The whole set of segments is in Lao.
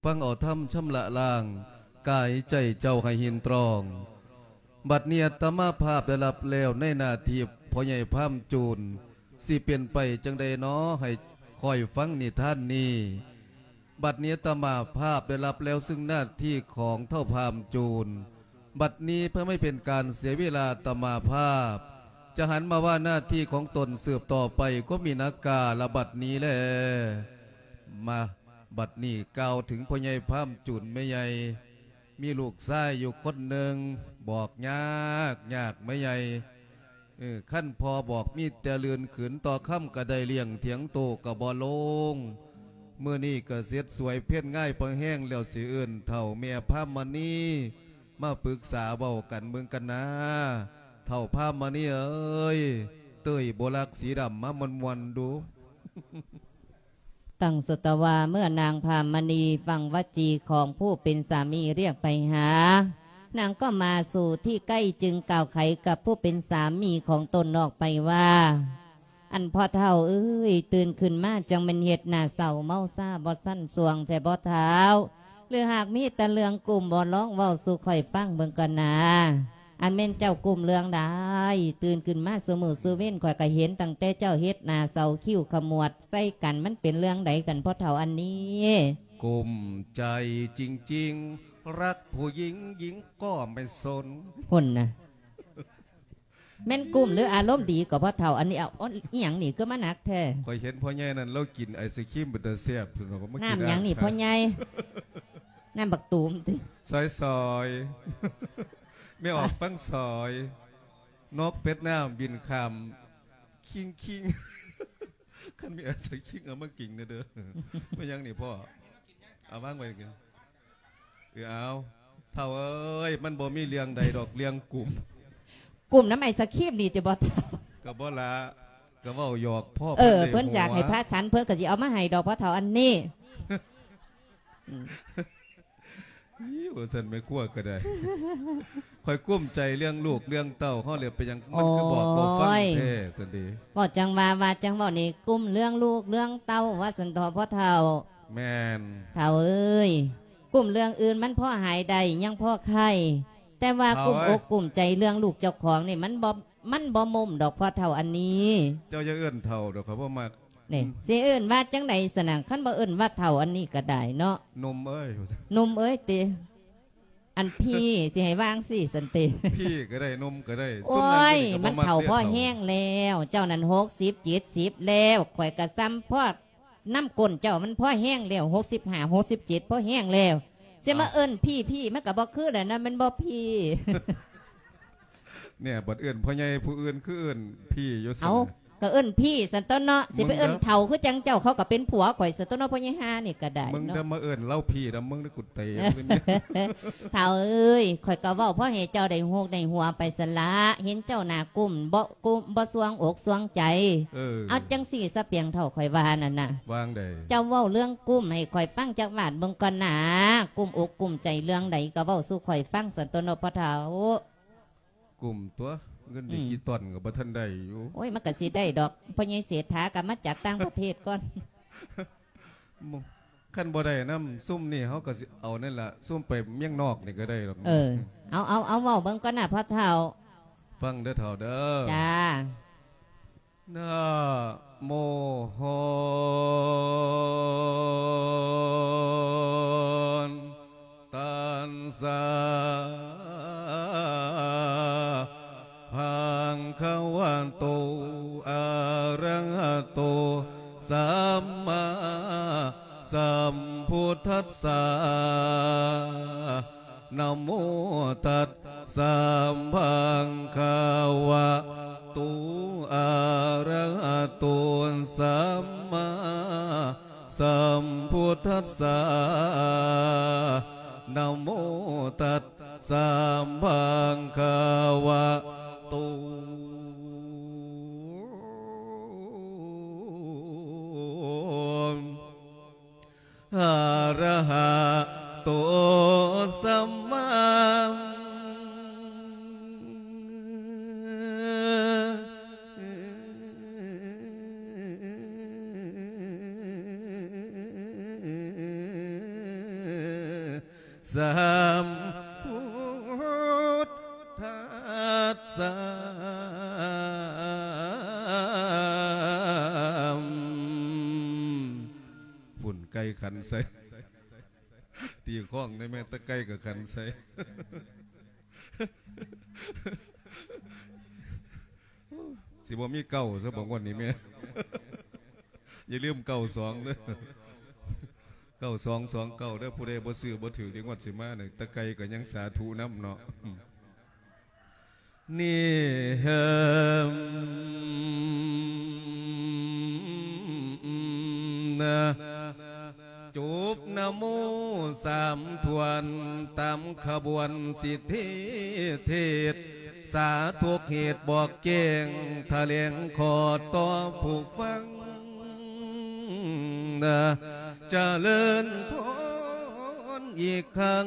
ຟັງເອົາທຳຊຳລະລ້າງ ກາຍໃຈເຈົ້າໃຫ້ຫີນຕຣອງ. ບັດນີ້ອາດຕະມາພາບໄດ້ຮັບແລ້ວໃນໜ້າທີ່ພໍ່ໃຫຍ່ພາມຈູນ ຊິເປັນໄປຈັ່ງໃດນໍ ໃຫ້ຂ້ອຍຟັງນິທານນີ້. ບັດນີ້ອາດຕະມາພາບໄດ້ຮັບແລ້ວຊຶ່ງໜ້າທີ່ຂອງທ້າວພາມຈູນ. ບັດນີ້ເພື່ອບໍ່ໃຫ້ເປັນການເສຍເວລາ ອາດຕະມາພາບຈະຫັນມາວ່າໜ້າທີ່ຂອງຕົນສືບຕໍ່ໄປ ກໍມີນາກາລະບັດນີ້ແລ. ມາ ບັດນີ້ກ່າວເຖິງພໍ່ໃຫຍ່ພາມຈູນແມ່ໃຫຍ່ ມີລູກຊາຍຢູ່ຄົນໜຶ່ງ ບອກຍາກ ຍາກແມ່ໃຫຍ່. ເອີ ຄັນພໍ່ບອກມີແຕ່ລື່ນຂືນຕໍ່ຄຳ ກະໄດ້ລ້ຽງຖຽງໂຕກະບໍ່ລົງ. ມື້ນີ້ກະເສັດສວຍເພັນງາຍພະແຮງແລ້ວ ຊິເອີ້ນເຖົ້າແມ່ພາມມະນີມາປຶກສາເວົ້າກັນເບິ່ງກັນນາ. ເຖົ້າພາມມະນີເອີຍ ເຕີຍໂບລັກສີດຳມາມ່ວນໆດູ. ຕັ້ງສົດຕະວາ ເມື່ອນາງພາມມະນີຟັງວະຈີຂອງຜູ້ເປັນສາມີຮຽກໄປຫາ ນາງກໍມາສູ່ທີ່ໃກ້ ຈຶ່ງກ່າວໄຂກັບຜູ້ເປັນສາມີຂອງຕົນອອກໄປວ່າ ອັນພໍ່ເຖົ້າເອີຍ ຕື່ນຂຶ້ນມາຈັ່ງແມ່ນເຮັດໜ້າເສົ້າເມົາຊາບໍ່ສັນຊວງແທ້ບໍ່ທ້າວ? ຫຼືຫາກມີແຕ່ເລື່ອງກຸ້ມບໍ່ ລອງເວົ້າສູ່ຂ້ອຍຟັງເບິ່ງກ່ອນນາ. ອັນແມ່ນເຈົ້າກຸ້ມເລື່ອງໃດ? ຕື່ນຂຶ້ນມາສູ່ມື້ສູ່ເວັນ ຂ້ອຍກໍເຫັນຕັ້ງແຕ່ເຈົ້າເຮັດໜ້າເສົ້າ ຄິ້ວຂະໝວດໃສ່ກັນ ມັນເປັນເລື່ອງໃດກັນພໍ່ເຖົ້າອັນນີ້? ກຸ້ມໃຈຈິງໆ ລັກຜູ້ຍິງ ຍິງກໍໄມ່ສົນ ພຸ້ນນະ. ແມ່ນກຸ້ມຫຼືອາລົມດີກໍພໍ່ເຖົ້າອັນນີ້? ເອົາ ອີ່ຫຍັງນີ້ຄືມາໜັກແທ້? ຂ້ອຍເຫັນພໍ່ໃຫຍ່ນັ້ນລາວກິນໄອສະຄຣີມເປັນຕາແຊບ ເພິ່ນວ່າມາກິນ ນ້ຳຫຍັງນີ້ພໍ່ໃຫຍ່? ນ້ຳບັກຕູມຕິ? ຊອຍໆ ແມ່ອອກຟັງຊອຍ ນົກເປັດນ້ຳບິນຂ້າມ ຄິງໆ ຄັນມີໄອສະຄຣີມເອົາມາກິນແດ່ເດີ. ແມ່ນຫຍັງນີ້ພໍ່? ເອົາວາງໄວ້ກິນ. ເອີ ເອົາ ເຖົ້າເອີຍ ມັນບໍ່ມີເລື່ອງໃດດອກ ເລື່ອງກຸ້ມ ກຸ້ມນຳໄອສະຄຣີມນີ້ຕິບໍ່ເຖົ້າ? ກໍບໍ່ລະ ກໍເວົ້າຫຍອກພໍ່. ເອີ ເພິ່ນຢາກໃຫ້ພະສັນ ເພິ່ນກໍຊິເອົາມາໃຫ້ດອກພໍ່ເຖົ້າອັນນີ້. ອີ ວ່າຊັ້ນແມ່ຄົວກໍໄດ້. ຂ້ອຍກຸ້ມໃຈເລື່ອງລູກເລື່ອງເຕົ້າເຮົາແລ້ວ ເປັນຫຍັງມັນຄືບອກບໍ່ຟັງແທ້ຊັ້ນເດ? ເວົ້າຈັ່ງວ່າ ວ່າຈັ່ງເວົ້ານີ້ ກຸ້ມເລື່ອງລູກເລື່ອງເຕົ້າວ່າຊັ້ນເຖາະພໍ່ເຖົ້າ. ແມ່ນ ເຖົ້າເອີຍ ກຸ້ມເລື່ອງອື່ນມັນພໍຫາຍໄດ້ ຍັງພໍໄຄ ແຕ່ວ່າກຸ້ມອົກກຸ້ມໃຈເລື່ອງລູກເຈົ້າຂອງນີ້ ມັນບໍ່ ມັນບໍ່ມຸ້ມດອກພໍ່ເຖົ້າອັນນີ້. ເຈົ້າຢ່າເອີ້ນເຖົ້າດອກ ຂ້ອຍບໍ່ມັກ. ນີ້ ຊິເອີ້ນວ່າຈັ່ງໃດຊັ້ນນະ? ຄັນບໍ່ເອີ້ນວ່າເຖົ້າອັນນີ້ກໍໄດ້ເນາະ. ໜຸ່ມເອີຍ ໜຸ່ມເອີຍຕິ? ອັນພີ່ ຊິໃຫ້ວ່າຈັ່ງຊີ້ຊັ້ນຕິ? ພີ່ກໍໄດ້ ໜຸ່ມກໍໄດ້. ໂອ້ຍ ມັນເຖົ້າພໍແຮງແລ້ວ ເຈົ້ານັ້ນຫົກສິບ ເຈັດສິບແລ້ວ ຂ້ອຍກໍສ່ຳພໍນຳກົ້ນເຈົ້າ ມັນພໍແຮງແລ້ວ ຫົກສິບຫ້າ ຫົກສິບເຈັດ ພໍແຮງແລ້ວ ຊິມາເອີ້ນພີ່ ພີ່ ມັນກໍບໍ່ຄືແລ້ວນະ ແມ່ນບໍ່ພີ່? ແນ່ ບັດເອີ້ນພໍ່ໃຫຍ່ຜູ້ອື່ນຄືເອີ້ນພີ່ຢູ່ຊັ້ນ. ເອົ້າ ກໍເອີ້ນພີ່ຊັ້ນຕົວະເນາະ ຊິໄປເອີ້ນເຖົ້າຄືຈັ່ງເຈົ້າ ເຂົາກໍເປັນຜົວຂ້ອຍຊັ້ນຕົວະເນາະ ພໍ່ໃຫຍ່ຫ່ານີ້ກໍໄດ້ເນາະ. ມຶງເດີມາເອີ້ນລາວພີ່ນຳ ມຶງໄດ້ກຸນເຕະ. ເຖົ້າເອີຍ ຂ້ອຍກໍເວົ້າພໍໃຫ້ເຈົ້າໄດ້ຮູ້ໄດ້ຫົວໄປຊັ້ນລະ ເຫັນເຈົ້າໜ້າກຸ້ມ ບໍ່ກຸ້ມ ບໍ່ສ່ວງອົກສ່ວງໃຈ. ເອີ ເອົາຈັ່ງຊີ້ສະປຽງເຖົ້າ ຂ້ອຍວ່ານັ້ນນະ. ວ່າຈັ່ງໃດ? ເຈົ້າເວົ້າເລື່ອງກຸ້ມໃຫ້ຂ້ອຍຟັງຈັກບາດເບິ່ງກ່ອນນາ ກຸ້ມອົກກຸ້ມໃຈເລື່ອງໃດກໍເວົ້າສູ່ຂ້ອຍຟັງຊັ້ນຕົວະເນາະ ພໍ່ເຖົ້າ. ກຸ້ມຕົວະ ເງິນດິຈິຕອນກໍບໍ່ທັນໄດ້ຢູ່. ໂອ້ຍ ມັນກໍຊິໄດ້ດອກ ພໍ່ໃຫຍ່ເສດຖາກໍມາຈາກຕ່າງປະເທດກ່ອນ. ຄັນບໍ່ໄດ້ນຳຊຸມນີ້ ເຮົາກໍຊິເອົານັ້ນລະ ຊຸມໄປເມືອງນອກນີ້ກໍໄດ້ດອກ. ເອີ ເອົາ ເອົາ ເອົາເວົ້າເບິ່ງກ່ອນນະພໍ່ເຖົ້າ. ຟັງເດີເຖົ້າເດີ. ຈ້າ. ນະໂມ ຕັດສະ ພະຄະວະໂຕ ອະຣະຫະໂຕ ສຳມາສຳພຸດທັດສະ. ນະໂມຕັດສະ ພະຄະວະໂຕ ອະຣະຫະໂຕ ສຳມາສຳພຸດທັດສະ. ນະໂມຕັດສະ ພະຄະວະໂຕ ອະຣະຫະໂຕ ສຳມາ ສາມ ພຸດທັດສະ ພຸ້ນໄກ່ຂັນໃສ່ ຕີຄ້ອງໄດ້ແມ່ນ ແຕ່ໄກ່ກໍຂັນໃສ່ ຊິບໍ່ມີເກົ້າຊະບໍ່ງວດນີ້ແມ່ ຢ່າລືມເກົ້າສອງເດີ້ ເກົ້າສອງສອງເກົ້າເດີ້ ຜູ້ໃດບໍ່ຊື້ບໍ່ຖືກ ເດງວດຊິມານີ້ ຕະໄກ່ກໍຍັງສາທຸນຳເນາະ ນີ້ເຮີມ ນະ ຈົບນະໂມສາມຖ້ວນ ຕາມຂະບວນສິດທິເທດ ສາທຸກເຫດບອກແຈ້ງ ຖະແຫຼງຂໍ້ຕໍ່ຜູ້ຟັງ ນະ ຈະເລີນພອນອີກຄັ້ງ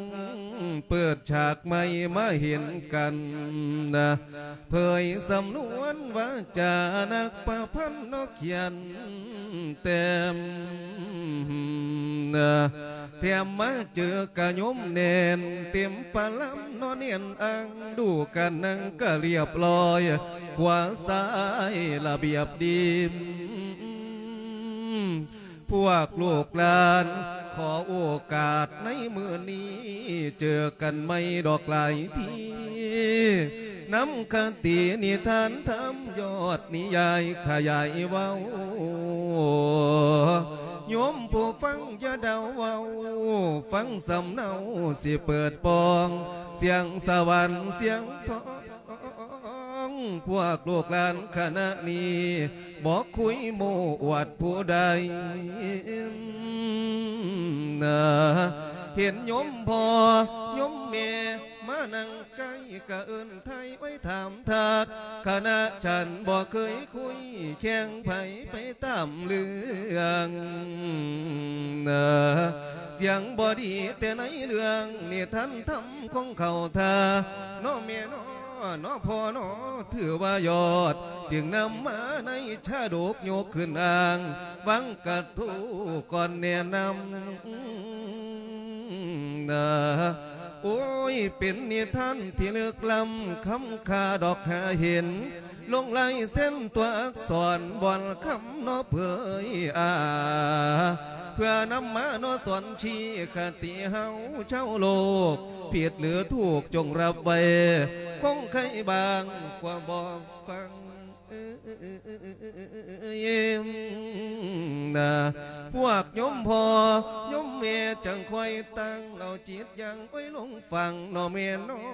ເປີດສາກໃໝ່ມາເຫັນກັນ ນະ ເຜີຍສຳນວນວາຈານັກປະພັນເນາະຂຽນແຕ້ມ ນະ ແຖມມາເຈີກະຍົມແໜ້ນ ເຕັມປະລຳເນາະແໜ້ນອັ່ງ ດູການນັ່ງກະລຽບລ້ອຍ ຂວາຊ້າຍລະບຽບດີ ພວກລູກຫຼານຂໍໂອກາດໃນມື້ນີ້ ເຈີກັນໃໝ່ດອກຫຼາຍທີ ນຳຄະຕິນິທານທຳ ຍອດນິຍາຍຂະຫຍາຍເວົ້າ ໂຍມຜູ້ຟັງຢ່າເດົາເວົ້າ ຟັງສຳເນົາຊິເປີດປ່ອງ ສຽງສະຫວັນສຽງທອງ ພວກລູກຫຼານຄະນະນີ້ ບໍ່ຄຸຍໂມ້ອວດຜູ້ໃດ ນະ ເຫັນໂຍມພໍ່ໂຍມແມ່ມານັ່ງໃກ້ ກະເອີ້ນໄຖ່ໄວ້ຖາມທັກ ຄະນະສັນບໍ່ເຄີຍຄຸຍ ແຂ່ງໃຜໄປຕາມເລື່ອງ ນະ ສຽງບໍ່ດີແຕ່ໃນເລື່ອງ ນິທານທຳ ຂອງເຂົາທ່າ ເນາະແມ່ເນາະ ເນາະພໍ່ເນາະ ຖືວ່າຍອດ ຈຶ່ງນຳມາໃນຊາດົກ ຍົກຂຶ້ນອ້າງ ວັງກະທູກ່ອນແນະນຳ ນະ ໂອ້ຍ ເປັນນິທານທີ່ເລິກລ້ຳ ຄຳຄ່າດອກຫາເຫັນ ລົງລາຍເຊັນຕົວອັກສອນ ບ່ອນຄຳເນາະເຜີຍອາ ເພື່ອນຳມາເນາະສອນຊີ້ຄະຕິເຮົາຊາວໂລກ ຜິດຫຼືຖືກຈົ່ງຮັບໄວ້ ຄົງໄຄບາງກວ່າບໍ່ຟັງ ນະ ພວກໂຍມພໍ່ໂຍມແມ່ຈັ່ງຄ່ອຍຕັ້ງເອົາຈິດຢ່າງ ໂອ້ຍ ລົງ ຟັງເນາະແມ່ເນາະ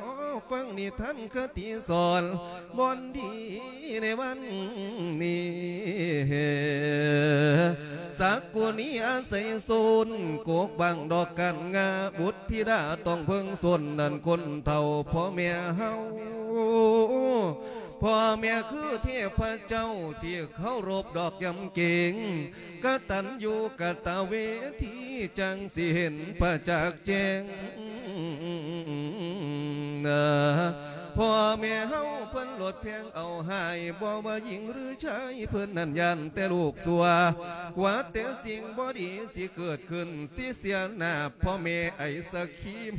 ຟັງນິທານຄະຕິສອນ ບ່ອນດີໃນວັນນີ້ ສັກກຸນີອາໄສໂຊນ ກົກບັງດອກກັນງາ ບຸດທິດາຕ້ອງເພິ່ງຊົນ ນັ້ນຄົນເຖົ້າພໍ່ແມ່ເຮົາ ພໍ່ແມ່ຄືເທບພະເຈົ້າ ທີ່ເຄົາລົບດອກຢຳເກງ ກະຕັນຍູກະຕະເວທີ ຈັ່ງຊິເຫັນປະຈັກແຈ້ງ ພໍ່ແມ່ເຮົາເພິ່ນໂລດແພງເອົາຮ້າຍ ບໍ່ວ່າຍິງຫຼືຊາຍ ເພິ່ນນັ້ນຢ້ານແຕ່ລູກຊົ່ວ ກົວແຕ່ສິ່ງບໍ່ດີຊິເກີດຂຶ້ນ ຊິເສຍໜ້າພໍ່ແມ່ໄອສະຄຣີມ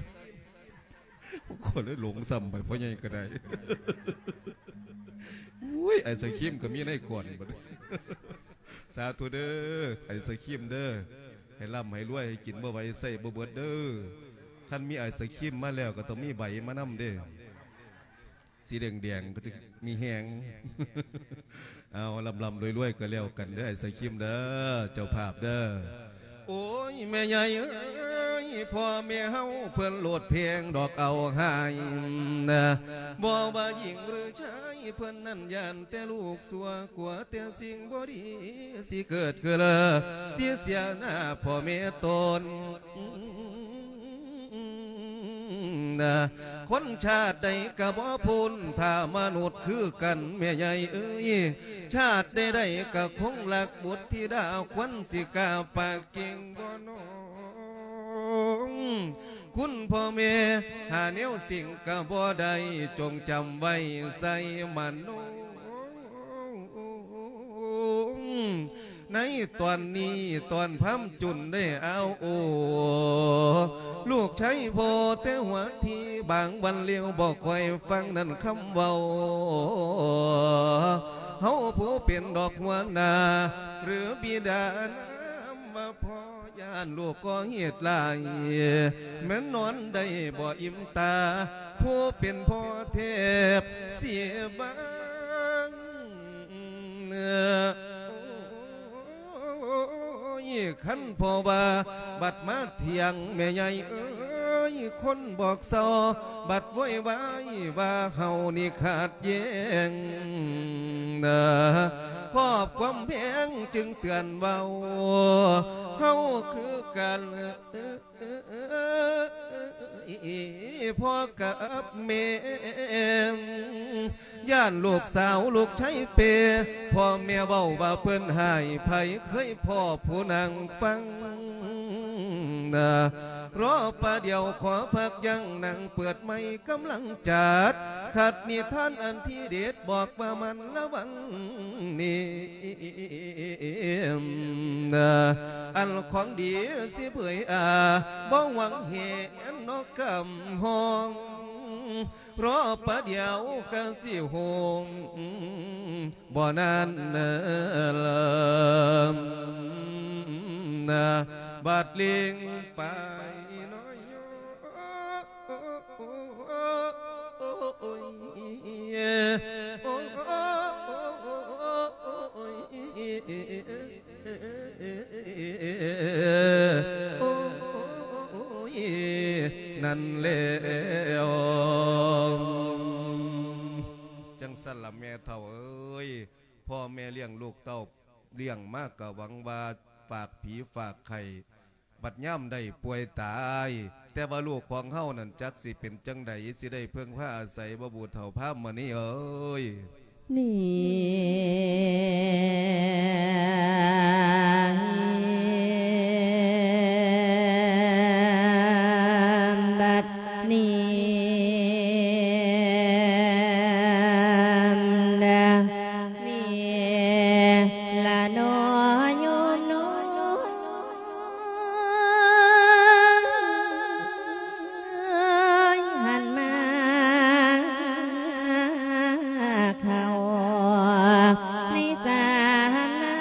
ຂ້ອຍເລີຍຫຼົງຊ້ຳໄປ ພໍ່ໃຫຍ່ກໍໄດ້ ໂອ້ຍ ໄອສະຄຣີມກໍມີໃນກວນບັດ ສາທຸເດີ້ ໄອສະຄຣີມເດີ້ ໃຫ້ລ່ຳໃຫ້ລວຍ ໃຫ້ກິນບໍ່ໄຫວໃຊ້ບໍ່ເບິດເດີ້ ຄັນມີໄອສະຄຣີມມາແລ້ວກໍຕ້ອງມີໃບມານຳເດ້ ສີແດງໆ ກໍຈະມີແຮງ ເອົາ ລ່ຳໆລວຍໆກໍແລ້ວກັນເດີ້ ໄອສະຄຣີມເດີ້ ເຈົ້າພາບເດີ້ ໂອ້ຍ ແມ່ໃຫຍ່ເອີຍ ພໍ່ແມ່ເຮົາເພິ່ນໂລດແພງດອກເອົາຮ້າຍນະ ບໍ່ວ່າຍິງຫຼືຊາຍ ເພິ່ນນັ້ນຢ້ານແຕ່ລູກຊົ່ວ ກົວແຕ່ສິ່ງບໍ່ດີຊິເກີດຂຶ້ນ ຊິເສຍໜ້າພໍ່ແມ່ຕົນ ນະ ຄົນຊາດໃດກະບໍ່ພົ້ນ ຖ້າມະນຸດຄືກັນແມ່ໃຫຍ່ເອີຍ ຊາດໃດໆກະຄົງລັກບຸດທິດາ ຄວນຊິກ້າປາກເກັ່ງບໍ່ນ້ອງ ຄຸນພໍ່ແມ່ ຫາແນວສິ່ງກະບໍ່ໄດ້ ຈົ່ງຈຳໄວ້ໃສ່ມະໂນ ໃນຕອນນີ້ຕອນພາມຈຸນໄດ້ອ້າວໂອ ລູກ ໃຊ້ພໍ່ແຕ່ຫົວທີ ບາງວັນລຽວບໍ່ຄ່ອຍຟັງນັ້ນຄຳເວົ້າ. ເຮົາຜູ້ເປັນດອກຫົວໜ້າ ຫຼືບິດານຳວ່າພໍ່ ຢ້ານລູກກໍ່ເຮັດຫຼາຍ ແມ່ນນອນໄດ້ບໍ່ອີ່ມຕາ ຜູ້ເປັນພໍ່ແທບເສຍບາງ. ໂອ້ຍ ຄັນພໍ່ວ່າບັດມາຖຽງ ແມ່ໃຫຍ່ເອີຍ ຄົນບອກເຊົາ ບັດໂວຍວາຍວ່າເຮົານີ້ຂັດແຍ່ງ ນະ ຄອບຄວາມແພງຈຶ່ງເຕືອນເວົ້າ ເຮົາຄືກັນ ພໍ່ກັບແມ່ ຢ້ານລູກສາວລູກຊາຍເປ ພໍ່ແມ່ເວົ້າວ່າເພິ່ນຫາຍ ໃຜເຄີຍພໍ້ຜູ້ນາງຟັງ ນະ ລໍປະດຽວຂໍພັກຢັ້ງ ນາງເປີດໃໝ່ກຳລັງຈັດ ຂັດນິທານອັນທີເດັດ ບອກວ່າມັນລະວັງນີ້ ອັນຂອງດີຊິເຜີຍອາ ບໍ່ຫວັງເຫັນນອກກຳຫ້ອງ ລໍປະດຽວກະຊິໂຮງ ບໍ່ນານເນີ ບາດເລັ່ງໄປນ້ອຍ ໂອ້ຍ ໂອ້ຍ ນັ້ນແລ້ວ. ຈັ່ງຊັ້ນລະແມ່ເຖົ້າເອີຍ ພໍ່ແມ່ລ້ຽງລູກເຕົ້າ ລ້ຽງມາກະຫວັງວ່າຝາກຜີຝາກໄຂ້ ບັດຍາມໄດ້ປ່ວຍຕາຍ ແຕ່ວ່າລູກຂອງເຮົານັ້ນຈັກຊິເປັນຈັ່ງໃດ ຊິໄດ້ເພິ່ງພາອາໄສບໍ່ ຜູ້ເຖົ້າພາມມະນີເອີຍ? ນີ້ ບັດນີ້ ນີ້ລະເນາະໂຍມເນາະ ຫັນມາເຂົ້າໃນສານາ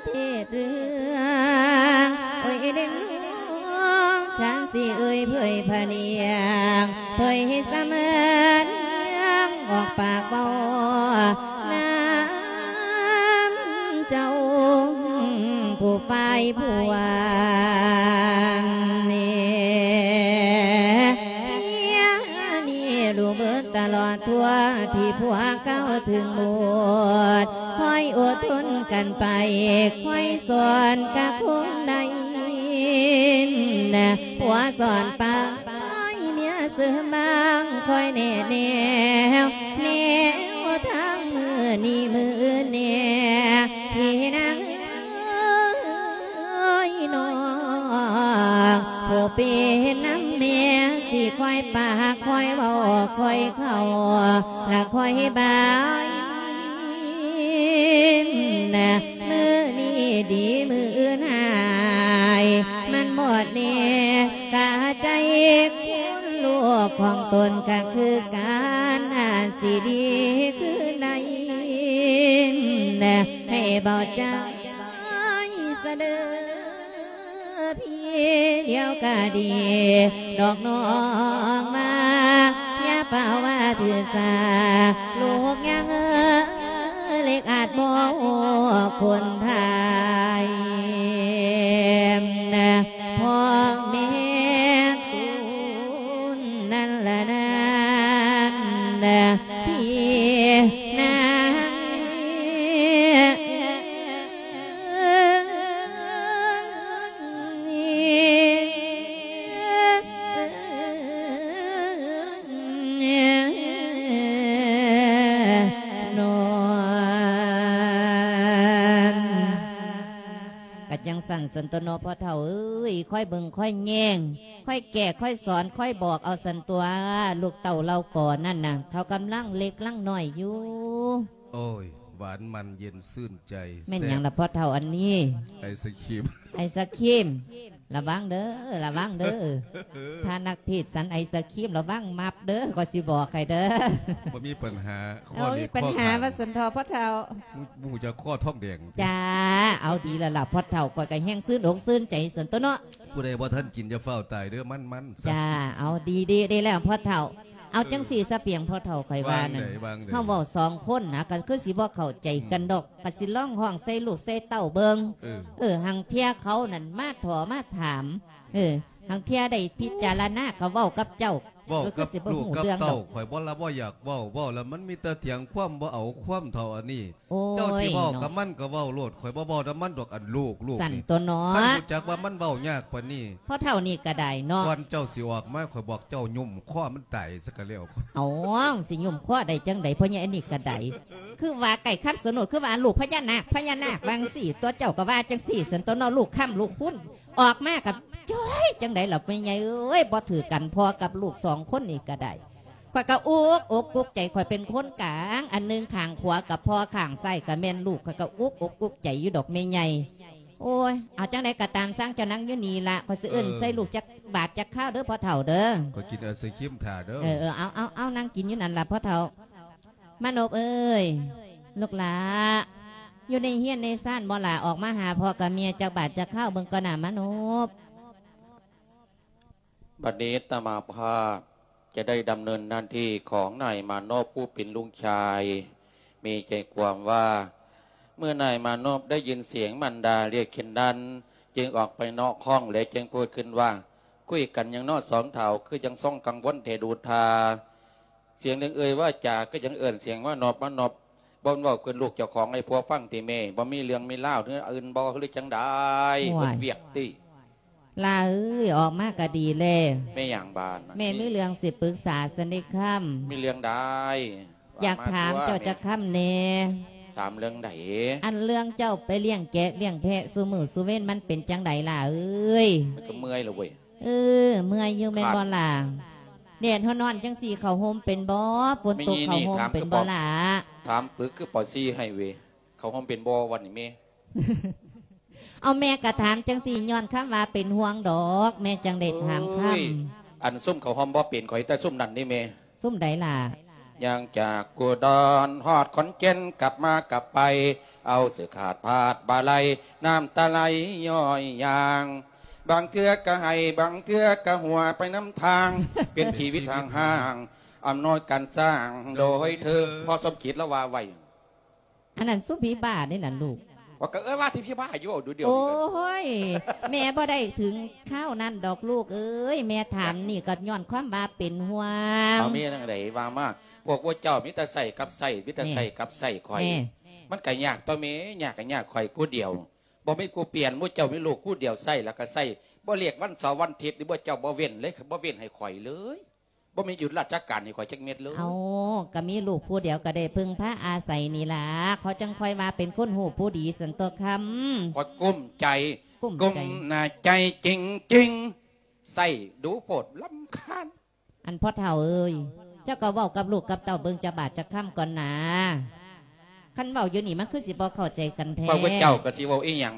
ເທດເລື່ອງ ໂອ້ຍເດັກນ້ອຍ ຊ່າງຊິເອີຍເຜີຍພະນຽງ ເຜີຍໃຫ້ສະເໝືອນ ອອກປາກເວົ້ານຳເຈົ້າ ຜູ້ຝ່າຍພວງນີ້ ເພຍນີ້ຮູ້ເບິດຕະຫຼອດທົ່ວ ທີ່ພວກເຈົ້າເຖິງໝົດ ຄອຍອົດທົນກັນໄປ ຄອຍສອນກະຄົງໄດ້ ຜົວສອນປາຍເມຍເສີມບາງ ຄອຍແນະແນວ ແນວທາງມື້ນີ້ມື້ອື່ນແນ່ ພີ່ນາງເອີຍນ້ອງ ຜູ້ເປັນນຳແມ່ ຊິຄອຍປາກຄອຍເວົ້າ ຄອຍເຂົ້າ ລະຄອຍບາຍ ມື້ນີ້ດີມື້ອື່ນຮ້າຍ ມັນໝົດແນ່ກະໃຈ ຄົນລູກຂອງຕົນກະຄືກັນ ອາດຊິດີຄືໃນ ໃຫ້ເບົາໃຈສະເດີ ພີ່ດຽວກະດີດອກນ້ອງມາ ຢ່າປະວ່າຖືສາ ລູກຍັງເອີ ເລັກອາດບໍ່ຄົນໄທ ພໍ່ແມ່ຄູນນັ້ນລະນັ້ນ ພີ່ນາງ ກະຈັ່ງຊັ້ນຊັ້ນຕົວເນາະ ພໍ່ເຖົ້າເອີຍ ຄອຍເບິ່ງຄອຍແຍງ ຄອຍແກ້ ຄອຍສອນ ຄອຍບອກເອົາຊັ້ນຕົວະ ລູກເຕົ້າເຫຼົ່າກໍນັ້ນນະ ເຂົາກຳລັງເລັກລັງນ້ອຍຢູ່. ໂອ້ຍ ຫວານມັນເຢັນຊື່ນໃຈ. ແມ່ນຫຍັງລະພໍ່ເຖົ້າອັນນີ້? ໄອສະຄຣີມ. ໄອສະຄຣີມ. ລະວັງເດີ ລະວັງເດີ. ພະນັກເທດສັນໄອສະຄຣີມ ລະວັງມັບເດີ ຂ້ອຍຊິບອກໃຫ້ເດີ. ບໍ່ມີປັນຫາ. ເອົາ ບໍ່ມີປັນຫາວ່າຊັ້ນເຖາະພໍ່ເຖົ້າ. ໝູ່ ໝູ່ຈະຄໍທອງແດງ. ຈ້າ ເອົາ ດີແລ້ວລະພໍ່ເຖົ້າ ຂ້ອຍກໍແຮງຊື່ນອົກຊື່ນໃຈຊັ້ນຕົວະເນາະ. ຜູ້ໃດບໍ່ທັນກິນຢ່າຟ້າວຕາຍເດີ ມັນໆ. ຈ້າ ເອົາ ດີໆ ດີແລ້ວພໍ່ເຖົ້າ. ເອົາ ເອີ ຈັ່ງຊີ້ສະປຽງພໍ່ເຖົ້າ ຂ້ອຍວ່ານັ້ນ ວ່າຈັ່ງໃດ ວ່າຈັ່ງໃດ? ເຮົາເວົ້າສອງຄົນນະ ກໍຄືຊິບໍ່ເຂົ້າໃຈກັນດອກ ອືມ ກໍຊິລອງຮ້ອງໃສ່ລູກໃສ່ເຕົ້າເບິ່ງ. ເອີ ເອີ ຫາງເທື່ອເຂົານັ້ນມາທໍ່ມາຖາມ ເອີ ຫາງເທື່ອໄດ້ພິຈາລະນາກໍເວົ້າກັບເຈົ້າ ເວົ້າກັບລູກກັບເຕົ້າ. ກໍຄືຊິບໍ່ຮູ້ເລື່ອງດອກ ຂ້ອຍບໍ່ລະບໍ່ຢາກເວົ້າ ເວົ້າແລ້ວມັນມີແຕ່ຖຽງຄວາມ ບໍ່ເອົາຄວາມເຖົ້າອັນນີ້. ໂອ້ຍ ເຈົ້າຊິເວົ້າ ເນາະ ກັບມັນກໍເວົ້າໂລດ ຂ້ອຍບໍ່ເວົ້ານຳມັນດອກ ອັນລູກ ລູກ ຊັ້ນ ນີ້ ຕົວະເນາະ. ຄັນຮູ້ຈັກວ່າມັນເວົ້າຍາກປານນີ້ ພໍ່ເຖົ້ານີ້ກໍໄດ້ເນາະ. ກ່ອນເຈົ້າຊິອອກມາ ຂ້ອຍບອກເຈົ້າຫຍຸ້ມຄໍມັນຕາຍຊະກໍແລ້ວ. ເອົາ ຊິຫຍຸ້ມຄໍໄດ້ຈັ່ງໃດ ພໍ່ໃຫຍ່ອັນນີ້ກໍໄດ້ ຄືວ່າໄກ່ຄຳສະໜູດ ຄືວ່າລູກພະຍານາກ ພະຍານາກ ວ່າຈັ່ງຊີ້ ຕົວະເຈົ້າກໍວ່າຈັ່ງຊີ້ ຊັ້ນຕົວະເນາະ. ລູກຄ້ຳລູກຄຸນ ອອກມາກໍຈ້ອຍ ຈັ່ງໃດລະແມ່ໃຫຍ່ເອີຍ ບໍ່ຖືກກັນ ພໍ່ກັບລູກສອງຄົນນີ້ກໍໄດ້. ຂ້ອຍກໍອຸກອົກອຸກໃຈ ຂ້ອຍເປັນຄົນກາງ ອັນໜຶ່ງຂ້າງຂວາກໍພໍ່ ຂ້າງຊ້າຍກໍແມ່ນລູກ ຂ້ອຍກໍອຸກອົກອຸກໃຈຢູ່ດອກແມ່ໃຫຍ່. ໂອ້ຍ ເອົາ ຈັ່ງໃດກໍຕາມ ຊ່າງເຈົ້ານັ່ງຢູ່ນີ້ລະ ຂ້ອຍຊິເອີ້ນ ເອີ ໃສ່ລູກຈັກບາດຈັກຄາວເດີພໍ່ເຖົ້າເດີ. ຂ້ອຍກິນໄອສະຄຣີມຖ້າເດີ. ເອີ ເອີ ເອົາ ເອົາ ເອົາ ນັ່ງກິນຢູ່ນັ້ນລະພໍ່ເຖົ້າ. ມານົບເອີຍ ລູກຫຼ້າ ຢູ່ໃນເຮືອນໃນຊານບໍ່ຫຼ້າ? ອອກມາຫາພໍ່ກັບແມ່ຈັກບາດຈັກຄາວເບິ່ງກ່ອນນະມານົບ. ບັດນີ້ອາດຕະມາພາບຈະໄດ້ດຳເນີນໜ້າທີ່ຂອງນາຍມານົບຜູ້ເປັນລູກຊາຍ. ມີໃຈຄວາມວ່າ ເມື່ອນາຍມານົບໄດ້ຍິນສຽງມານດາຮຽກເຊັ່ນນັ້ນ ຈຶ່ງອອກໄປນອກຫ້ອງ ແລະ ຈຶ່ງພູດຂຶ້ນວ່າ ຄຸຍກັນຫຍັງເນາະສອງເຖົ້າ ຄືຈັ່ງຊ່ອງກັງວົນແທ້ດູທ່າ. ສຽງເລື່ອງເອີ່ຍວ່າຈາ ຄືຈັ່ງເອີ້ນສຽງວ່ານົບມານົບ. ບໍ່ແມ່ນເວົ້າເກີນລູກເຈົ້າຂອງໃຫ້ຜົວຟັງຕິແມ່? ບໍ່ມີເລື່ອງມີລາວ ຫຼື ອື່ນບໍ່ ຫຼື ຈັ່ງໃດ? ໂອ້ຍ ເບິດວຽກຕິ. ຫຼ້າເອີຍ ອອກມາກໍດີແລ້ວ. ແມ່ຫຍັງບາດນະ? ແມ່ມີເລື່ອງຊິປຶກສາຊັ້ນເດຄຳ. ມີເລື່ອງໃດ? ຢາກຖາມເຈົ້າຈັກຄຳແດ່. ຖາມເລື່ອງໃດ? ອັນເລື່ອງເຈົ້າໄປລ້ຽງແກະລ້ຽງແພະຊຸມື້ຊຸເວັນ ມັນເປັນຈັ່ງໃດຫຼ້າເອີຍ? ກໍເມື່ອຍແລ້ວເວີຍ. ເອີ ເມື່ອຍຢູ່ແມ່ນບໍ່ຫຼ້າ? ແດດຮ້ອນໆ ຈັ່ງຊີ້ ເຂົ້າຮົ່ມເປັນບໍ່? ຝົນຕົກ ເຂົ້າຮົ່ມເປັນບໍ່ຫຼ້າ? ຖາມປຶກຄືປໍຊີໃຫ້ເວີຍ. ເຂົ້າຮ່ວມເປັນບໍ່ວັນນີ້ແມ່? ເອົາ ແມ່ກະຖາມຈັ່ງຊີ້ ຍ້ອນຄຳວ່າເປັນຫ່ວງດອກ ແມ່ຈັ່ງໄດ້ຖາມຄຳ. ເອີຍ ອັນຊຸມເຂົ້າຮ່ອມບໍ່ເປັນ ຂ້ອຍແຕ່ຊຸມນັ້ນນີ້ແມ່. ຊຸມໃດລະ? ຍ່າງຈາກອຸດອນຮອດຂອນແກ່ນ ກັບມາກັບໄປ ເອົາເສື້ອຂາດພາດບ່າໄຫຼ ນ້ຳຕາໄຫຼຍ້ອຍຢ່າງ ບາງເທື່ອກະໄຫ້ ບາງເທື່ອກະຫົວໄປນຳທາງ ເປັນຊີວິດທາງຫ້າງ ອຳນວຍການສ້າງໂດຍເທີ. ພໍ່ສົມຈິດລາວວ່າໄວ້. ອັນນັ້ນຊຸມຜີບ້າເດ້ນັ້ນລູກ. ວ່າກໍເອີ້ນວ່າທີ່ຜີບ້າຢູ່ ເວົ້າດູດຽວນີ້. ໂອ້ຍ ແມ່ບໍ່ໄດ້ເຖິງຄາວນັ້ນດອກລູກເອີຍ ແມ່ຖາມນີ້ກໍຍ້ອນຄວາມວ່າເປັນຫ່ວງ. ເອົາ ແມ່ຈັ່ງໃດວ່າມາ. ພວກພວກເຈົ້າມີແຕ່ໃຊ້ກັບໃຊ້ ມີແຕ່ໃຊ້ກັບໃຊ້ຂ້ອຍ. ມັນກໍຍາກຕົວະແມ່ ຍາກກໍຍາກຂ້ອຍຜູ້ດຽວ ບໍ່ມີຜູ້ປ່ຽນ. ໝູ່ເຈົ້າມີລູກຜູ້ດຽວໃຊ້ແລ້ວກໍໃຊ້ ບໍ່ລຽກວັນເສົາວັນອາທິດນີ້ ໝູ່ເຈົ້າບໍ່ເວັ້ນເລີຍ ບໍ່ເວັ້ນໃຫ້ຂ້ອຍເລີຍ. ບໍ່ມີຢຸດລາຊະການໃຫ້ຂ້ອຍຈັກເມັດເລີຍ. ເອົາ ກໍມີລູກຜູ້ດຽວກໍໄດ້ເພິ່ງພາອາໄສນີ້ລະ ເຂົາຈັ່ງຄ່ອຍວ່າເປັນຄົນຮູ້ຜູ້ດີຊັ້ນຕົວະຄຳ. ຂ້ອຍກຸ້ມໃຈ ກຸ້ມໃຈ ກຸ້ມໜ້າໃຈຈິງໆ ໃຊ້ດູໂພດ ລຳຄານ. ອັນພໍ່ເຖົ້າເອີຍ ເຈົ້າກໍເວົ້າກັບລູກກັບເຕົ້າເບິ່ງຈັກບາດຈັກຄຳກ່ອນນາ. ຄັນເວົ້າຢູ່ນີ້ມັນຄືຊິບໍ່ເຂົ້າໃຈກັນແທ້. ພວກເຈົ້າກໍຊິເວົ້າອີ່ຫຍັງ?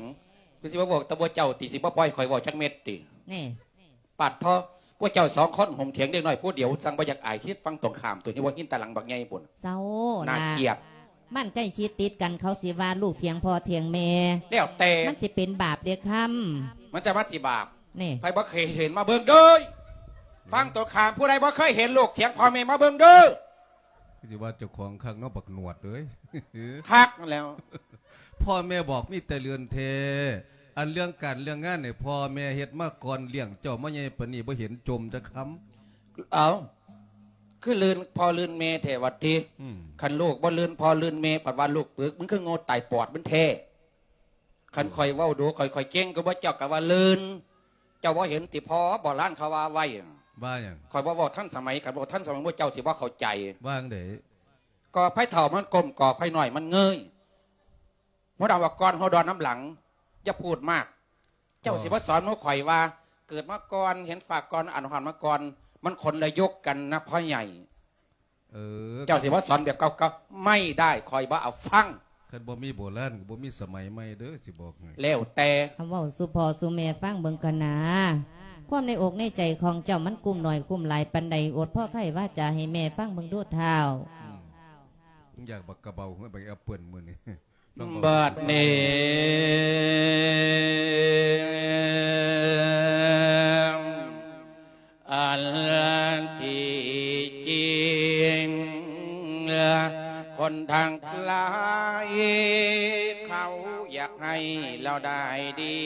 ຄືຊິມາບອກແຕ່ໝູ່ເຈົ້າຕິ? ຊິບໍ່ປ່ອຍຂ້ອຍເວົ້າຈັກເມັດຕິ? ນີ້ ປາດເທາະ ພວກເຈົ້າສອງຄົນໂຮມຖຽງເດັກນ້ອຍຜູ້ດຽວ ຈັ່ງບໍ່ຢາກອາຍ ຄິດຝັ່ງຕົງຂ້າມ ຕົວທີ່ບໍ່ເຫັນຕາຫຼັງບັກໃຫຍ່ພຸ້ນ. ເຊົາ ໜ້າກຽດ. ມັນໃກ້ຊິຕິດກັນ ເຂົາຊິວ່າລູກຖຽງພໍ່ຖຽງແມ່ ແລ້ວແຕ່ ມັນຊິເປັນບາບເດ້ຄຳ. ມັນຈະມາຊິບາບ ນີ້ ໃຜບໍ່ເຄີຍເຫັນມາເບິ່ງເດີ. ຝັ່ງຕົງຂ້າມຜູ້ໃດບໍ່ເຄີຍເຫັນລູກຖຽງພໍ່ແມ່ມາເບິ່ງເດີ. ຄືຊິວ່າເຈົ້າຂອງຄັກເນາະ ບັກໜວດເອີຍ. ຄັກນັ້ນແຫຼ້ວ. ພໍ່ແມ່ບອກມີແຕ່ເລື່ອນແທ້. ອັນເລື່ອງການເລື່ອງງານນີ້ ພໍ່ແມ່ເຮັດມາກ່ອນ ລ້ຽງເຈົ້າມາໃຫຍ່ປານນີ້ ບໍ່ເຫັນຈົ່ມຈັກຄຳ. ເອົ້າ ຄືລື່ນພໍ່ລື່ນແມ່ແທ້ຫວາຕິ? ອືມ ຄັນລູກບໍ່ລື່ນພໍ່ລື່ນແມ່ ພັດວ່າລູກປຶກ ມັນຄືໂງ່ຕາຍປອດມັນແທ້. ຄັນຂ້ອຍເວົ້າດູ ຂ້ອຍ ຂ້ອຍເກັ່ງກວ່າເຈົ້າ ກໍວ່າລື່ນ. ເຈົ້າບໍ່ເຫັນຕິພໍ່ ໂບລານເຂົາວ່າໄວ້? ວ່າຫຍັງ? ຂ້ອຍບໍ່ເວົ້າທັນສະໄໝ ຄັນເວົ້າທັນສະໄໝ ໝູ່ເຈົ້າຊິບໍ່ເຂົ້າໃຈ. ວ່າຈັ່ງໃດ? ກໍໃຜເຖົ້າມັນກົ້ມ ກໍໃຜນ້ອຍມັນເງີຍ. ຫົວດຳວ່າກ່ອນ ຫົວດອນນຳຫຼັງ ຢ່າພູດມາກ. ອໍ ເຈົ້າຊິມາສອນໝູ່ຂ້ອຍວ່າ ເກີດມາກ່ອນ ເຫັນຟາກກ່ອນ ອານຫອນມາກ່ອນ ມັນຄົນລະຍຸກກັນນະພໍ່ໃຫຍ່. ເອີ ເອີ ເຈົ້າຊິມາສອນແບບເກົ່າໆ ໄມ່ໄດ້ ຂ້ອຍບໍ່ເອົາຟັງ. ຄັນບໍ່ມີໂບລານກໍບໍ່ມີສະໄໝໃໝ່ເດີ ຊິບອກໃຫ້. ແລ້ວແຕ່. ເວົ້າສູ່ພໍ່ສູ່ແມ່ຟັງເບິ່ງກ່ອນນາ. ຄວາມໃນອົກໃນໃຈຂອງເຈົ້າມັນກຸ້ມໜ້ອຍກຸ້ມຫຼາຍປານໃດ? ອົດພໍໄຂວາຈາໃຫ້ແມ່ຟັງເບິ່ງດູທ້າວ. ອືມ ຢາກບັກກະເບົາ ຫືອບັກແອັບເປິ້ນມື້ນີ້. ບັດນີ້ ອັນທີ່ຈິງ ຄົນທັງຫຼາຍເຂົາຢາກໃຫ້ລາວໄດ້ດີ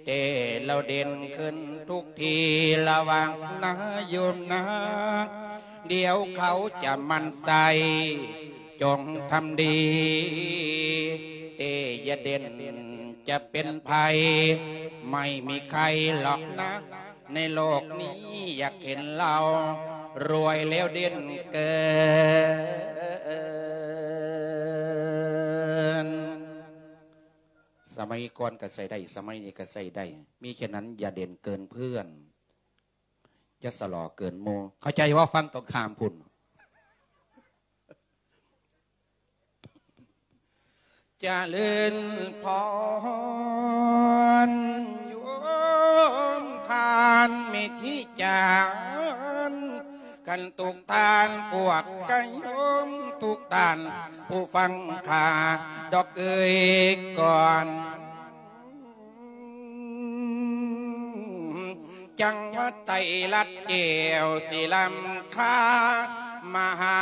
ແຕ່ລາວເດັ່ນຂຶ້ນທຸກທີ່ລະຫວ່າງນາໂຍມນາ ດຽວເຂົາຈະໝັ່ນໃສ່ ຈົ່ງທຳດີ ແຕ່ຢ່າເດັ່ນຈະເປັນໃຜ ໄມ່ມີໃຄຫຼອກນະ ໃນໂລກນີ້ຢາກເຫັນລາວລວຍແລ້ວເດັ່ນເກີນ. ສະໄໝກ່ອນກໍໃຊ້ໄດ້ ສະໄໝນີ້ກໍໃຊ້ໄດ້ ມີແຄ່ນັ້ນ ຢ່າເດັ່ນເກີນເພື່ອນ ຢ່າສະຫຼໍ່ເກີນໝູ່ ເຂົ້າໃຈບໍ່? ຝັ່ງຕົງຂ້າມພຸ້ນ ຈະເລີນພອນ ໂຍມທ່ານເມທີຈານ ຄັນທຸກທ່ານພວກກະໂຍມ ທຸກທ່ານຜູ້ຟັງຂ້າດອກເອີຍກ່ອນ. ຈັງຫວັດໄຕລັດແກ້ວສີລຳຄາ ມະຫາ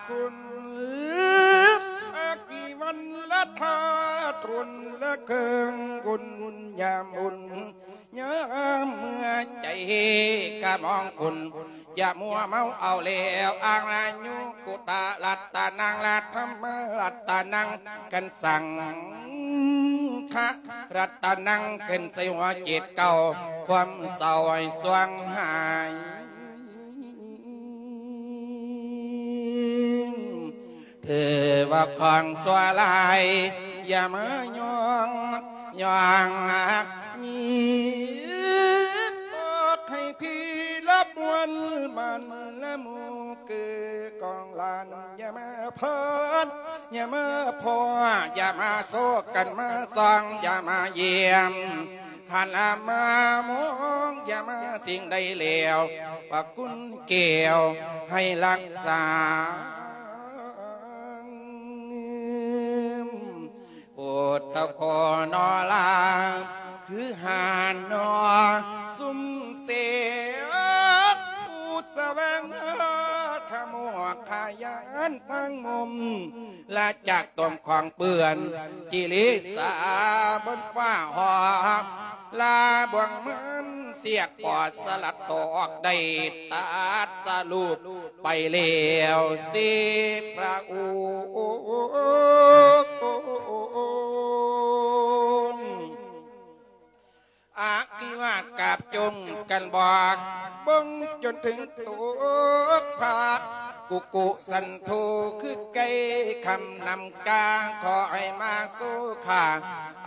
ຄຸນ ອາກິວັນລະທາດ ທຸນລະເຄິ່ງບຸນ ຍາມບຸນຍາມເມື່ອ ໃຈກະມອງຄຸນ ຢ່າມົວເມົາເອົາແລ້ວ ອາລາຍຸກຸຕະລັດຕະນັງ ລັດທຳມະລັດຕະນັງ ກັນສັງຄະລັດຕະນັງ ຂຶ້ນໃສ່ຫົວຈິດເກົ່າ ຄວາມເສົ້າໃຫ້ສວງຫາຍ ຖືວ່າຂອງຊົ່ວຮ້າຍ ຢ່າມາຍ້ອງ ຍ້ອງລະຍິດ ບອກໃຫ້ພີລະມວນ ມັນລະໝູ່ຄືກອງຫຼານ ຢ່າມາເພີນ ຢ່າມາພໍ້ ຢ່າມາໂຊກັນມາສ່ອງ ຢ່າມາຢ້ຽມ ຄັນລະມາມອງ ຢ່າມາສິ່ງໃດແລ້ວ ພະຄຸນແກ້ວໃຫ້ຮັກສາ. ໂອດຕະຂໍນໍລາ ຄືຫານໍຊຸມເສກ ຜູ້ສະແຫວງຫາທຳໂມກຂະຍານທັງມຸມ ລະຈາກຕົມຂອງເປື້ອນ ກິເລສາບົນຟ້າຫອມ ລາບ່ວງມັນສຽກປອດສະຫຼັດຕອກ ໄດ້ຕັດສະຫຼຸບໄປແລ້ວເສ ພະອົງ ອາພິວາດກາບຈົງກັນບອກ ເບິ່ງຈົນເຖິງຕົກພາກ ກຸກຸສັນໂທ ຄືໄກ່ຄ່ຳນຳກາງ ຂໍໃຫ້ມາສູ່ຂ້າ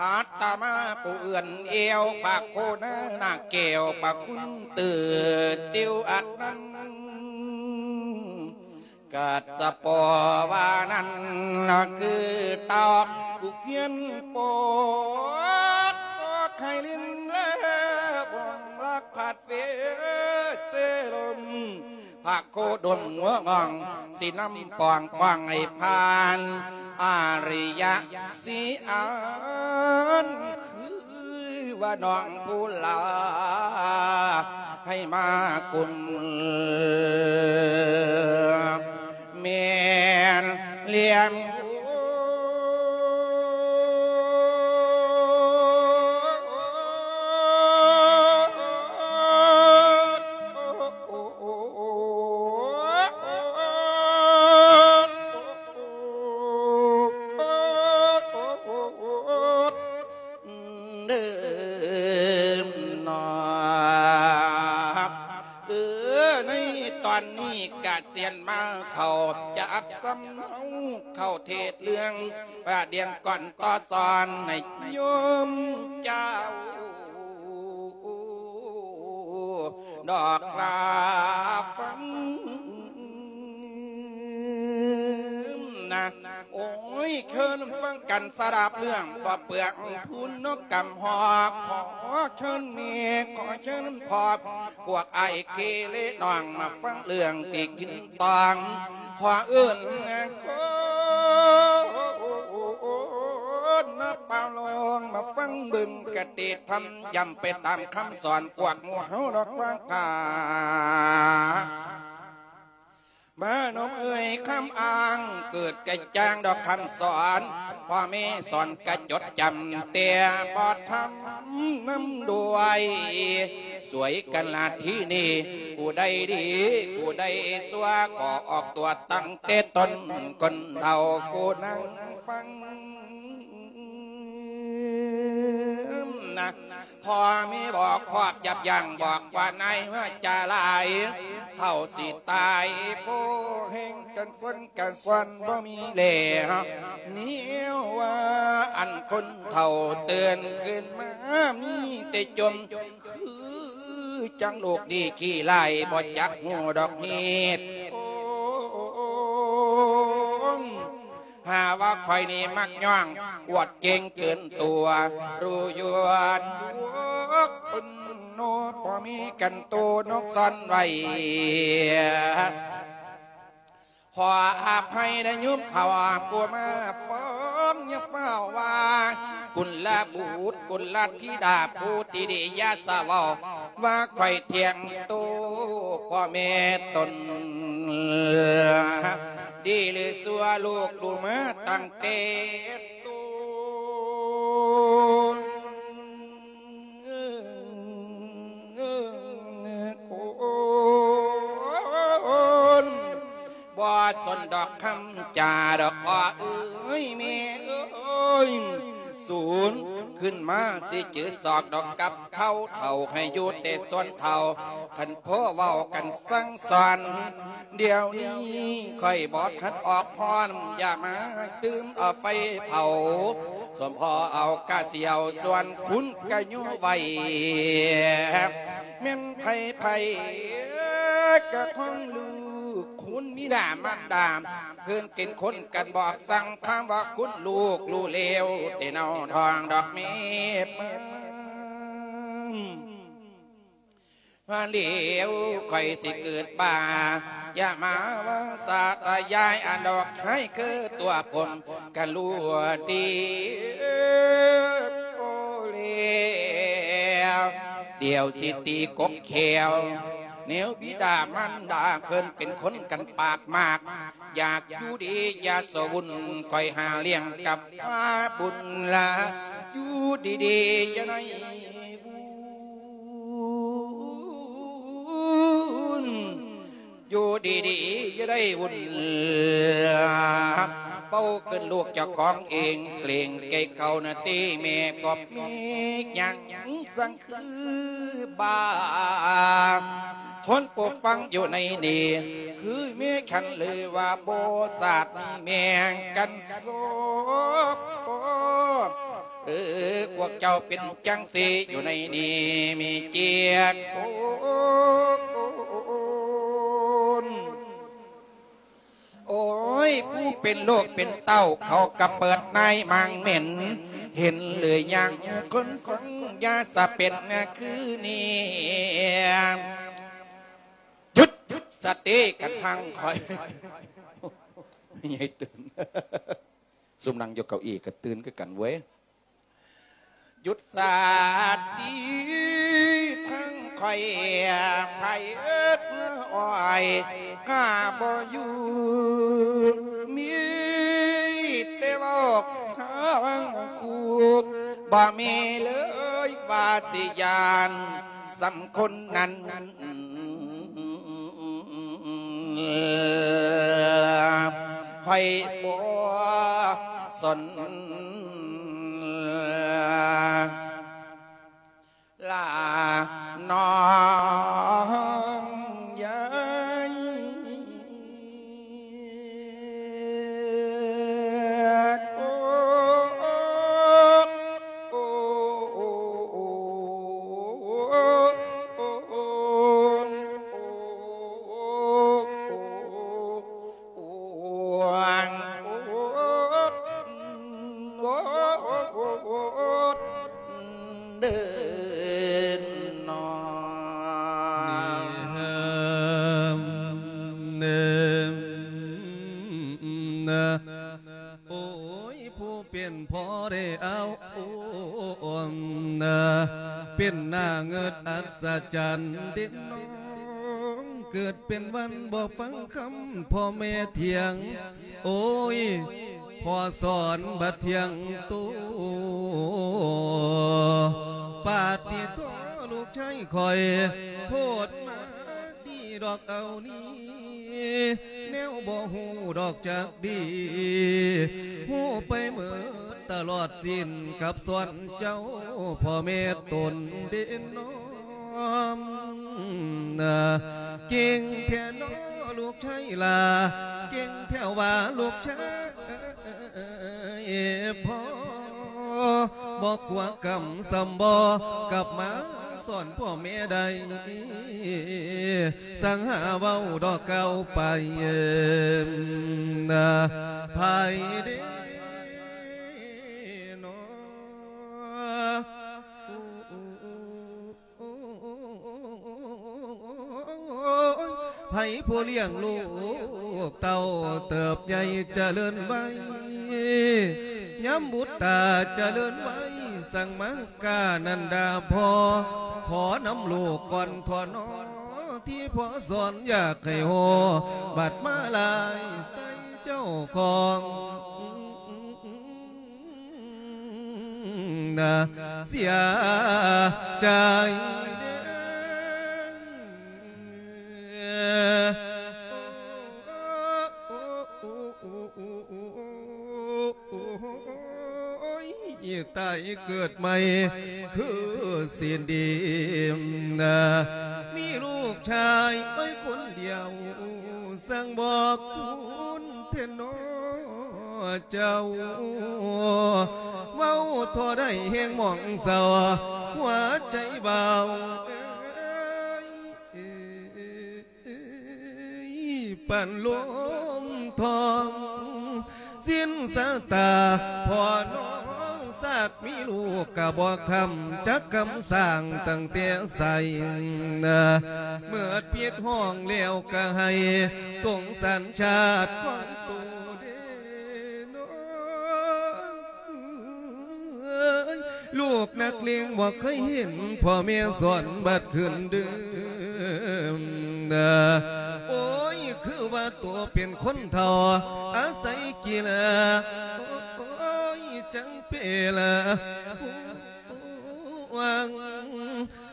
ອາດຕະມາຜູ້ເອື້ອນແອວ ພະໂຄນານາແກ້ວ ພະຄຸນຕື້ຕິວອັດນັ້ນ ກັດສະປໍວານັ້ນ ຄືຕອກຜູ້ພຽນປອກ ກໍໄຄລຶງແລບອງລັກພັດເວເສລົມ ພະໂຄດົມຫົວອ່ອງ ຊິນຳປອງປ້ອງໃຫ້ຜ່ານ ອາລິຍະສີອານ ຄືວ່ານ້ອງຜູ້ຫຼາ ໃຫ້ມາກຸມແມ່ນລ້ຽງ ເດີມນອກ ເອີ ໃນຕອນນີ້ກະສຽນມາເຂົ້າຈັກສຳເນົາ ເຂົ້າເທດເລື່ອງ ປະດຽງກ່ອນຕໍ່ສອນໃຫ້ໂຍມເຈົ້າ ດອກລາ ກັນສະດັບເລື່ອງ ກໍເປືອງພຸນນກກຳຮອກ ຂໍເຊີນແມ່ ຂໍເຊີນພໍ່ ພວກອ້າຍເຄເລນ້ອງ ມາຟັງເລື່ອງທີ່ກິນຕອງ ຂໍເອີ້ນຄົນມາປາລອງ ມາຟັງເບິ່ງກະຕິທຳ ຢ້ຳໄປຕາມຄຳສອນ ພວກໝູ່ເຮົາດອກວ່າ ມານົມເອີຍຄຳອ້າງ ເກີດກະຈ່າງດອກຄຳສອນ ພໍ່ແມ່ສອນກະຈົດຈຳ ແຕ່ບໍ່ທຳນຳດ້ວຍ ຊ່ວຍກັນລະທີນີ້ ຜູ້ໃດດີ ຜູ້ໃດຊົ່ວ ກໍອອກຕົວຕັ້ງແຕ່ຕົ້ນ ຄົນເຖົ້າຜູ້ນັ່ງຟັງນະ ພໍ່ມີບອກຄອບຍັບຢັ້ງ ບອກວ່ານາຍວ່າຈາຫຼາຍ ເຖົ້າຊິຕາຍ ໂພແຫ່ງກັນສົນກັນສອນບໍ່ມີແລ ແນວວ່າອັນຄົນເຖົ້າເຕືອນຂຶ້ນມາ ມີແຕ່ຈົ່ມ ຄືຈັ່ງລູກດີຂີ້ຮ້າຍ ບໍ່ຈັກຮູ້ດອກເຫດຜົນ ຫາວ່າຂ້ອຍນີ້ມັກຍ້ອງ ອວດເກັ່ງເກີນຕົວ ຮູ້ຢູ່ວ່າຄົນໂນ ພໍມີກັນໂຕນົກຊ້ອນໄວ້ ຂໍອະໄພນະໂຍມເຖົ້າ ຜູ້ມາຟ້ອງ ຢ່າຟ້າວວ່າ ກຸນລະບຸດ ກຸນລະທິດາ ຜູ້ທີ່ດີ ຢ່າສະເວົ້າ ວ່າຂ້ອຍຖຽງໂຕພໍ່ແມ່ຕົນ ດີຫຼືຊົ່ວລູກຮູ້ມາຕັ້ງແຕ່ຕົ້ນ ຄົນ ບໍ່ສົນດອກຄຳຈາດອກ ພໍ່ເອີຍແມ່ເອີຍ ສູນຂຶ້ນມາຊິຈື່ສອກດອກກັບເຂົາເຖົ້າ ໃຫ້ຢູ່ແຕ່ສ່ວນເຖົ້າ ຄັນພໍເວົ້າກັນສັ່ງສອນ ດຽວນີ້ຂ້ອຍບໍ່ທັນອອກຮ້ອນ ຢ່າມາຕື່ມເອົາໄຟເຜົາ ສ່ວນພໍ່ເອົາກະສຽວ ສ່ວນຄຸນກະຢູ່ໄວ້ ແມ່ນໃຜໃຜກະຂອງລູກ ຄຸນບິດາມານດາ ເພິ່ນເປັນຄົນກັນບອກສັ່ງ ຄຳວ່າຄຸນລູກຮູ້ແລ້ວ ແຕ່ເນົາທ້ອງດອກແມ່ ວ່າແລ້ວຂ້ອຍຊິເກີດບ້າ ຢ່າມາວ່າສາຕະຍາຍ ອັນດອກໃຫ້ຄືຕົວຜົມກະຮູ້ດີ ໂອແລ້ວ ດຽວຊິຕີກົບແຂ້ວ ແນວບິດາມານດາ ເພິ່ນເປັນຄົນກັນປາກມາກ ຢາກຢູ່ດີຢ່າສະວຸ່ນ ຂ້ອຍຫາລ້ຽງກັບມາບຸນລາ ຢູ່ດີໆຢ່າໄດ້ວຸ່ນ ຢູ່ດີໆຢ່າໄດ້ວຸ່ນ ເປົ່າເກີນລູກເຈົ້າຂອງເອງ ເກງໃຈເຂົານະຕິແມ່ ບໍ່ມີຫຍັງສັງ ຄືບາ ຄົນຜູ້ຟັງຢູ່ໃນນີ້ ຄືແມ່ຄັນຫຼືວ່າບໍ່ຊາດມີແມ່ງກັນສອບ ເອີ ພວກເຈົ້າເປັນຈັ່ງຊີ້ຢູ່ໃນນີ້ມີເຈັດຄົນ ໂອ້ຍ ຜູ້ເປັນລູກເປັນເຕົ້າ ເຂົາກະເປີດນາຍມາງເໝັນ ເຫັນຫຼືຍັງຄົນຟັງ ຢ່າສະເປັນຄືນີ້ ຢຸດ ສະຕິກັນທັງຂ້ອຍ ໃຫຍ່ຕື່ນ ຊຸມນັ່ງຢູ່ເກົ້າอี้ກະຕື່ນຄືກັນເວີຍ. ຢຸດສາຕິທັງຂ້ອຍ ໃຜເອີ້ນອ້ອຍຂ້າບໍ່ຢູ່ ມີແຕ່ເວົ້າທາງຄູກ ບໍ່ມີເລີຍວ່າຊິຢ້ານສ່ຳຄົນນັ້ນ ໃຫ້ບໍ່ສົນ ລານ້ອງໃຫຍ່ ເດີນນອ ໂອ້ຍ ຜູ້ເປັນພໍ່ໄດ້ເອົາ ເປັນໜ້າເງິດອັດສະຈັນເດນນ້ອງ ເກີດເປັນວັນບໍ່ຟັງຄຳພໍ່ແມ່ທ່ຽງ ໂອ້ຍ ພໍ່ສອນບັດທ່ຽງໂຕ ປາດຕິໂທ ລູກຊາຍຂ້ອຍ ໂພດມາກດີດອກເອົານີ້ ແນວບໍ່ຮູ້ດອກຈັກດີ ຮູ້ໄປເໝິດຕະຫຼອດສິ້ນ ກັບສອນເຈົ້າພໍ່ແມ່ຕົນເດນນ້ອງ ເກັ່ງແທ້ນໍລູກຊາຍຫຼ້າ ເກັ່ງແທ້ຫວາລູກຊາຍ ເອີ ພໍ່ ບໍ່ກົວກຳສ່ຳບໍ່ກັບມາສອນພໍ່ແມ່ໄດ້ ສັງຫາເວົ້າດອກກ່າວໄປ ນາ ໃຜເດ ນອ ໂອ້ຍ ໃຜຜູ້ລ້ຽງລູກເຕົ້າເຕີບໃຫຍ່ຈະເລີນໄວ ຍາມບຸດຕາຈະເລີນໄວ ສັງມາການັນດາພໍ່ ຂໍນຳລູກກ່ອນທໍ່ນໍ ທີ່ພໍ່ສອນຢາກໃຫ້ຮູ້ ບັດມາລາຍໃສ່ເຈົ້າຂອງ ນາ ເສຍໃຈເດ້ ໂອ້ຍ ຕາຍເກີດໃໝ່ຄືສິນດີ ນາ ມີລູກຊາຍໄວ້ຄົນດຽວ ສັງບອກຄຸນແທ້ນໍເຈົ້າ ເວົ້າທໍ່ໃດແຮງໝອງເສົ້າ ຫົວໃຈບ່າວເອີຍ ປານລົມທອງ ສິ້ນສາຕາພໍ່ນ້ອງ ສາກມີລູກກະບໍ່ຄຳ ຈັກຄຳສ້າງຕັ້ງແຕ່ໃສ ເມີດພິດຫ້ອງແລ້ວກະໃຫ້ ສົງສານຊາດຂອງໂຕເດນອ ເອີຍ ລູກນັກເລງບໍ່ເຄີຍເຫັນ ພໍ່ແມ່ສອນບັດຂຶ້ນດື່ມ ໂອ້ຍ ຄືວ່າໂຕເປັນຄົນເຖົ້າ ອາໄສກິລາ ໂອ້ຍ ຈັງເປລາ ຫວັງ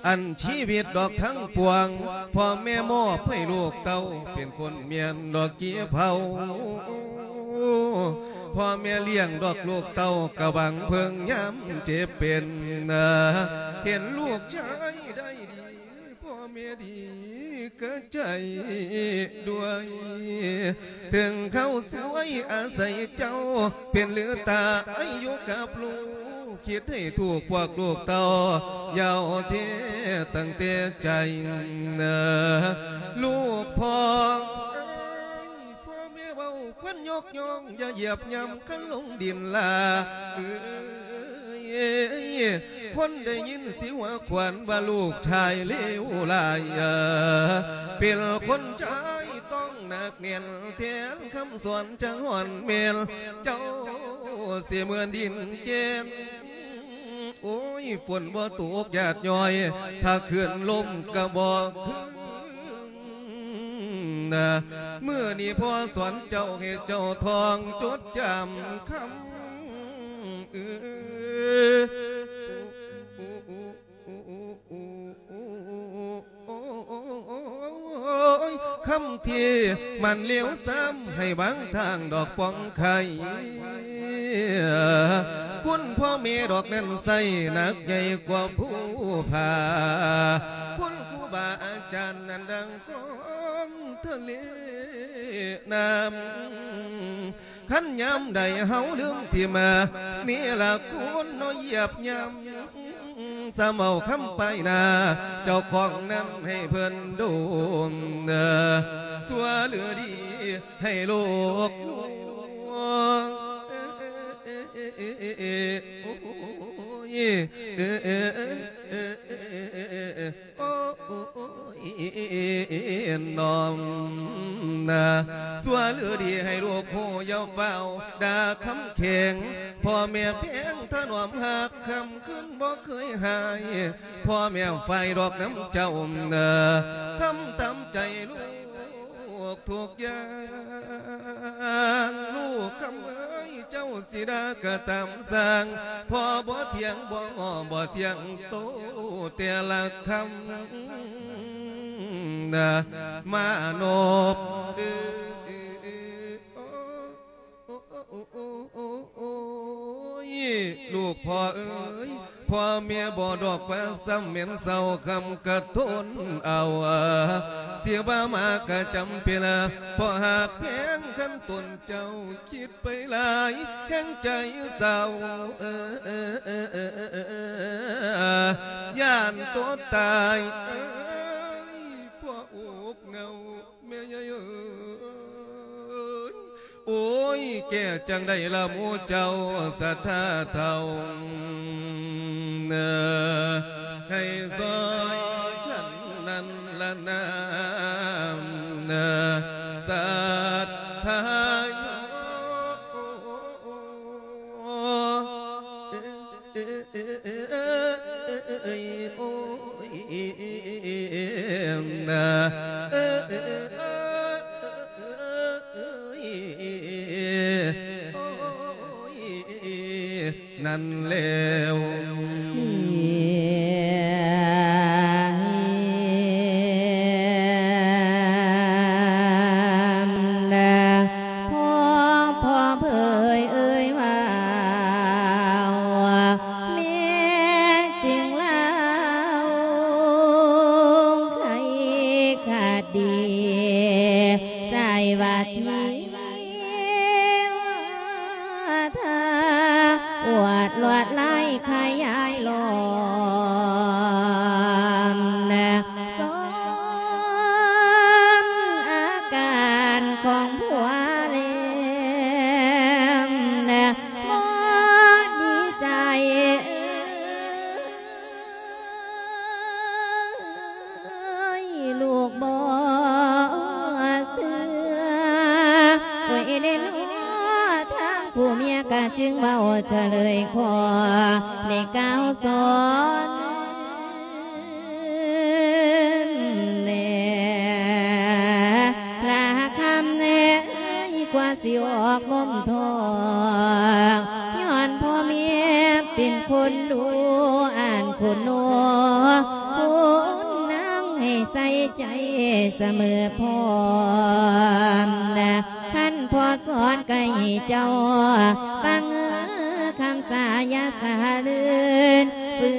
ອັນຊີວິດດອກທັງປວງ ພໍ່ແມ່ມອບໃຫ້ລູກເຕົ້າ ເປັນຄົນແມ່ນດອກກີເຜົາ ພໍ່ແມ່ລ້ຽງດອກລູກເຕົ້າ ກະຫວັງເພິ່ງຍາມເຈັບເປັນ ເຫັນລູກຊາຍໄດ້ດີ ພໍ່ແມ່ດີກະໃຈດ້ວຍ ເຖິງເຂົາສວຍອາໄສເຈົ້າ ເປັນຫຼືຕາອາຍຸກັບລູກ ຄິດໃຫ້ຖືກພວກລູກເຕົ້າ ເຍົາແທ້ຕັ້ງແຕ່ໃຈ ລູກພໍ່ ພໍ່ແມ່ເວົ້າຄວັນຍົກຍ້ອງ ຢ່າຢຽບຫຍ້ຳຄັນລົງດິນລາ ເອີຍ ຄົນໄດ້ຍິນຊິຫົວຂວັນວ່າລູກຊາຍເລວຫຼາຍ ເປັນຄົນຊາຍຕ້ອງໜັກແໜ້ນ ແທນຄຳສອນຈະຮ້ອນແມ່ນ ເຈົ້າຊິເໝືອນດິນແກ່ນ ໂອ້ຍ ຝົນບໍ່ຕົກຢາດຍ້ອຍ ຖ້າຄືນລົມກະບໍ່ຄືນ ນາ ມື້ນີ້ພໍ່ສອນເຈົ້າ ໃຫ້ເຈົ້າທ່ອງຈົດຈຳຄຳ ເອີ ໂອ້ຍ ຄຳທີ່ມັນເລວຊ້ຳ ໃຫ້ວາງທາງດອກປ່ອງໄຂ່ ຄຸນພໍ່ແມ່ດອກນັ້ນໃສ່ ໜັກໃຫຍ່ກວ່າພູຜາ ຄຸນຄູບາອາຈານນັ້ນ ດັ່ງ ຂອງທະເລນ້ຳ ຄັນຍາມໃດເຮົາລືມຖິ້ມ ນີ້ລະຄຸນເນາະ ຢຽບຫຍ້ຳ ສະເໝົາຄຳປ້າຍໜ້າ ເຈົ້າຂອງນັ້ນໃຫ້ເພິ່ນດົມ ຊົ່ວຫຼືດີໃຫ້ລູກ ໂອ້ຍ ໂອ້ຍ ນ້ອມນາ ຊົ່ວຫຼືດີໃຫ້ລູກຮູ້ ຢ່າຟ້າວດ່າຄຳແຂງ ພໍ່ແມ່ແພງຖະໜອມຮັກ ຄ່ຳຄືນບໍ່ເຄີຍຫາຍ ພໍ່ແມ່ໄຟດອກນຳເຈົ້ານາ ທຳຕາມໃຈລູກ ກທຸກຢ່າງ ລູກຄຳເອີຍ ເຈົ້າຊິດ່າກໍຕາມຊ່າງ ພໍ່ບໍ່ຖຽງ ບໍ່ງໍ ບໍ່ຖຽງໂຕ ແຕ່ລະຄຳນະ ມານົບເອີຍ ໂອ້ຍ ລູກພໍ່ເອີຍ ພໍ່ແມ່ບໍ່ດອກວ່າ ຊ້ຳແມ່ນເສົ້າຄຳກະທົນເອົາ ຊິວ່າມາກະຈຳເປັນ ພໍ່ຮັກແພງ ຄັນຕົນເຈົ້າຄິດໄປຫຼາຍ ແຮງໃຈເສົ້າ ຢ້ານຕົວຕາຍ ເອີຍ ພໍ່ອົກເນົ່າ ແມ່ໃຫຍ່ເອີຍ ໂອ້ຍ ແກ້ຈັ່ງໃດລະໝູ່ເຈົ້າສັດທາເຖົ້າ ໃຫ້ຊ່ອຍສັນນັ້ນລະນາ ສັດທາ ເອີຍ ໂອ້ຍ ນາ ເອີຍ ນັ້ນແລ້ວ ພໍ່ ພໍ່ເຜີຍເອີຍວ່າ ແມ່ຈຶ່ງລາວໄຂຄະດີ ໃສ່ວ່າທີ່ວ່າຖ້າອວດລວດລາຍຂະຫຍາຍລ້ອມ ສົມອາການຂອງຜົວແລ້ວ ບໍ່ດີໃຈເອີຍ ລູກບໍ່ເຊື່ອ ໂອ້ຍ ເດເນາະ ທາງຜູ້ເມຍກະຈຶ່ງເວົ້າສະເຫຼີຍຂໍ ໄດ້ກ່າວສອນ ແລະ ລະຄຳແນ ກວ່າຊິອອກນົມທ້ອງ ຍ້ອນພໍ່ແມ່ເປັນຄົນດຸອ່ານຄຸນໂນ ຄຸນນາງໃຫ້ໃສ່ໃຈສະເໝີພ້ອມ ຄັນພໍ່ສອນໃກ້ເຈົ້າຟັງ ຄຳສາຢ່າສະເຫຼີນ ຝື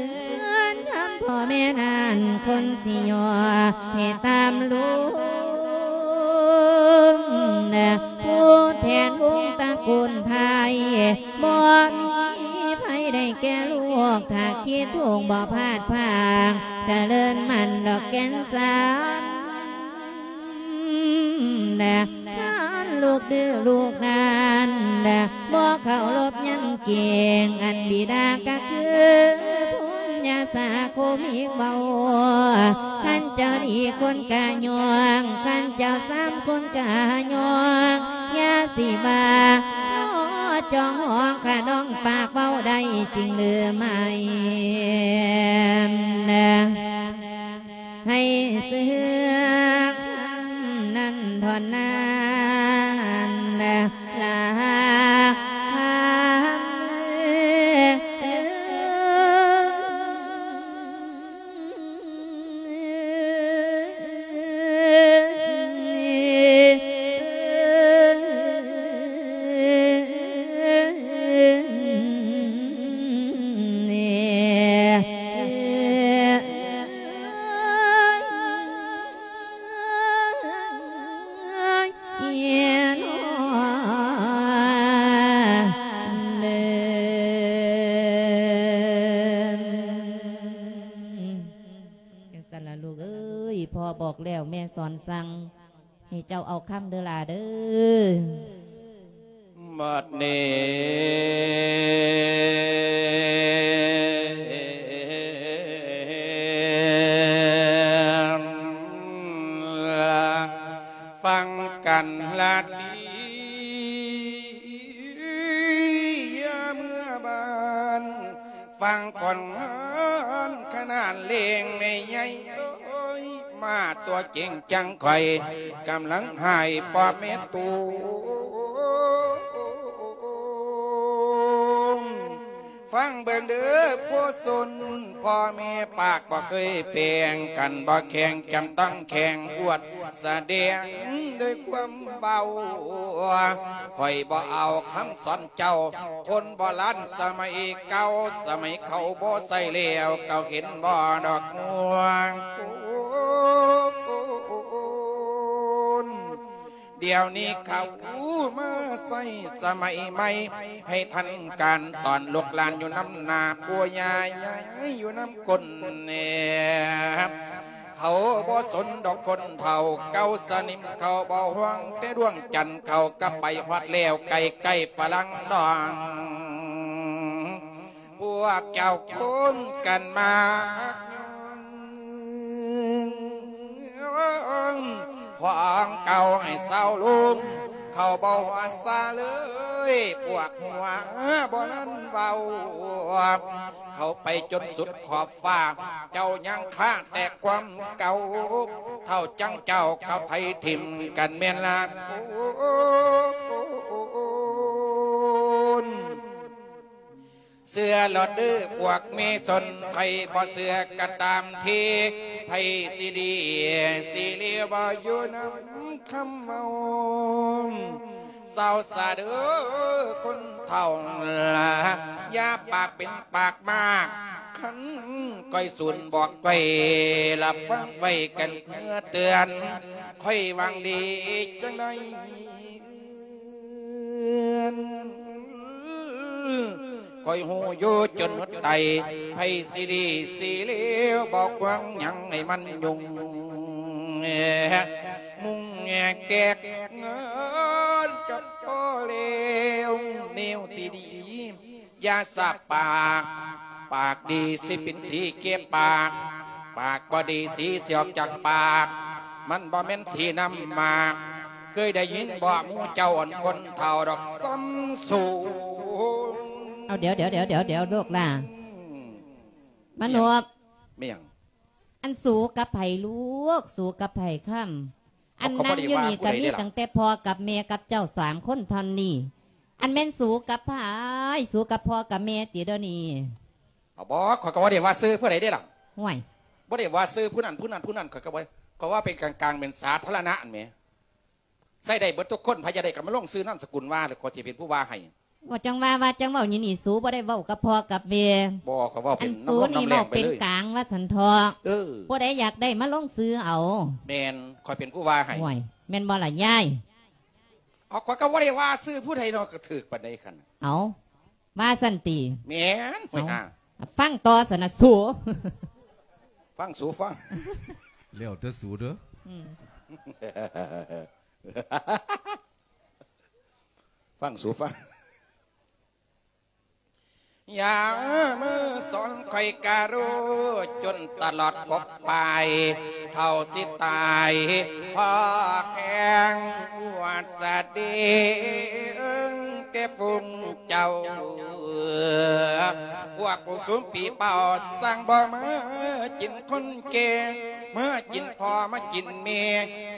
ນທຳພໍ່ແມ່ນັ້ນຄົນຊິຍໍໃຫ້ຕາມລຸງ ຜູ້ແທນວົງຕະກູນໄພ ບໍ່ມີໃຜໄດ້ແກ່ລູກ ຖ້າຄິດທຸກບໍ່ພາດພາງ ຈະເລີນໝັ້ນດອກແກ່ນສານ ນະ ທ່ານລູກດື້ລູກນັ້ນ ນະ ບໍ່ເຄົາລົບຍັງເກງ ອັນບິດາກະຄື ພຸນຍາສາຄົມອີກເວົ້າ ຄັນເຈົ້າດີຄົນກະຍ້ອງ ຄັນເຈົ້າຊ້ຳຄົນກະຍ້ອງ ຢ່າຊິວ່າ ຂໍຈ້ອງຫ້ອງຂະດອງປາກເວົ້າໄດ້ຈິງຫຼືໄມ່ ນະ ໃຫ້ເຊື່ອນຳທ່ອນນັ້ນລະ ຈັ່ງຊັ້ນລະລູກເອີຍ ພໍ່ບອກແລ້ວ ແມ່ສອນສັ່ງ ໃຫ້ເຈົ້າເອົາຄຳເດີຫຼ້າເດີ. ບັດນີ້ ລາຕີ ເມື່ອບ້ານ ຟັງກ່ອນງານຂະໜານເລງແມ່ໃຫຍ່ເອີຍ ມາຕົວເຈັງຈັງຂ້ອຍກຳລັງຫາຍປອບແມ່ຕູ ຟັງເບິ່ງເດີຜູ້ຊົນ ພໍ່ແມ່ປາກບໍ່ເຄີຍແປງກັນ ບໍ່ແຂ່ງຈຳຕ້ອງແຂ່ງອວດສະແດງດ້ວຍຄວາມເວົ້າ ຂ້ອຍບໍ່ເອົາຄຳສອນເຈົ້າ ຄົນໂບລານສະໄໝເກົ່າ ສະໄໝເຂົາບໍ່ໃຊ້ແລ້ວ ເຈົ້າເຫັນບໍ່ດອກມ່ວງໂກນ ດຽວນີ້ເຂົາມາໃຊ້ສະໄໝໃໝ່ ໃຫ້ທັນການຕອນລູກຫຼານຢູ່ນຳໜ້າປູ່ຍ່າຍາຍຢູ່ນຳກົ້ນແນບ ເຂົາບໍ່ສົນດອກຄົນເຖົ້າເກົ່າສະໜິມ ເຂົາບໍ່ຫ່ວງແຕ່ດວງຈັນ ເຂົາກໍໄປຮອດແລ້ວໃກ້ໆຝຣັ່ງນ້ອງ ພວກເຈົ້າຄົນກັນມາ ຂອງເກົ່າໃຫ້ເຊົາລົງ ເຂົາບໍ່ຫົວຊາເລີຍ ພວກຫົວບໍ່ນັ້ນເວົ້າ ເຂົາໄປຈົນສຸດຂອບຟ້າ ເຈົ້າຍັງຄາແຕ່ຄວາມເກົ່າ ເທົ່າຈັ່ງເຈົ້າເຂົາໄຖຖິ້ມກັນແມ່ນລາໂກນ ເຊື່ອໂລດເດີພວກແມ່ຊົນ ໃຜບໍ່ເຊື່ອກໍຕາມທີ ໃຜຊິດີຊິເລວບໍ່ຢູ່ນຳຄຳເວົ້າ ເຊົາຊະເດີຄົນເຖົ້າ ຢ່າປາກເປັນປາກມາກ ຄັນຂ້ອຍສູນບອກຂ້ອຍລະຟັງໄວ້ກັນເພື່ອເຕືອນ ຂ້ອຍຫວັງດີຈັ່ງໃດ ຂ້ອຍຮູ້ຢູ່ຈົນໝົດໃຈ ໃຜຊິດີຊິເລວ ບໍ່ຄວນຫຍັງໃຫ້ມັນຫຍຸ້ງ ມຸງແຫກແຕກເງິນກັບພໍແລ້ວ ແນວທີ່ດີ ຢ່າສາບປາກ ປາກດີຊິເປັນສີເກັບປາກ ປາກບໍ່ດີສີຊິອອກຈາກປາກ ມັນບໍ່ແມ່ນສີນ້ຳໝາກ ເຄີຍໄດ້ຍິນບໍ່ໝູ່ເຈົ້າອັນຄົນເຖົ້າດອກສ່ຳສູງ ເອົາ ດຽວໆໆໆ ລູກຫຼ້າ ອືມ ມະນົບ ແມ່ນຫຍັງ? ອັນສູກັບໃຜລູກ? ສູກັບໃຜຄຳ? ອັນນັ່ງຢູ່ນີ້ກໍມີຕັ້ງແຕ່ພໍ່ກັບແມ່ກັບເຈົ້າສາມຄົນເທົ່ານີ້ ອັນແມ່ນສູກັບໃຜ? ສູກັບພໍ່ກັບແມ່ຕິດຽວນີ້? ເອົາບໍ່ ຂ້ອຍກໍບໍ່ໄດ້ວ່າຊື່ຜູ້ໃດເດ້ລະ ຫ້ວຍ ບໍ່ໄດ້ວ່າຊື່ຜູ້ນັ້ນຜູ້ນັ້ນຜູ້ນັ້ນ ຂ້ອຍກໍບໍ່ ກໍວ່າເປັນກາງໆ ເປັນສາທາລະນະຫັ້ນແໝ ໃຊ້ໄດ້ເບິດທຸກຄົນ ໃຜຢາກໄດ້ກໍມາລົງຊື່ນາມສະກຸນວ່າ ແລ້ວຂ້ອຍຊິເປັນຜູ້ວ່າໃຫ້. ວ່າຈັ່ງວ່າ ວ່າຈັ່ງເວົ້າຢູ່ນີ້ ສູບໍ່ໄດ້ເວົ້າກັບພໍ່ກັບແມ່. ບໍ່ ຂ້ອຍເວົ້າເປັນ ອັນສູນີ້ເວົ້າເປັນກາງວ່າຊັ້ນເຖາະ. ເອີ ຜູ້ໃດຢາກໄດ້ມາລົງຊື່ເອົາ. ແມ່ນ ຂ້ອຍເປັນຜູ້ວ່າໃຫ້. ໂອ້ຍ ແມ່ນບໍ່ລະຍາຍ? ເອົາ ຂ້ອຍກໍບໍ່ໄດ້ວ່າຊື່ຜູ້ໃດເນາະ ກໍຖືກປານໃດຄັນ. ເອົາ ວ່າຊັ້ນຕິ? ແມ່ນ. ເອົາ ຟັງຕໍ່ຊັ້ນນະສູ. ຟັງສູຟັງ. ແລ້ວແຕ່ສູເດີ. ອືມ ຟັງສູຟັງ. ຢ່າມາສອນຂ້ອຍກະຮູ້ ຈົນຕະຫຼອດກົກປາຍ ເທົ່າຊິຕາຍພໍແຂງອວດສະເດງແຕ່ຝູງເຈົ້າ. ພວກຜູ້ຊຸມຜີເປົ່າ ສັ່ງບໍ່ມາກິນຄົນແກ່ ມາກິນພໍ່ມາກິນແມ່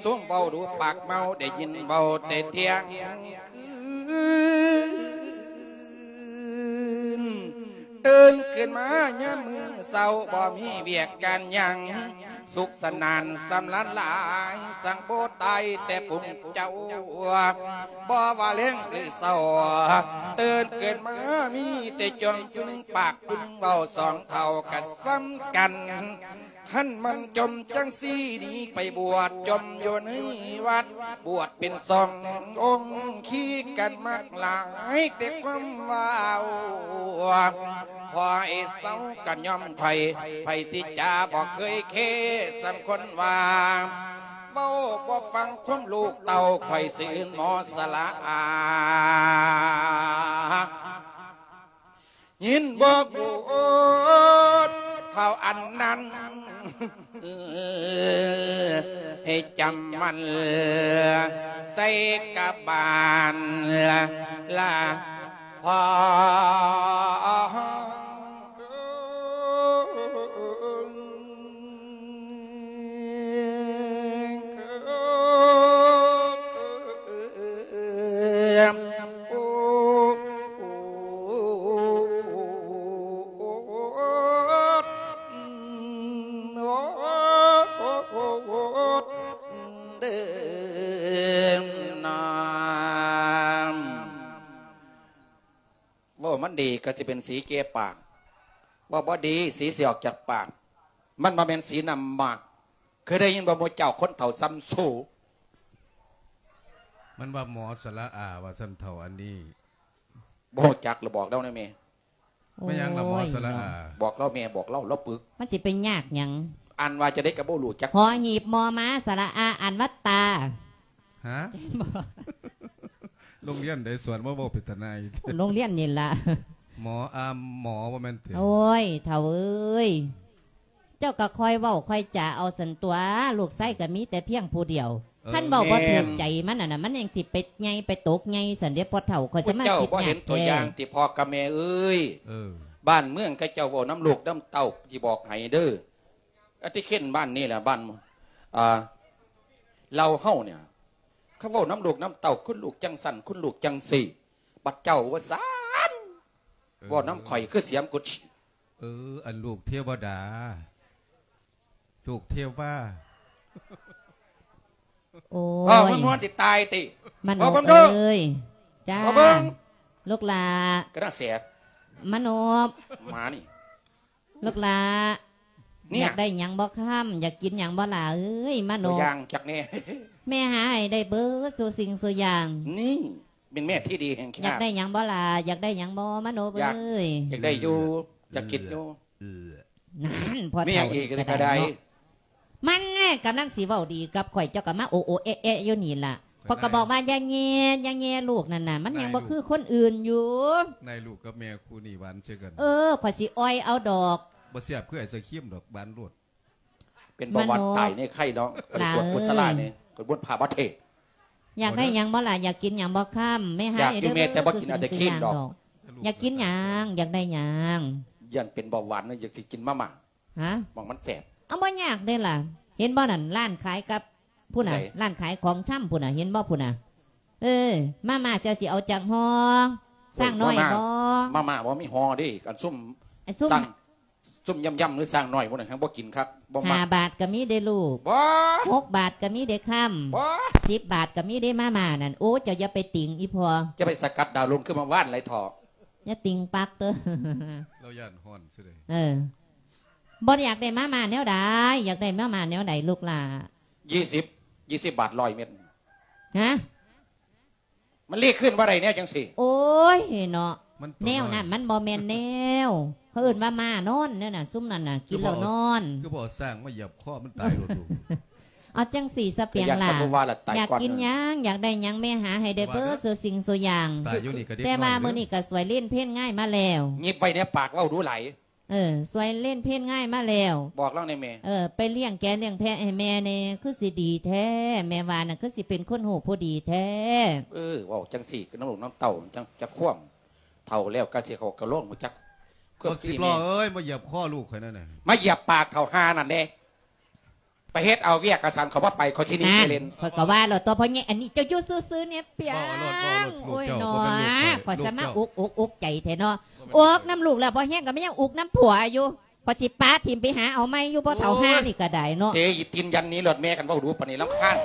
ຊຸມເວົ້າດູປາກເມົາ ໄດ້ຍິນເວົ້າແຕ່ທ່ຽງຄືນ. ຕື່ນຂຶ້ນມາຍາມມື້ເຊົ້າ ບໍ່ມີວຽກການຫຍັງ ສຸກສະໜານສຳລານຫຼາຍ ສັ່ງບໍ່ຕາຍແຕ່ຝູງເຈົ້າ ບໍ່ວ່າແລງຫຼືເຊົ້າ ຕື່ນຂຶ້ນມາມີແຕ່ຈອມຜູ້ໜຶ່ງປາກຜູ້ໜຶ່ງເວົ້າ ສອງເຖົ້າກະສ່ຳກັນ. ຄັນມັນຈົ່ມຈັ່ງຊີ້ໜີໄປບວດ ຈົ່ມຢູ່ໃນວັດ ບວດເປັນສອງອົງ ຂີ້ກັນມັກຫຼາຍແຕ່ຄວາມເວົ້າ. ຂໍໃຫ້ເຊົາກັນຍອມຂ້ອຍ ໃຜທີ່ຈາບໍ່ເຄີຍເຄສ່ຳຄົນວ່າ ເວົ້າບໍ່ຟັງຄວາມລູກເຕົ້າ ຂ້ອຍຊິອື່ນໝໍສະລະອາ. ຍິນບໍ່ໂກດເທົ່າອັນນັ້ນ ໃຫ້ຈຳໝັ້ນໃສ່ກະບານລະພໍ. ເວົ້າມັນດີກໍຊິເປັນສີແກ່ປາກ, ເວົ້າບໍ່ດີສີຊິອອກຈາກປາກ, ມັນບໍ່ແມ່ນສີນ້ຳໝາກ. ເຄີຍໄດ້ຍິນບໍ່ໝູ່ເຈົ້າຄົນເຖົ້າສ່ຳໂຊ? ມັນວ່າໝໍສະຫຼະອາວ່າຊັ້ນເຖົ້າອັນນີ້. ບໍ່ຮູ້ຈັກລະ ບອກລາວແດ່ແມ່. ແມ່ນຫຍັງລະໝໍສະຫຼະອາ? ໂອ້ຍເນາະ ບອກລາວແມ່ ບອກລາວ ລາວປຶກ. ມັນຊິໄປຍາກຫຍັງ? ອ່ານວ່າຈັ່ງໃດກໍບໍ່ຮູ້ຈັກ. ຫໍຫີບ ມໍມ້າ ສະຫຼະອາ ອ່ານວ່າຕາ. ຮະ? ໂຮງຮຽນໃດສອນມາເວົ້າເປັນຕາໜ່າຍ? ໂຮງຮຽນນີ້ລະ. ໝໍ ອາ ໝໍ ບໍ່ແມ່ນຕິ? ໂອ້ຍ ເຖົ້າເອີຍ ເຈົ້າກໍຄ່ອຍເວົ້າຄ່ອຍຈາເອົາຊັ້ນຕົວະ, ລູກຊາຍກໍມີແຕ່ພຽງຜູ້ດຽວ. ເອີ ຄັນເວົ້າບໍ່ຖືກໃຈມັນຫັ້ນນະ ມັນຍັງຊິໄປໃຫຍ່ໄປຕົກໃຫຍ່ຊັ້ນເດ້ພໍ່ເຖົ້າ. ຂ້ອຍສາມາດຄິດຍາກແທ້. ເຈົ້າບໍ່ເຫັນຕົວຢ່າງຕິພໍ່ກັບແມ່ເອີຍ? ເອີ ບ້ານເມືອງເຂົາເຈົ້າເວົ້ານຳລູກນຳເຕົ້າ ຊິບອກໃຫ້ເດີ້. ອາທິເຄນບ້ານນີ້ແຫຼະ ບ້ານ ອ່າ ລາວເຮົານີ້ ເຂົາເວົ້ານຳລູກນຳເຕົ້າ ຄຸນລູກຈັ່ງຊັ້ນ ຄຸນລູກຈັ່ງຊີ້, ບັດເຈົ້າວ່າຊັ້ນ ເອີ ເວົ້ານຳຂ້ອຍຄືສຽມກຸດ. ເອີ ອັນລູກເທວະດາ ລູກເທວາ. ໂອ້ຍ ພໍ່ມັນມ່ວນຊິຕາຍຕິ. ມະໂນບເອີຍ. ຈ້າ ພໍ່ເບິ່ງ ລູກຫຼ້າ ກະນະແສບ ມະໂນບ ໝານີ້. ລູກຫຼ້າ ນີ້ ຢາກໄດ້ຫຍັງບໍ່ຄຳ? ຢາກກິນຫຍັງບໍ່ຫຼ້າເອີຍ? ມະໂນບ ຕົວຢ່າງຈັກແດ່. ແມ່ຫາໃຫ້ໄດ້ເບິດສູ່ສິ່ງສູ່ຢ່າງ. ນີ້ ເປັນແມ່ທີ່ດີແຫ່ງຊາດ. ຢາກໄດ້ຫຍັງບໍ່ຫຼ້າ? ຢາກໄດ້ຫຍັງບໍ່ ມະໂນບເອີຍ? ຢາກໄດ້ຢູ່ ຢາກກິນຢູ່. ນັ້ນ ພໍ່ເຖົ້ານີ້ກໍໄດ້ເນາະ. ມັນແຫຼະກຳລັງຊິເວົ້າດີກັບຂ້ອຍ ເຈົ້າກໍມາໂອໂອແອະແອະຢູ່ນີ້ລະ. ຂ້ອຍກໍບອກວ່າຢ່າແຍ່ ຢ່າແຍ່ລູກນັ້ນນະ ມັນຍັງບໍ່ຄືຄົນອື່ນຢູ່. ນາຍລູກກັບແມ່ຄູ່ນີ້ຫວານໃສ່ກັນ. ເອີ ຂ້ອຍຊິອ່ອຍເອົາດອກ. ບໍ່ແຊບຄືໄອສະຄຣີມດອກ ຫວານໂລດ. ເປັນເບົາຫວານ ມະໂນບ ຕາຍໃນໄຂ່ເນາະ. ຂ້ອຍສວດກຸສະລານີ້ ຂ້ອຍບົນພາບາເທດ. ຢາກໄດ້ຫຍັງບໍ່ລະ? ຢາກກິນຫຍັງບໍ່ຄຳ? ແມ່ຫາໃຫ້ເດີ. ຢາກຢູ່ແມ່ ແຕ່ບໍ່ກິນໄອສະຄຣີມດອກ. ຢາກກິນຫຍັງ? ຢາກໄດ້ຫຍັງ? ຢ້ານເປັນເບົາຫວານ ຢາກຊິກິນມາມ່າ. ຮະ? ໝ່ອງມັນແຊບ. ເອົາ ບໍ່ຍາກເດ້ລະ. ເຫັນບໍ່ນັ້ນ ຮ້ານຂາຍກັບ ພຸ້ນນະ ໃສ? ຮ້ານຂາຍຂອງຊຳພຸ້ນນະ ເຫັນບໍ່ພຸ້ນນະ? ເອີ ມາມ່າເຈົ້າຊິເອົາຈັກຫໍ່? ໂອ້ຍ ຊ້າງນ້ອຍບໍ່? ມາມ່າ ມາມ່າບໍ່ມີຫໍ່ເດ້. ອັນຊຸມ ອັນຊຸມ ຊ້າງ ຊຸມຢຳໆ ຫຼືຊ້າງນ້ອຍພຸ້ນນະ ແຮ່ງບໍ່ກິນຄັກ ບໍ່ມັກ. ຫ້າບາດກໍມີເດ້ລູກ. ບໍ່ ຫົກບາດກໍມີເດ້ຄຳ. ບໍ່ ສິບບາດກໍມີເດ້ມາມ່ານັ້ນ. ໂອ້ ເຈົ້າຢ່າໄປຕິງອີ່ພໍ່. ຈະໄປສະກັດດາວລຸງຄືມາວານໄຫຼເຖາະ. ຢ່າຕິງປັກເດີ. ລາວຢ້ານຮ້ອນຊື່ໃດ. ເອີ ບໍ່ຢາກໄດ້ມາມ່າແນວໃດ? ຢາກໄດ້ມາມ່າແນວໃດລູກຫຼ້າ? ຍີ່ສິບ ຍີ່ສິບບາດ ຮ້ອຍເມັດ. ຮະ? ມັນລີກຄືນບໍ່ໄດ້ແນວຈັ່ງຊີ້. ໂອ້ຍເນາະ ມັນໂຕ ແນວນັ້ນ ນ້ອຍ ມັນບໍ່ແມ່ນແນວ. ເຂົາເອີ້ນວ່າມ້ານອນແນວນັ້ນ ຊຸມນັ້ນນະ ກິນແລ້ວນອນ. ຄືບໍ່ເອົາຊ້າງມາຢຽບຄໍມັນຕາຍໂລດລູກ. ເອົາຈັ່ງຊີ້ສະປຽງຫຼ້າ ຢາກກິນຫຍັງ ຢາກໄດ້ຫຍັງ ແມ່ຫາໃຫ້ໄດ້ເບີດສູ່ສິ່ງສູ່ຢ່າງ. ແຕ່ວ່າມື້ນີ້ກໍສວຍເລນເພນງ່າຍມາແລ້ວ. ຫຍິບໄວ້ໃນປາກ ເວົ້າດູຫຼາຍ. ເອີ ສວຍເລນເພນງ່າຍມາແລ້ວ. ບອກລາວແດ່ແມ່. ເອີ ໄປລ້ຽງແກະລ້ຽງແພະໃຫ້ແມ່ແດ່ ຄືຊິດີແທ້. ແມ່ວ່ານະ ຄືຊິເປັນຄົນຮູ້ຜູ້ດີແທ້. ເອີ ເວົ້າຈັ່ງຊີ້ນຳລູກນຳເຕົ້າ ຈັ່ງຈັກຄວາມ. ເຖົ້າແລ້ວກະຊິເຂົ້າກະໂລງ ຮູ້ຈັກຄວາມ. ບັກສິບລໍ້ເອີຍ ມາຢຽບຄໍລູກຂ້ອຍນັ້ນນະ. ມາຢຽບປາກເຖົ້າຫ່ານັ້ນແດ່. ໄປເຮັດເອົາວຽກກະສັນ ເຂົາບໍ່ໄປ ເຂົາຊິໜີໄປເຫຼັ້ນ. ຂ້ອຍກໍວ່າແລ້ວຕົວະ ພໍ່ໃຫຍ່ ອັນນີ້ເຈົ້າຢູ່ຊື່ໆ ແນ່ປຽງ. ໂອ້ຍເນາະ ຂ້ອຍສະມາອຸກອົກອຸກໃຈແທ້ເນາະ. ອຸກນຳລູກແລ້ວພໍແຮງ ກໍມາຍັງອຸກນຳຜົວຢູ່. ຂ້ອຍຊິປະຖິ້ມໄປຫາເອົາໃໝ່ຢູ່. ພໍ່ເຖົ້າຫ່ານີ້ກໍໄດ້ເນາະ. ເຕະອີ່ຕີນຢັນໜີໂລດແມ່ ຄັນເວົ້າດູປານນີ້ລຳຄານ.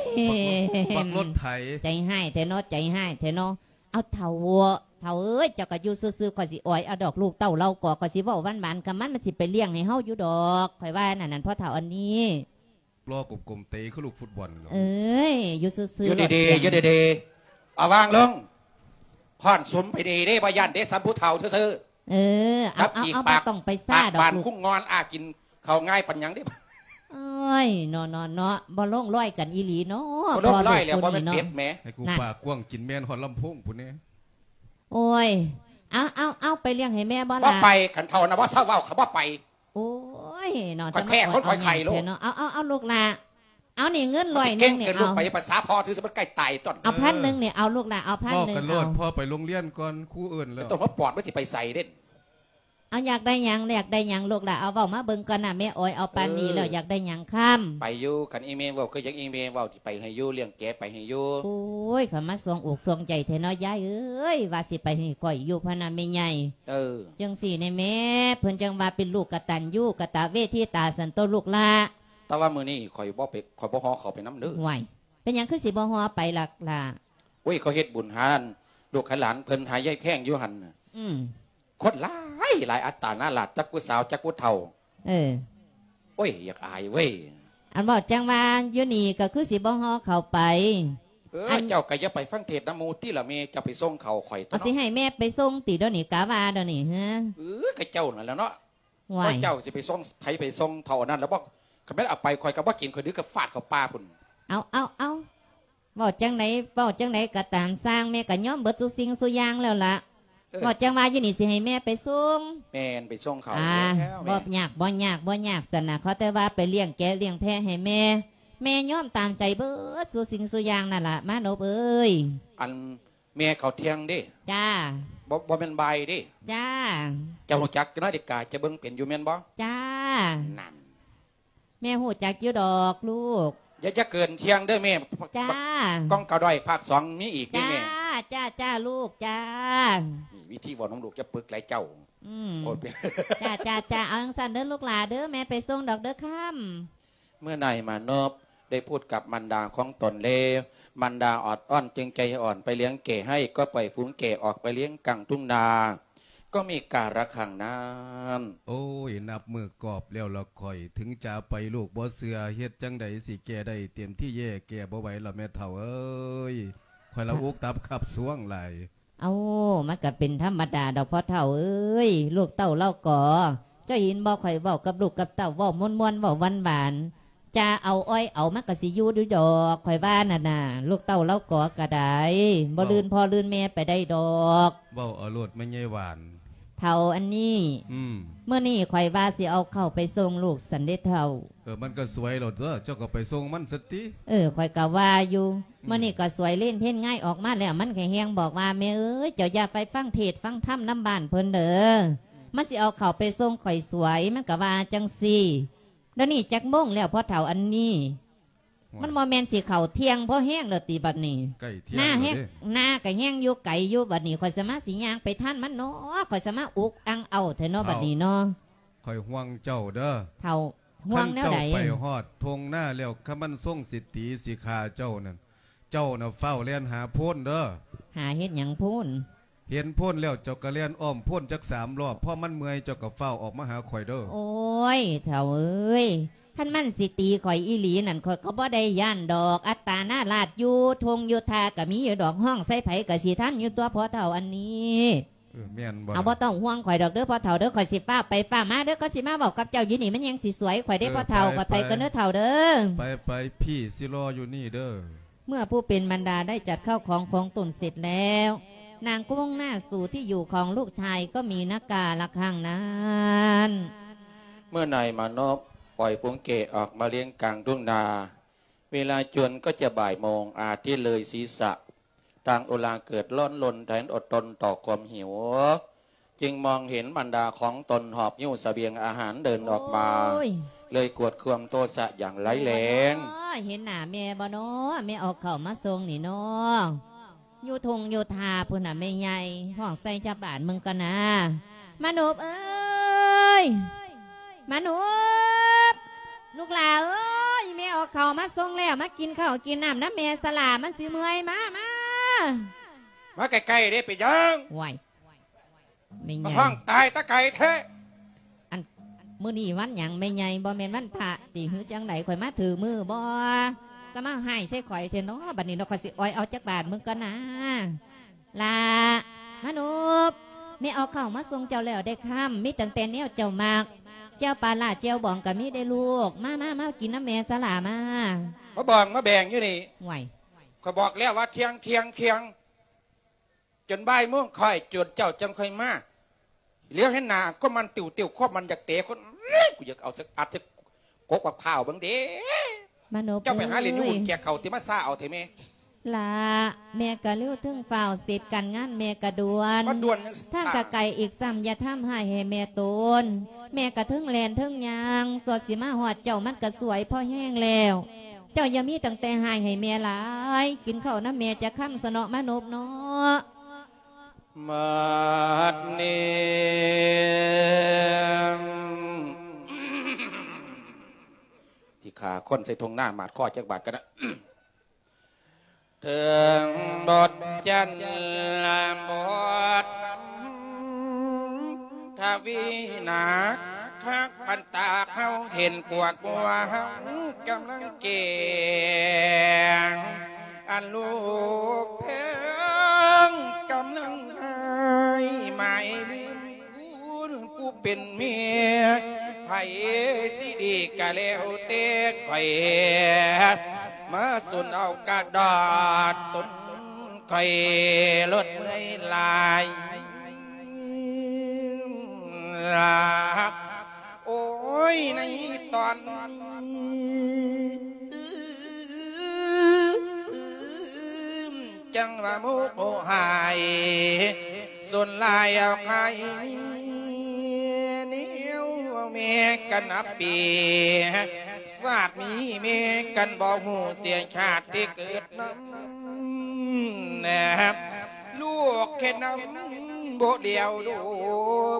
ບັກລົດໄຖ. ໃຈຮ້າຍແທ້ເນາະ ໃຈຮ້າຍແທ້ເນາະ. ເອົາເຖົ້າ ເຖົ້າເອີຍ ເຈົ້າກໍຢູ່ຊື່ໆ ຂ້ອຍຊິອອຍເອົາດອກລູກເຕົ້າເລົ່າກໍ ຂ້ອຍຊິເວົ້າຫວານໆກັບມັນ ມັນຊິໄປລ້ຽງໃຫ້ເຮົາຢູ່ດອກ ຂ້ອຍວ່ານັ້ນ ນັ້ນ ພໍ່ເຖົ້າອັນນີ້. ລໍກົມໆ ເຕະຄືລູກຟຸດບອນ. ເອີຍ ຢູ່ຊື່ໆ ຢູ່ດີໆ ຢູ່ດີໆ ເອົາວາງລົງ. ຄ້ອນສຸມໄປດີເດ້ ບໍ່ຢ້ານເດ້ ສ່ຳຜູ້ເຖົ້າຊື່ໆ. ເອີ ເອົາ ເອົາ ເອົາ ບໍ່ຕ້ອງໄປຊ້າດອກ ບານຄຸ້ງງອນ ອາ ກິນເຂົ້າງ່າຍປານຫຍັງເດ້. ໂອ້ຍ ເນາະ ເນາະ ເນາະ ບໍ່ລົງລອຍກັນອີ່ຫຼີເນາະ. ບໍ່ລົງລອຍແລ້ວ ພໍ່ລູກຄູ່ນີ້ເນາະ ບໍ່ແມ່ນເປັດແໝ. ໃຫ້ກູປາກກວ້າງ ກິນແມ່ນຮອດລຳໂພງພຸ້ນແດ່. ໂອ້ຍ ເອົາ ເອົາ ເອົາ ໄປລ້ຽງໃຫ້ແມ່ບໍ່ລະ? ບໍ່ໄປ ຄັນເຖົ້ານະ ບໍ່ເຊົາເວົ້າ ເຂົາບໍ່ໄປ. ໂອ້ ຍ ເນາະ ຂ້ອຍແພ້ ຈະມາ ຄົນຂ້ອຍໄຂ້ໂລດ ເອົາ ເອົາ ເອົາ ລູກຫຼ້າ ເອົານີ້ເງິນຮ້ອຍໜຶ່ງນີ້ ເກັ່ງເກີນລູກ ເອົາ ໄປ ພາສາພໍ່ຖືສະມັນໃກ້ຕາຍຕົນ ເອົາພັນໜຶ່ງນີ້ ເອົາລູກຫຼ້າ ເອົາພັນໜຶ່ງ ເວົ້າກັນໂລດ ເອົາ ພໍ່ໄປໂຮງຮຽນກ່ອນ ຄູເອີ້ນແລ້ວ ແຕ່ຕົ້ນຫົວປອດມັນຊິໄປໃສເດ້ ເອົາ ຢາກໄດ້ຫຍັງ ຢາກໄດ້ຫຍັງລູກຫຼ້າ ເອົາ ເວົ້າມາເບິ່ງກ່ອນນະ ແມ່ອອຍເອົາປານນີ້ແລ້ວ ເອີ ຢາກໄດ້ຫຍັງຄຳ ໄປຢູ່ ຄັນອີ່ແມ່ເວົ້າຄືຫຍັງ ອີ່ແມ່ເວົ້າ ຊິໄປໃຫ້ຢູ່ ລ້ຽງແກໄປໃຫ້ຢູ່ ໂອ້ຍ ຂ້ອຍມາສ່ວງອົກສ່ວງໃຈແທ້ເນາະ ຍາຍເອີຍ ວ່າຊິໄປໃຫ້ຂ້ອຍຢູ່ພະນະແມ່ໃຫຍ່ ເອີ ຈັ່ງຊີ້ແນ່ແມ່ ເພິ່ນຈັ່ງວ່າເປັນລູກກະຕັນຍູກະຕະເວທິຕາ ຊັ້ນໂຕລູກຫຼ້າ ແຕ່ວ່າມື້ນີ້ຂ້ອຍບໍ່ໄປ ຂ້ອຍບໍ່ຫໍ່ເຂົ້າໄປນຳເດີ ຫ້ວຍ ເປັນຫຍັງຄືຊິບໍ່ຫໍ່ໄປລະຫຼ້າ ໂອ້ຍ ເຂົາເຮັດບຸນຫາລູກໃຫ້ຫຼານເພິ່ນ ຫາຍາຍແພງຢູ່ຫັ້ນນະ ອືມ ຄົນຫຼາຍຫຼາຍ ອັດຕານາລາດ ຈັກຜູ້ສາວ ຈັກຜູ້ເຖົ້າ ເອີ ໂອ້ຍ ຢາກອາຍເວີຍ ອັນເວົ້າຈັ່ງວ່າຢູ່ນີ້ກໍຄືຊິບໍ່ຫໍ່ເຂົ້າໄປ ເອີ ອັນ ເຈົ້າກໍຢ່າໄປຟັງເທດນຳໝູ່ຕິລະແມ່ ເຈົ້າໄປສົ່ງເຂົາຂ້ອຍຕົວະ ເອົາ ເນາະ ຊິໃຫ້ແມ່ໄປສົ່ງຕິດຽວນີ້ ກະວ່າດຽວນີ້ ເອີ ກໍເຈົ້ານັ້ນແຫຼະເນາະ ຫ້ວຍ ເຈົ້າຊິໄປສົ່ງ ໃຜໄປສົ່ງເຖົ້າອັນນັ້ນແລ້ວບໍ່ ຄັນແມ່ນເອົາໄປ ຂ້ອຍກໍບໍ່ກິນ ຂ້ອຍດຶງກັບຟາດເຂົ້າປ່າພຸ້ນ ເອົາ ເອົາ ເອົາ ເວົ້າຈັ່ງໃດ ເວົ້າຈັ່ງໃດກໍຕາມຊ່າງ ແມ່ກໍຍອມເບິດສູ່ສິ່ງສູ່ຢ່າງແລ້ວລະ ເອີ ເວົ້າຈັ່ງວ່າຢູ່ນີ້ຊິໃຫ້ແມ່ໄປສົ່ງ ແມ່ນ ໄປສົ່ງເຂົາ ອ່າ ແລ້ວແມ່ ບໍ່ຍາກ ບໍ່ຍາກ ບໍ່ຍາກ ຊັ້ນນະ ຂໍແຕ່ວ່າໄປລ້ຽງແກະລ້ຽງແພະໃຫ້ແມ່ ແມ່ຍອມຕາມໃຈເບິດສູ່ສິ່ງສູ່ຢ່າງນັ້ນລະ ມານົບເອີຍ ອັນ ແມ່ເຂົ້າທ່ຽງເດ້ ຈ້າ ບໍ່ ບໍ່ແມ່ນບ່າຍເດ້ ຈ້າ ເຈົ້າຮູ້ຈັກນາລິກາ ເຈົ້າເບິ່ງເປັນຢູ່ແມ່ນບໍ່ ຈ້າ ນັ້ນ ແມ່ຮູ້ຈັກຢູ່ດອກລູກ ຢ່າ ຢ່າເກີນທ່ຽງເດີແມ່ ຈ້າ ກ້ອງກະດ້ອຍພາກສອງມີອີກເດ້ແມ່ ຈ້າ ຈ້າ ຈ້າ ລູກ ຈ້າ ນີ້ວິທີເວົ້ານຳລູກ ຢ່າປຶກຫຼາຍເຈົ້າ ອືມ ໂອ້ຍ ເປັນ ຈ້າ ຈ້າ ຈ້າ ເອົາຈັ່ງຊັ້ນເດີລູກຫຼ້າເດີ ແມ່ໄປສົ່ງດອກເດີຄຳ ເມື່ອນາຍມານົບໄດ້ພູດກັບມານດາຂອງຕົນແລ້ວ ມານດາອອດອ້ອນຈຶ່ງໃຈອ່ອນໄປລ້ຽງແກະໃຫ້ ກໍປ່ອຍຝູງແກະອອກໄປລ້ຽງກາງທົ່ງນາ ກໍມີກາລະຄັ້ງນັ້ນ ໂອ້ຍ ນັບມື້ກອບແລ້ວລະຂ້ອຍ ເຖິງຈະໄປລູກບໍ່ເຊື່ອ ເຮັດຈັ່ງໃດຊິແກ່ໄດ້ ເຕັມທີ່ແຍ່ແກ່ບໍ່ໄຫວລະແມ່ເຖົ້າເອີຍ ຂ້ອຍລະອຸກຕັບຄັບສວງຫຼາຍ. ເອົ້າ ມັນກະເປັນທຳມະດາດອກພໍ່ເຖົ້າເອີຍ ລູກເຕົ້າລາວກໍ ເຈົ້າເຫັນບໍ່ ຂ້ອຍເວົ້າກັບລູກກັບເຕົ້າ ເວົ້າມ່ວນໆ ເວົ້າຫວານໆ ຈະເອົາອ້ອຍເອົາ ມັນກະຊິຢູ່ຢູ່ດອກ ຂ້ອຍວ່ານັ້ນນະ ລູກເຕົ້າລາວກໍກະໄດ້ ບໍ່ ເວົ້າ ລື່ນພໍ່ລື່ນແມ່ໄປໄດ້ດອກ ເວົ້າເອົາໂລດແມ່ໃຫຍ່ຫວານ ເຖົ້າອັນນີ້ ອືມ ມື້ນີ້ຂ້ອຍວ່າຊິເອົາເຂົ້າໄປສົ່ງລູກຊັ້ນເດ້ເຖົ້າ. ເອີ ມັນກໍສວຍແລ້ວຕົວະ ເຈົ້າກໍໄປສົ່ງມັນຊະຕິ. ເອີ ຂ້ອຍກໍວ່າຢູ່ ອືມ ມື້ນີ້ກໍສວຍເລນເພນງ່າຍອອກມາແລ້ວ ມັນກໍແຮ່ງບອກວ່າ ແມ່ເອີຍ ເຈົ້າຢ່າໄປຟັງເທດຟັງທຳນຳບ້ານເພິ່ນເດີ ມັນຊິເອົາເຂົ້າໄປສົ່ງຂ້ອຍສວຍ ມັນກໍວ່າຈັ່ງຊີ້. ດຽວນີ້ຈັກໂມງແລ້ວພໍ່ເຖົ້າອັນນີ້? ໂອ້ຍ ມັນບໍ່ແມ່ນຊິເຂົ້າທ່ຽງພໍແຮງແລ້ວຕິບັດນີ້? ໃກ້ທ່ຽງແລ້ວເດ້ ນາແຮງ ນາກໍແຮງຢູ່ໄກຢູ່ ບັດນີ້ຂ້ອຍສາມາດຊິຍ່າງໄປທັນມັນເນາະ ຂ້ອຍສາມາດອຸກອັ່ງເອົາແທ້ເນາະ ເຖົ້າ ບັດນີ້ເນາະ. ຂ້ອຍຫ່ວງເຈົ້າເດີ ເຖົ້າ. ຫ່ວງແນວໃດ? ຄັນເຈົ້າໄປຮອດທົ່ງນາແລ້ວ ຄັນມັນຊົງຊິຕີຊິຂ້າເຈົ້ານັ້ນ ເຈົ້ານະຟ້າວແລ່ນຫາໂພນເດີ. ຫາເຮັດຫຍັງໂພນ? ເຫັນໂພນແລ້ວເຈົ້າກໍແລ່ນອ້ອມໂພນຈັກສາມລອບ ພໍມັນເມື່ອຍເຈົ້າກໍຟ້າວອອກມາຫາຂ້ອຍເດີ. ໂອ້ຍ ເຖົ້າເອີຍ ຄັນມັນຊິຕີຂ້ອຍອີ່ຫຼີນັ້ນ ຂ້ອຍກໍບໍ່ໄດ້ຢ້ານດອກ ອັດຕານາລາດຢູ່ທົ່ງຢູ່ທ່າກໍມີຢູ່ດອກ ຮ້ອງໃສ່ໃຜກໍຊິທັນຢູ່ຕົວະພໍ່ເຖົ້າອັນນີ້. ເອີ ແມ່ນບໍ່ ເອົາ ລະ ບໍ່ຕ້ອງຫ່ວງຂ້ອຍດອກເດີພໍ່ເຖົ້າເດີ ຂ້ອຍຊິຟ້າວໄປຟ້າວມາເດີ ຂ້ອຍຊິມາເວົ້າກັບເຈົ້າຢູ່ນີ້ ມັນຍັງຊິສວຍຂ້ອຍເດ້ ເອີ ພໍ່ເຖົ້າ ເອີ ຂ້ອຍໄປ ໄປ ກ່ອນເດີເຖົ້າເດີ. ໄປ ໄປ ພີ່ຊິລໍຢູ່ນີ້ເດີ. ເມື່ອຜູ້ເປັນມານດາໄດ້ຈັດເຂົ້າຂອງຂອງຕົນເສັດແລ້ວ ນາງກໍມຸ່ງໜ້າສູ່ທີ່ຢູ່ຂອງລູກຊາຍກໍມີນາກາລະຄັ້ງນັ້ນ. ເມື່ອນາຍມານົບປ່ອຍຝູງແກະອອກມາລ້ຽງກາງທົ່ງນາ ເວລາຈົວນກໍຈະບ່າຍໂມງ ອາທິດເລີຍສີສະ ທາງອຸລາເກີດຮ້ອນລົນແທນອົດທົນຕໍ່ຄວາມຫິວ ຈຶ່ງມອງເຫັນບັນດາຂອງຕົນຫອບຫິ້ວສະບຽງອາຫານເດີນອອກມາ ໂອ້ຍ ເລີຍກວດຄວາມໂທສະຢ່າງຮ້າຍແຮງ. ເຫັນໜ້າແມ່ບໍ່ເນາະ ແມ່ເອົາເຂົ້າມາສົ່ງນີ້ເນາະ ຢູ່ທົ່ງຢູ່ທ່າພຸ້ນນະແມ່ໃຫຍ່ ຮ້ອງໃສ່ຊາວບ້ານເບິ່ງກ່ອນນາ. ມານົບເອີຍ ມານົບ ລູກຫຼ້າເອີຍ ແມ່ເອົາເຂົ້າມາສົ່ງແລ້ວ ມາກິນເຂົ້າກິນນ້ຳນຳແມ່ຊະຫຼ້າ ມັນຊິເມື່ອຍ ມາ ມາ ມາໃກ້ໆເດ້ ເປັນຫຍັງ? ໂອ້ຍ ແມ່ໃຫຍ່ ມາຮ້ອງຕາຍຕາໄກແທ້. ອັນ ມື້ນີ້ວັນຫຍັງແມ່ໃຫຍ່ ບໍ່ແມ່ນວັນພະຕິ ຫຼືຈັ່ງໃດ ຂ້ອຍມາຖືກມື້ບໍ່? ຈະມາຮ້າຍໃສ່ຂ້ອຍແທ້ເນາະ ບັດນີ້ເນາະ ຂ້ອຍຊິອອຍເອົາຈັກບາດເບິ່ງກ່ອນນາ. ຫຼ້າ ມານົບ ແມ່ເອົາເຂົ້າມາສົ່ງເຈົ້າແລ້ວເດ້ຄຳ ມີຕັ້ງແຕ່ແນວເຈົ້າມັກ ແຈ່ວປາລ້າແຈ່ວບອງກໍມີເດ້ລູກ ມາ ມາ ມາກິນນຳແມ່ຊະຫຼ້າ ມາ ມາບອງມາແບ່ງຢູ່ນີ້. ຫ້ວຍ ຂ້ອຍບອກແລ້ວວ່າທ່ຽງ ທ່ຽງ ທ່ຽງ ຈົນບ່າຍໂມງຄ່ອຍ ຈົນເຈົ້າຈັ່ງຄ່ອຍມາ ຫຼຽວເຫັນໜ້າກໍມັນຕິວໆ ຄວາມມັນຢາກເຕະຄົນ ກູຢາກເອົາຈັກອັດຈັກກົກບັກພ້າວເບິ່ງເດ້. ມານົບ ເຈົ້າໄປຫາຫຼິ້ນຢູ່ ເອີຍ ຫຸ້ນແກກເຂົ້າ ທີ່ມາຊ້າເອົາແທ້ແມ່. ລະ ແມ່ກະເລັວເທິງຟ້າວ ເສດການງານແມ່ກະດ່ວນ ມາດ່ວນຫຍັງ ທາງກະໄກອີກຊ້ຳ ຢ່າທຳຮ້າຍໃຫ້ແມ່ໂຕນ. ແມ່ກະເທິງແລ່ນເທິງຍ່າງ ສ່ວນຊິມາຮອດເຈົ້າ ມັນກະສວຍພໍແຮງແລ້ວ. ເຈົ້າຢ່າມີຕັ້ງແຕ່ຮ້າຍໃຫ້ແມ່ຫຼາຍ ກິນເຂົ້ານຳແມ່ຈັກຄຳຊະເນາະ ມານົບເນາະ. ບັດນີ້ ຊິຂ້າຄົນໃສ່ທົ່ງນາ ໝາດຄໍຈັກບາດກັນນະ. ເຖິງບົດຈັນລະບົດທະວີໜັກ ຄັກປັນຕາເຮົາເຫັນກວດຫົວເຮົາກຳລັງແຈ້ງ ອັນລູກແພງກຳລັງຫາຍ ໝາຍລືມ ຄຸນຜູ້ເປັນແມ່ ໃຜຊິດີກະແລ້ວແຕ່ຂ້ອຍ ມາສຸນເອົາກະດອດຕົນຂ້ອຍ ລົດເມື່ອຍຫຼາຍລາ ໂອ້ຍ ໃນຕອນນີ້ ຈັ່ງວ່າໂມໂຫຫາຍ ສົນຫຼາຍເອົາໃຜນີ້ ແນວແມ່ກັນນັບປີ ຊາດມີແມ່ກັນບໍ່ຮູ້ເສຍຊາດທີ່ເກີດນຳ ແນບ ລູກເຮັດນຳບໍ່ຫຼຽວດູ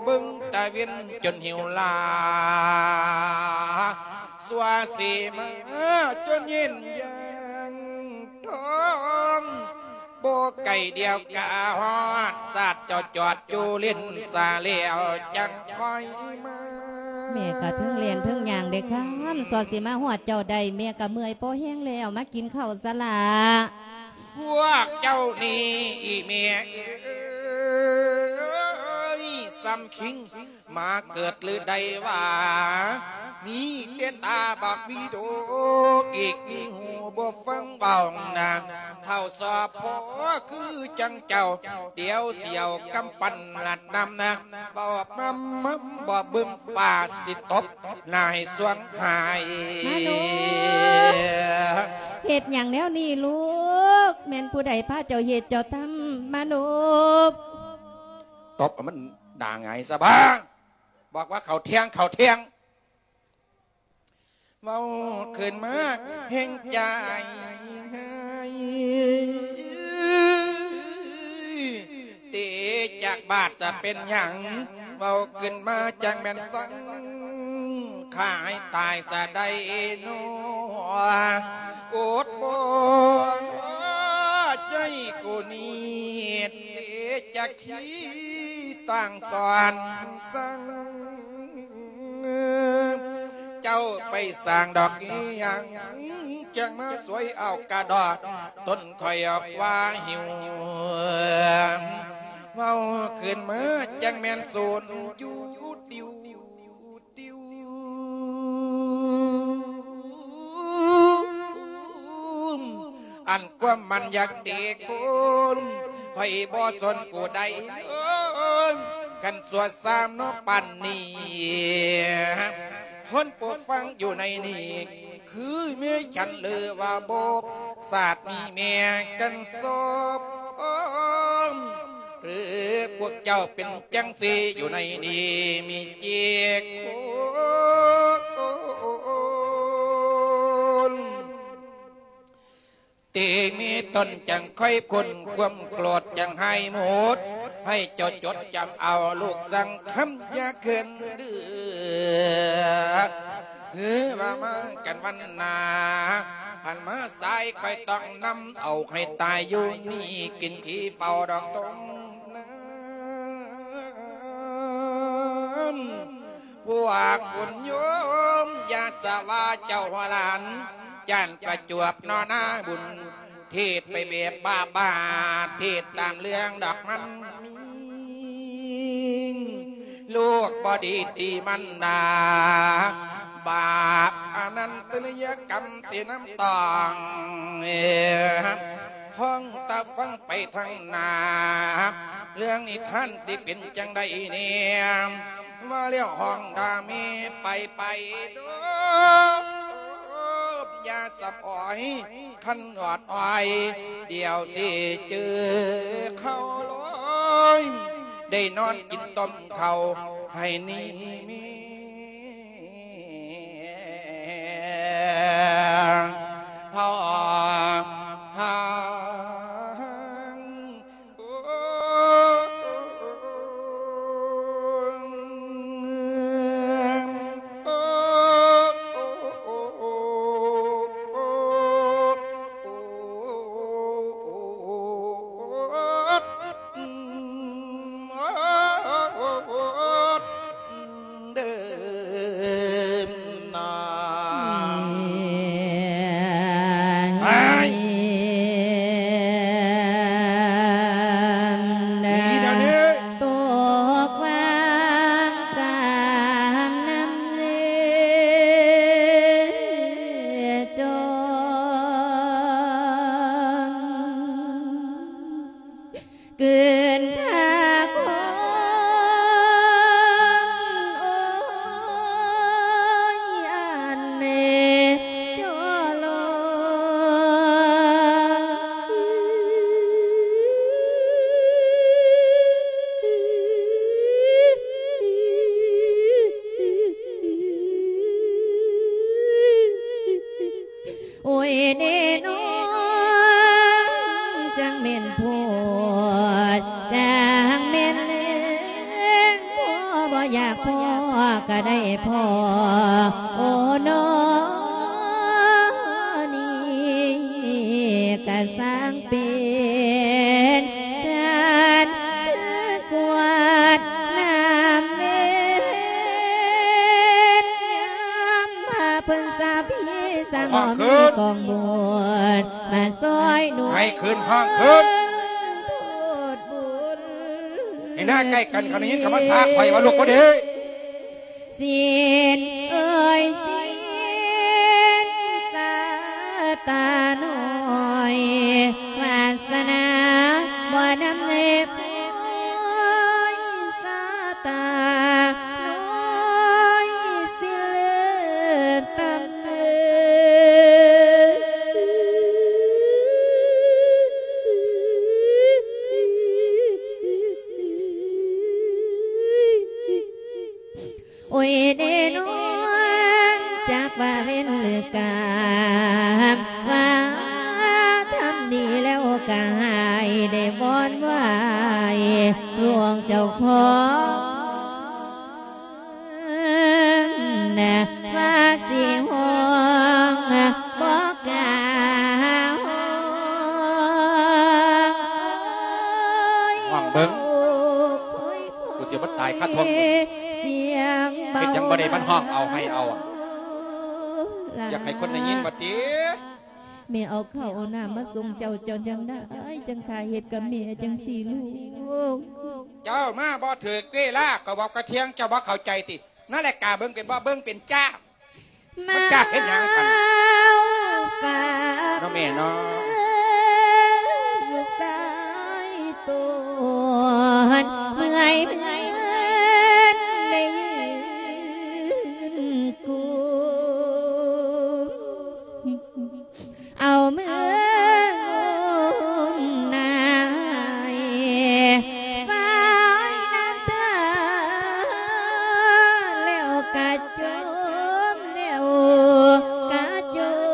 ເບິ່ງຕາເວັນຈົນຫິວລາ ຊົ່ວຊິມາຈົນເຢັນຢ່າງທ້ອງ ບໍ່ໄກດຽວກະຮອດ ຊາດເຈົ້າຈອດຢູ່ເລັນສາແລ້ວຈັ່ງຄ່ອຍມາ. ແມ່ກະເທິງແລ່ນເທິງຍ່າງເດ້ຄຳ ຊົ່ວຊິມາຮອດເຈົ້າໄດ້ ແມ່ກະເມື່ອຍພໍແຮງແລ້ວ ມາກິນເຂົ້າຊະລະ. ພວກເຈົ້ານີ້ອີແມ່ເອີຍ ສ່ຳຄິງ ມາເກີດຫຼືໄດ້ວ່າ ມີແຕ່ຕາບັກມີໂດ ອີກມີຫູບໍ່ຟັງເວົ້ານາ ເຖົ້າສອບພໍຄືຈັ່ງເຈົ້າ ດຽວຊິເອົາກຳປັນລັດນຳນາ ບໍ່ມຳມຳບໍ່ເບິ່ງຟ້າຊິຕົບໜ້າໃຫ້ສວງຫາຍ. ມາໂນບ ເຮັດຫຍັງແນວນີ້ລູກ? ແມ່ນຜູ້ໃດພາເຈົ້າເຮັດເຈົ້າທຳ ມາໂນບ? ຕົບໃຫ້ມັນໜ້າຫງາຍຊະບາ ບອກວ່າເຂົ້າທ່ຽງ ເຂົ້າທ່ຽງ ເວົ້າຂຶ້ນມາແຮງໃຈ ເຕະຈາກບາດຈະເປັນຫຍັງ ເວົ້າຂຶ້ນມາຈັ່ງແມ່ນສັງ ຂ້າໃຫ້ຕາຍຊະໄດ້ນໍ ອົດບໍ່ໃຈກູນີ້ ເຕະຈາກ ທີ່ຕ່າງສອນສັງ ເຈົ້າໄປສ້າງດອກອີຫຍັງ ຈັ່ງມາສວຍເອົາກະດອດ ຕົນຂ້ອຍອອກວ່າຫິວ ເວົ້າຂຶ້ນມາຈັ່ງແມ່ນສູນຢູ່ຕິວ ຕິວ ອັນຄວາມມັນຢາກຕີຄົນ ຂ້ອຍບໍ່ສົນຜູ້ໃດເລີຍ ຄັນຊົ່ວຊ້ຳເນາະປານນີ້ ຄົນຜູ້ຟັງຢູ່ໃນນີ້ ຄືແມ່ນສັນຫຼືວ່າບໍ່ ຊາດນີ້ແມ່ນກັນສອບ ຫຼືພວກເຈົ້າເປັນຈັ່ງຊີ້ຢູ່ໃນນີ້ ມີເຈັກຄົນ ທີ່ມີຕົນຈັ່ງຄ່ອຍພົ້ນຄວາມໂກດ ຈັ່ງຫາຍໝົດ ໃຫ້ເຈົ້າຈົດຈຳເອົາລູກສັງຄຳ ຢ່າເຂີນດື້ ຄືວ່າມາກັນວັນໜ້າ ຫັນມາສາຍ ຂ້ອຍຕ້ອງນຳເອົາໃຫ້ຕາຍຢູ່ນີ້ ກິນຂີ້ເປົ່າດອກຕົງນາ ພວກຄຸນໂຍມ ຢ່າສະວ່າເຈົ້າຫົວຫຼານ ຈານປະຈວບນໍນາບຸນ ເທດໄປແບບບ້າໆ ເທດຕາມເລື່ອງດອກມັນມີ ລູກບໍ່ດີຕີມັນດາ ບາບອະນັນຕະລິຍະກຳທີ່ນຳຕ້ອງ ຫ້ອງຕາຟັງໄປທາງໜ້າ ເລື່ອງນິທານທີ່ເປັນຈັ່ງໃດແດ່ ມາແລ້ວຫ້ອງດາມີໄປໄປເດີ ຢ່າສຳອອຍ ຄັນຫຍອດອ້ອຍ ດຽວຊິເຈີເຂົ້າລອຍ ໄດ້ນອນກິນຕົ້ມເຂົ້າໃຫ້ນີ້ມີ ເດີມນາ ໄປ ດີດຽວນີ້ ຕົກວາງກາມນ້ຳເລຈອມ ກືນທາຄົນ ໂອ້ຍ ອັນເນຈໍໂລ ໂອ້ຍເນນ້ອງ ຈັ່ງແມ່ນໂພດ ຈັ່ງແມ່ນເນນ ພໍບໍ່ຢາກພໍກໍໄດ້ພໍ ໂອ້ນ້ອງ ນີ້ກໍຊ່າງເປັນ ທ່ານຄືກວດນ້ຳເມັນ ຍາມພາເພິ່ນສາພີ ສ້າງບໍ່ມີກອງບຸນ ມາຊ່ອຍໜູນ ໃຫ້ຄືນຫ້ອງຄືນ ໂທດບຸນ ໃຫ້ໜ້າໃກ້ກັນ ຄັນໄດ້ຍິນຄຳວ່າຊາກ ຂ້ອຍວ່າລູກບໍ່ດີ. ສິນເອີຍສິນ ຊາຕານ້ອຍ ວາສະໜາບໍ່ນຳເນບ ໂອ້ຍ ຊາຕານ້ອຍ ຊິເລີດຕຳເນີ ໂອ້ຍເດນ້ອງ ຈັກວ່າເວັນຫຼືກາມ ວ່າທຳດີແລ້ວກະໃຫ້ໄດ້ວອນໄຫວ້ຫຼວງເຈົ້າຂອງ ວ່າຊິຮ້ອງບໍ່ກ້າຮ້ອງ ຮ້ອງເບິ່ງ ໂອ້ຍ ກູຊິບໍ່ຕາຍຄາທ້ອງ ສຽງເບົາ ເຮັດຫຍັງບໍ່ໄດ້ມັນຮ້ອງເອົາໄຫ້ເອົາ ຢາກໃຫ້ຄົນໄດ້ຍິນວ່າຕິ. ແມ່ເອົາເຂົ້າເອົານ້ຳມາສົ່ງເຈົ້າ ເຈົ້າຈັ່ງໄດ້ຈັ່ງຂ້າເຮັດກັບແມ່ຈັ່ງຊີ້ລູກ. ເຈົ້າມາບໍ່ຖືກເວລາ ກໍບອກກະທ່ຽງເຈົ້າບໍ່ເຂົ້າໃຈຕິ. ນາລິກາເບິ່ງເປັນບໍ່? ເບິ່ງເປັນຈ້າ. ມັນຈ້າເຮັດຫຍັງກັນ ເນາະແມ່ເນາະ. ເອົາມືງຸ້ມນາຍ ຟາຍນ້ຳຕາ ແລ້ວກະຈົມ ແລ້ວກະຈົມ.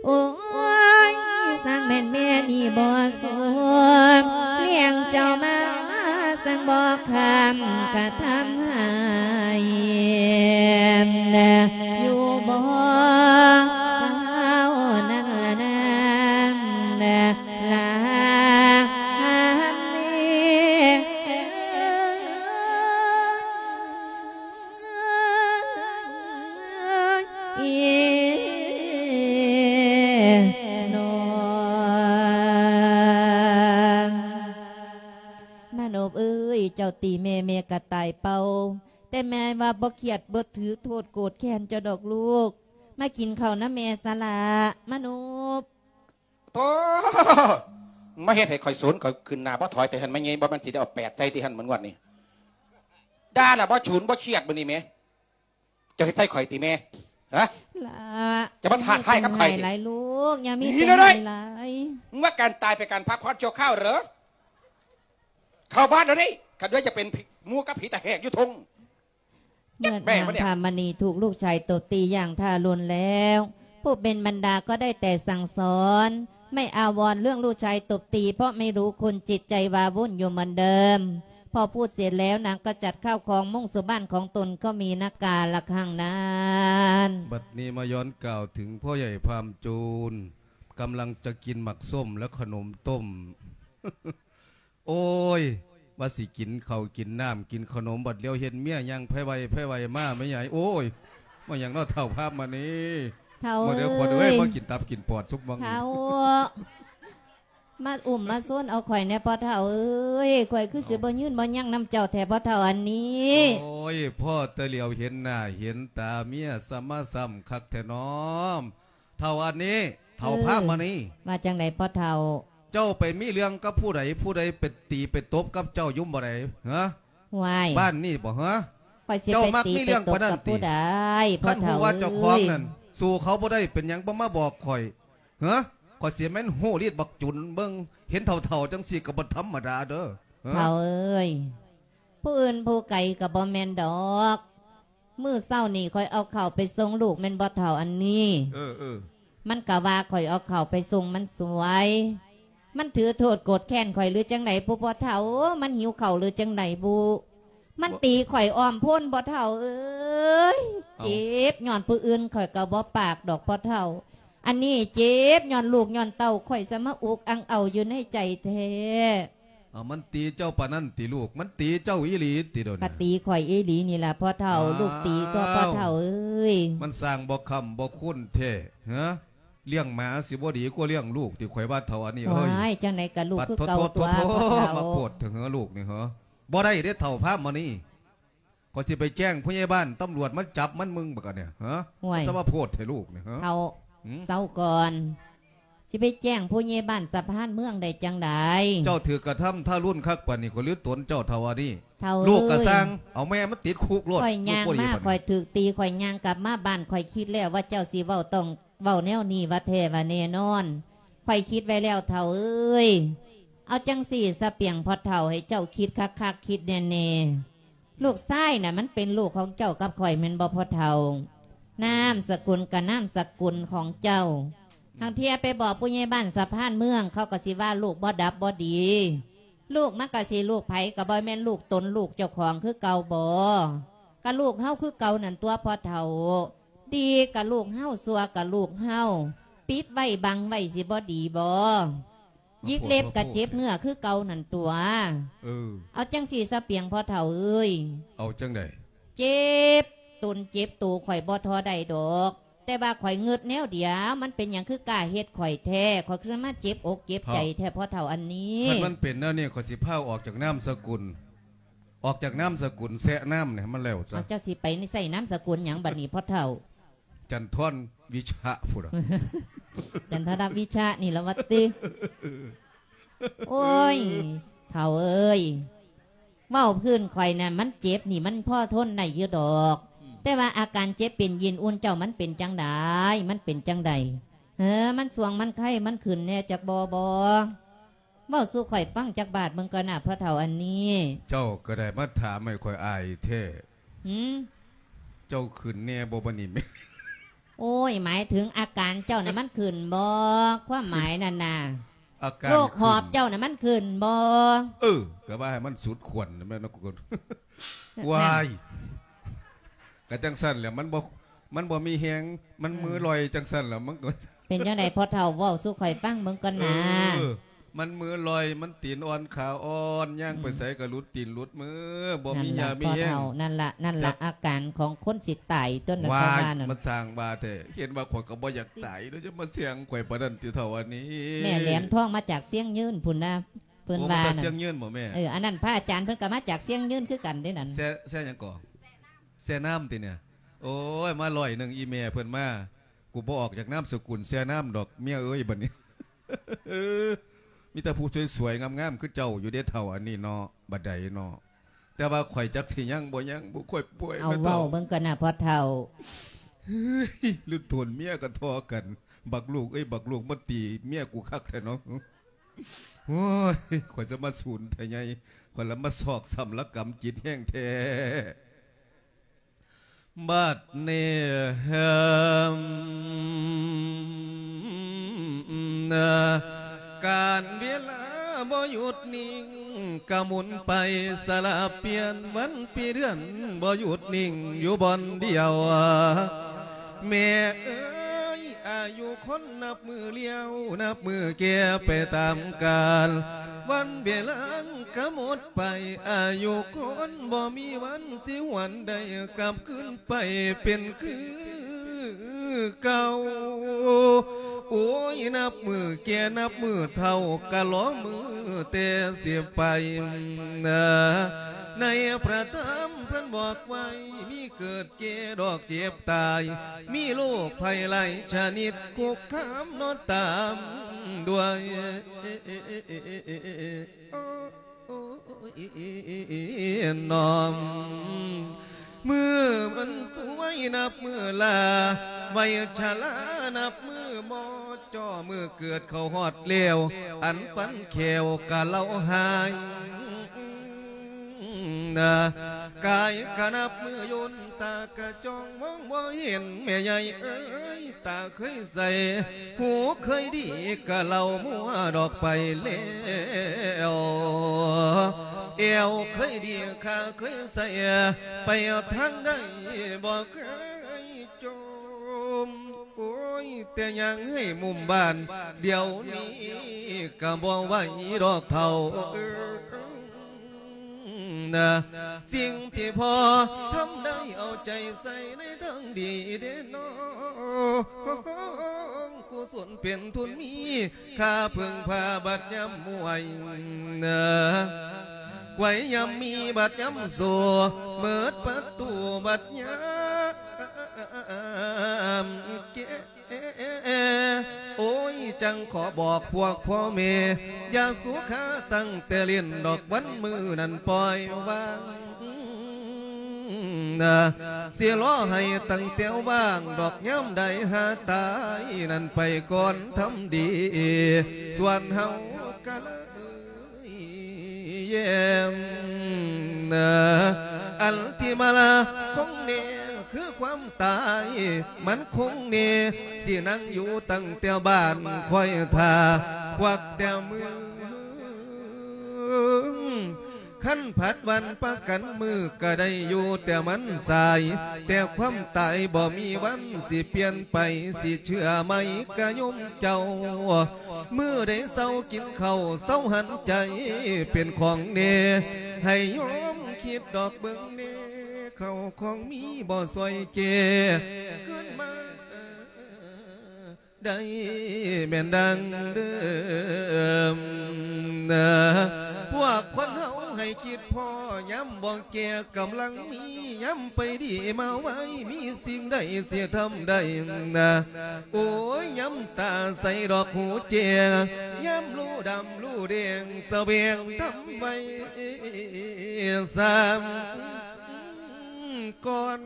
ໂອ້ຍ ຊ່າງແມ່ນແມ່ນີ້ບໍ່ສົມ ລ້ຽງເຈົ້າມາຊ່າງບໍ່ຄ້ຳກະທຳໃຫ້ ຢູ່ບໍ່ເທົ່ານັ້ນລະນາ ລະ ອີ ນ້ອງ ມານົບເອີຍ ເຈົ້າຕີແມ່ ແມ່ກະຕາຍເປົ່າ ແຕ່ແມ່ວ່າບໍ່ຄຽດ ບໍ່ຖືໂທດໂກດແຄ້ນເຈົ້າດອກລູກ ມາກິນເຂົ້ານຳແມ່ຊະລະ ມານົບ. ໂທ້ ມາເຮັດໃຫ້ຂ້ອຍສູນ ຂ້ອຍຂຶ້ນໜ້າບໍ່ຖອຍແຕ່ຫັ້ນ ມາໃຫຍ່ ບໍ່ແມ່ນຊິໄດ້ເອົາແປດໃສ່ຕິຫັ້ນ ມັນງວດນີ້ ດ່າລະບໍ່ສູນບໍ່ຄຽດມື້ນີ້ແໝ ເຈົ້າເຮັດໃສ່ຂ້ອຍຕິແມ່? ຮະ? ຫຼ້າ ຈະມາທ້າທາຍກັບຂ້ອຍຕິ? ຢ່າມີແຮງໃຫ້ຫຼາຍລູກ ຢ່າມີແຮງໃຫ້ຫຼາຍ. ມຶງວ່າການຕາຍເປັນການພັກຜ່ອນຊົ່ວຄາວເຫຼືອ? ເຂົ້າບ້ານດຽວນີ້ ຄັນເຫຼືອຈະເປັນໝູ່ກັບຜີຕາແຫກຢູ່ທົ່ງ. ເມື່ອນາງພາມະນີຖືກລູກຊາຍຕົບຕີຢ່າງທາຣຸນແລ້ວ ຜູ້ເປັນມານດາກໍໄດ້ແຕ່ສັ່ງສອນ ໄມ່ອາວອນເລື່ອງລູກຊາຍຕົບຕີ ເພາະໄມ່ຮູ້ຄຸນ ຈິດໃຈວາວຸ່ນຢູ່ເໝືອນເດີມ. ພໍພູດເສັດແລ້ວ ນາງກໍຈັດເຂົ້າຂອງມຸ້ງສູ່ບ້ານຂອງຕົນ ກໍມີນາກາລະຄັ້ງນັ້ນ. ບັດນີ້ມາຍ້ອນກ່າວເຖິງພໍ່ໃຫຍ່ພາມໂຈນ ກຳລັງຈະກິນໝາກສົ້ມ ແລະ ຂະໜົມຕົ້ມ. ໂອ້ຍ ວ່າຊິກິນເຂົ້າກິນນ້ຳ ກິນຂະໜົມ ບັດຫຼຽວເຫັນເມຍຍ່າງໄພໄວໄພໄວມາ ແມ່ໃຫຍ່ ໂອ້ຍ ມາຫຍັງເນາະ ເຖົ້າພາມະນີ? ເຖົ້າ ມາເດີ ເອີຍ ຂວັນເອີຍ ມາກິນຕັບກິນປອດສຸກໝ່ອງ. ເຖົ້າ ມາອຸ້ມມາຊົນເອົາຂ້ອຍແດ່ພໍ່ເຖົ້າເອີຍ ຂ້ອຍຄືຊິບໍ່ຍືນບໍ່ຍັງນຳເຈົ້າແທ້ພໍ່ເຖົ້າອັນນີ້. ໂອ້ຍ ພໍ້ແຕ່ຫຼຽວເຫັນໜ້າເຫັນຕາເມຍ ສະມາຊ້ຳຄັກແທ້ນ້ອ ເຖົ້າອັນນີ້ ເຖົ້າພາມະນີ. ວ່າຈັ່ງໃດພໍ່ເຖົ້າ? ເຈົ້າໄປມີເລື່ອງກັບຜູ້ໃດ ຜູ້ໃດໄປຕີໄປຕົບກັບເຈົ້າຢູ່ບໍ່ໃດ ຮະ? ຫວາຍ ບ້ານນີ້ບໍ່ ຮະ? ຂ້ອຍຊິໄປຕີໄປຕົບກັບຜູ້ໃດ ພໍ່ເຖົ້າເອີຍ? ຄັນຮູ້ວ່າເຈົ້າຂອງນັ້ນສູ້ເຂົາບໍ່ໄດ້ ເປັນຫຍັງບໍ່ມາບອກຂ້ອຍ ຮະ? ຂ້ອຍຊິແມ່ນຮູ້ລິດບັກຈຸນເບິ່ງ ເຫັນເຖົ້າໆ ຈັ່ງຊີ້ກໍບໍ່ທຳມະດາເດີ ຮະ? ເຖົ້າເອີຍ ຜູ້ອື່ນຜູ້ໄກກໍບໍ່ແມ່ນດອກ ມື້ເຊົ້ານີ້ຂ້ອຍເອົາເຂົ້າໄປສົ່ງລູກແມ່ນບໍ່ເຖົ້າອັນນີ້? ເອີ ເອີ ມັນກະວ່າຂ້ອຍເອົາເຂົ້າໄປສົ່ງມັນສວຍ ມັນຖືໂທດໂກດແຄ້ນຂ້ອຍຫຼືຈັ່ງໃດບຸພໍ່ເຖົ້າ ມັນຫິວເຂົ້າຫຼືຈັ່ງໃດບຸ ມັນຕີຂ້ອຍອ້ອມໂພນພໍ່ເຖົ້າເອີຍ. ເອົ້າ ເຈັບຍ້ອນຜູ້ອື່ນຂ້ອຍກໍບໍ່ປາກດອກພໍ່ເຖົ້າ ອັນນີ້ເຈັບຍ້ອນລູກຍ້ອນເຕົ້າຂ້ອຍ ສະມາອຸກອັ່ງເອົາຢູ່ໃນໃຈແທ້. ເອົາ ມັນຕີເຈົ້າປານນັ້ນຕິລູກ? ມັນຕີເຈົ້າອີ່ຫຼີຕິດຽວນີ້? ກະຕີຂ້ອຍອີ່ຫຼີນີ້ລະພໍ່ເຖົ້າ. ອ້າວ ລູກຕີຕົວະພໍ່ເຖົ້າເອີຍ. ມັນສ້າງບໍ່ຄ້ຳບໍ່ຄູນແທ້ ຮະ? ລ້ຽງໝາຊິບໍ່ດີກວ່າລ້ຽງລູກຕິ? ຂ້ອຍວ່າເຖົ້າອັນນີ້ເອີຍ. ວ້າຍ ຈັ່ງໃດກະລູກຄືເກົ່າຕົວະພໍ່ເຖົ້າ. ມາໂພດເຖິງເຮີລູກນີ້ເຮີ? ບໍ່ໄດ້ເດ້ເຖົ້າພາມະນີ. ຂ້ອຍຊິໄປແຈ້ງຜູ້ໃຫຍ່ບ້ານ ຕຳຫຼວດມາຈັບມັນ ມຶງບັກອັນນີ້ ຮະ? ຫ້ວຍ ຈະມາໂພດໃຫ້ລູກນີ້ ຮະ? ເຖົ້າ ເຊົາກ່ອນ ຊິໄປແຈ້ງຜູ້ໃຫຍ່ບ້ານສະພານເມືອງໄດ້ຈັ່ງໃດ? ເຈົ້າຖືກກະທຳທາຣຸນຄັກປານນີ້ ຂ້ອຍລືຕົນເຈົ້າເຖົ້າອັນນີ້. ເຖົ້າເອີຍ ລູກກະຊ່າງ ເອົາແມ່ມັນຕິດຄຸກໂລດ. ຂ້ອຍຍ່າງມາ ຂ້ອຍຖືກຕີ ຂ້ອຍຍ່າງກັບມາບ້ານ ຂ້ອຍຄິດແລ້ວວ່າເຈົ້າຊິເວົ້າ ຕ້ອງເວົ້າແນວນີ້ວ່າແທ້ວ່າແນ່ນອນ. ຂ້ອຍຄິດໄວ້ແລ້ວເຖົ້າເອີຍ. ເອົາຈັ່ງຊີ້ສະປຽງພໍ່ເຖົ້າ ໃຫ້ເຈົ້າຄິດຄັກໆ ຄິດແນ່ໆ. ລູກຊາຍນະ ມັນເປັນລູກຂອງເຈົ້າກັບຂ້ອຍແມ່ນບໍ່ພໍ່ເຖົ້າ? ນາມສະກຸນກະນາມສະກຸນຂອງເຈົ້າ. ຫາງເທື່ອໄປບອກຜູ້ໃຫຍ່ບ້ານສະພານເມືອງ ເຂົາກະຊິວ່າລູກບໍ່ດັບບໍ່ດີ. ລູກມັນກະຊິລູກໃຜ ກະບໍ່ແມ່ນລູກຕົນລູກເຈົ້າຂອງຄືເກົ່າບໍ? ກະລູກເຮົາຄືເກົ່ານັ້ນຕົວະພໍ່ເຖົ້າ. ດີກະລູກເຮົາ ຊົ່ວກະລູກເຮົາ. ປິດໄວ້ບັງໄວ້ຊິບໍ່ດີບໍ? ຍິກເລັບກະເຈັບເນື້ອຄືເກົ່ານັ້ນຕົວະ. ເອີ ເອົາຈັ່ງຊີ້ສະປຽງພໍ່ເຖົ້າເອີຍ. ເອົາຈັ່ງໃດ? ເຈັບຕົນເຈັບໂຕຂ້ອຍບໍ່ທໍໄດ້ດອກ ແຕ່ວ່າຂ້ອຍງຶດແນວດຽວ ມັນເປັນຫຍັງຄືກ້າເຮັດຂ້ອຍແທ້? ຂ້ອຍຄືມາເຈັບອົກເຈັບໃຈແທ້ພໍ່ເຖົ້າອັນນີ້. ຄັນມັນເປັນແນວນີ້ ຂ້ອຍຊິພາອອກຈາກນາມສະກຸນ ອອກຈາກນາມສະກຸນແຊະນ້ຳນີ້ໃຫ້ມັນແລ້ວຊະ. ເອົາ ເຈົ້າຊິໄປໃສ່ນາມສະກຸນຫຍັງບັດນີ້ພໍ່ເຖົ້າ? ຈັນທອນວິຊະພຸ້ນນະ. ຈັນທະລະວິຊະນີ້ລະວ່າຕິ. ໂອ້ຍ ເຖົ້າເອີຍ ເວົ້າພື້ນຂ້ອຍນະ ມັນເຈັບນີ້ມັນພໍທົນໄດ້ຢູ່ດອກ ແຕ່ວ່າອາການເຈັບເປັນຢ້ຽນອຸ່ນເຈົ້າມັນເປັນຈັ່ງໃດ? ມັນເປັນຈັ່ງໃດ? ເອີ ມັນສ່ວງ ມັນໄຂ້ ມັນຂຶ້ນແດ່ຈັກບໍ່ບໍ? ເວົ້າສູ່ຂ້ອຍຟັງຈັກບາດເບິ່ງກ່ອນນະ ພໍ່ເຖົ້າອັນນີ້. ເຈົ້າກໍໄດ້ມາຖາມໃຫ້ຂ້ອຍອາຍແທ້. ຫື? ເຈົ້າຂຶ້ນແນ່ບໍ່ບັດນີ້ແມ່? ໂອ້ຍ ໝາຍເຖິງອາການເຈົ້ານະມັນຂຶ້ນບໍ່? ຄວາມໝາຍນັ້ນນະ ອາການ ໂລກຫອບເຈົ້ານະມັນຂຶ້ນບໍ່? ເອີ ກໍວ່າໃຫ້ມັນສຸດຂວັນແມ່ນເນາະ. ວ້າຍ ກະຈັ່ງຊັ້ນແຫຼະ ມັນບໍ່ ມັນບໍ່ມີແຮງ ມັນມືລອຍຈັ່ງຊັ້ນລະ ມັນກໍ ເປັນຈັ່ງໃດພໍ່ເຖົ້າ ເວົ້າສູ່ຂ້ອຍຟັງເບິ່ງກ່ອນນາ. ເອີ ມັນມືລອຍ ມັນຕີນອ່ອນຂາອ່ອນ ຍ່າງໄປໃສກໍຫຼຸດຕີນຫຼຸດມື ບໍ່ມີຫຍ້າມີແຮງ. ນັ້ນລະ ພໍ່ເຖົ້າ ນັ້ນລະ ນັ້ນລະ ອາການຂອງຄົນຊິຕາຍຕົວະ ນັ້ນ ວ່ານັ້ນ ມັນຊ່າງວ່າແທ້ ເຫັນວ່າຂ້ອຍກໍບໍ່ຢາກຕາຍເນາະ ຈະມາແຊ່ງຂ້ອຍປານນັ້ນຕິເຖົ້າອັນນີ້. ແມ່ແຫຼມທອງມາຈາກຊຽງຍືນພຸ້ນນະ ເພິ່ນວ່ານັ້ນ. ຊຽງຍືນບໍ່ແມ່? ເອີ ອັນນັ້ນພະອາຈານເພິ່ນກໍມາຈາກຊຽງຍືນຄືກັນເດ້ນັ້ນ. ແຊ່ ແຊ່ຫຍັງເກາະ? ແຊ່ນ້ຳຕິນີ້? ໂອ້ຍ ມາຮ້ອຍໜຶ່ງ ອີ່ແມ່ເພິ່ນມາ. ກູບໍ່ອອກຈາກນາມສະກຸນແຊ່ນ້ຳດອກ ເມຍເອີຍ ບັດນີ້. ມີແຕ່ຜູ້ສວຍໆງາມໆຄືເຈົ້າຢູ່ເດ້ເຖົ້າ ອັນນີ້ເນາະ ບັດໃດເນາະ. ແຕ່ວ່າຂ້ອຍຈັກຊິຍັງບໍ່ຍັງ ຜູ້ຂ້ອຍປ່ວຍ ເອົາ ແມ່ນເຖົ້າ ເວົ້າເບິ່ງກ່ອນນະພໍ່ເຖົ້າ. ລຸ້ນໂຕນເມຍກໍທໍ່ກັນ ບັກລູກເອີຍ ບັກລູກມາຕີເມຍກູຄັກແທ້ເນາະ. ໂອ້ຍ ຂ້ອຍຈະມາສູນແທ້ໃຫຍ່ ຂ້ອຍລະມາຊອກຊ້ຳລະກຳຈິດແຮງແທ້. ບັດນີ້ ການເວລາບໍ່ຢຸດນິ່ງ ກະໝູນໄປສະລະປ່ຽນ ວັນປີເດືອນບໍ່ຢຸດນິ່ງຢູ່ບ່ອນດຽວ. ແມ່ເອີຍ ອາຍຸຄົນນັບມື້ລ້ຽວ ນັບມື້ແກ່ໄປຕາມການ ວັນເວລາກະໝົດໄປ ອາຍຸຄົນບໍ່ມີວັນຊິຫວນໄດ້ກັບຄືນໄປເປັນຄືເກົ່າ. ໂອ້ຍ ນັບມື້ແກ່ນັບມື້ເຖົ້າ ກະລໍມື້ແຕ່ຊິໄປ ໃນພະທຳເພິ່ນບອກໄວ້ ມີເກີດ ແກ່ດອກເຈັບຕາຍ ມີໂລກໄພຫຼາຍຊະນິດ ຄຸກຄາມເນາະຕາມດ້ວຍນ້ອມ. ມື້ມັນສວຍນັບມື້ລາ ໄວຊະລານັບມື້ບໍ່ ຈ່ອມື້ເກີດເຂົ້າຮອດແລ້ວ ອັນຟັນແຂ້ວກະເລົ່າຫາຍ ນາ ກາຍກະນັບມື້ຍົນ ຕາກະຈ້ອງມອງບໍ່ເຫັນ ແມ່ໃຫຍ່ເອີຍ ຕາເຄີຍໃສ ຫູເຄີຍດີ ກະເລົ່າມົວດອກໄປແລ້ວ ແອວເຄີຍດີ ຂາເຄີຍໃສ ໄປທາງໃດບໍ່ເຄີຍ ໂຈມ ໂອ້ຍ ແຕ່ຍ່າງໃຫ້ມຸມບ້ານ ດຽວນີ້ກະບໍ່ໄຫວດອກເຖົ້າເອີຍ ນາ ສິ່ງທີ່ພໍ່ທຳໄດ້ ເອົາໃຈໃສ່ໃນທາງດີເດ້ນ້ອງ ກຸສົນເປັນທຶນມີ ຂ້າເພິ່ງພາບັດຍາມມວຍ ນາ ກວຍຍາມມີບັດຍາມໂສ ເໝິດປະຕູບັດຍາມແກ່ ໂອ້ຍ ຈັ່ງຂໍບອກພວກພໍ່ແມ່ ຢ່າສຸຂາຕັ້ງແຕ່ຫຼິ້ນດອກ ວັນມື້ນັ້ນປ່ອຍວາງ ນາ ຊິລໍໃຫ້ຕັ້ງແຕ່ວ່າງດອກ ຍາມໃດຫາຕາຍນັ້ນໄປກ່ອນທຳດີ ສ່ວນເຮົາກະເລີຍແຍ້ມ ອັນທີ່ມາລາຄົງແນ່ຄືຄວາມຕາຍ ມັນຄົງແນ່ ຊິນັ່ງຢູ່ຕັ້ງແຕ່ບ້ານ ຄອຍຖ້າ ຄວັກແຕ່ມື ຄັນຜັດວັນປະກັນມື້ກະໄດ້ຢູ່ ແຕ່ມັນສາຍ ແຕ່ຄວາມຕາຍບໍ່ມີວັນຊິປ່ຽນໄປ ຊິເຊື່ອໃໝ່ກະໂຍມເຈົ້າ ມື້ໃດເຊົາກິນເຂົ້າ ເຊົາຫັນໃຈເປັນຂອງແນ່ ໃຫ້ໂຍມຄິດດອກເບິ່ງແນ່ ເຂົ້າຂອງມີບໍ່ຊ່ອຍແກ່ ຄືນມາ ໄດ້ແມ່ນດັ່ງເດີມ ພວກຄົນເຮົາໃຫ້ຄິດພໍ ຍາມບໍ່ແກ່ກຳລັງມີ ຍາມໄປດີມາໄວ ມີສິ່ງໃດຊິທຳໄດ້ ໂອ້ຍ ຍາມຕາໃສດອກຫູແຈ້ງ ຍາມຮູ້ດຳຮູ້ແດງ ສະແຫວງທຳໄວ້ສາມ ກ່ອນ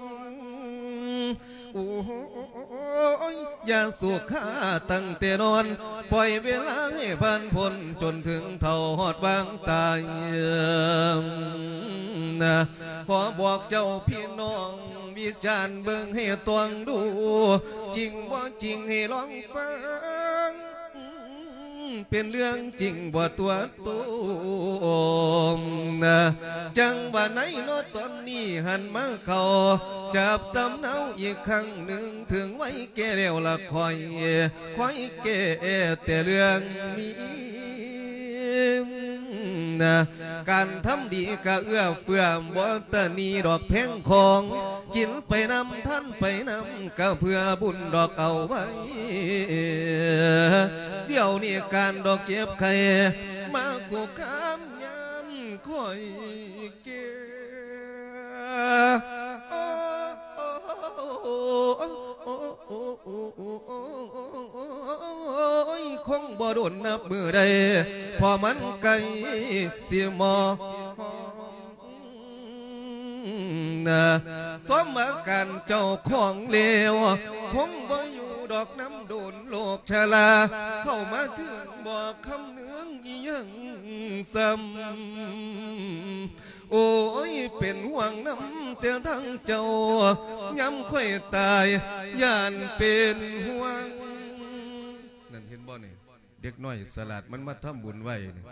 ໂອ້ຍ ຢ່າສຸຂາຕັ້ງແຕ່ນອນ ປ່ອຍເວລາໃຫ້ຜ່ານພົ້ນ ຈົນເຖິງເຖົ້າຮອດວາງຕາຍ ຂໍບອກເຈົ້າພີ່ນ້ອງ ວິຈານເບິ່ງໃຫ້ຕວງດູ ຈິງບໍ່ຈິງໃຫ້ລອງຟັງ ເປັນເລື່ອງຈິງບໍ່ຕົວະໂຕມ ຈັ່ງວ່າໃນເນາະຕອນນີ້ຫັນມາເຂົ້າ ຈັບສຳເນົາອີກຄັ້ງໜຶ່ງ ເຖິງໄວແກ່ແລ້ວລະຂ້ອຍ ຂ້ອຍແກ່ແຕ່ເລື່ອງມີ ການທຳດີກະເອື້ອເຟື້ອ ບໍ່ຕະໜີດອກແພງຂອງ ກິນໄປນຳ ທານໄປນຳ ກະເພື່ອບຸນດອກເອົາໄວ້ ດຽວນີ້ການດອກເຈັບໄຂ້ ມາຄຸກຄາມຍາມຂ້ອຍແກ່ ໂອ້ຍ ຄົງ ດົນນັບມື້ໃດ ເພາະມັນໃກ້ຊິມອມນະ. ສົມອາການເຈົ້າຂອງແລ້ວ ຄົງບໍ່ຢູ່ດອກນຳດົນໂລກຊະລາ ເຂົ້າມາເຖິງບໍ່ຄຳນຶງອີ່ຫຍັງຊ້ຳ. ໂອ້ຍ ເປັນຫ່ວງນຳແຕ່ທາງເຈົ້າ ຍາມຂ້ອຍຕາຍ ຢ້ານເປັນຫ່ວງ. ນັ້ນເຫັນບໍ່ນີ້? ເດັກນ້ອຍສະຫຼາດ ມັນມາທຳບຸນໄວນີ້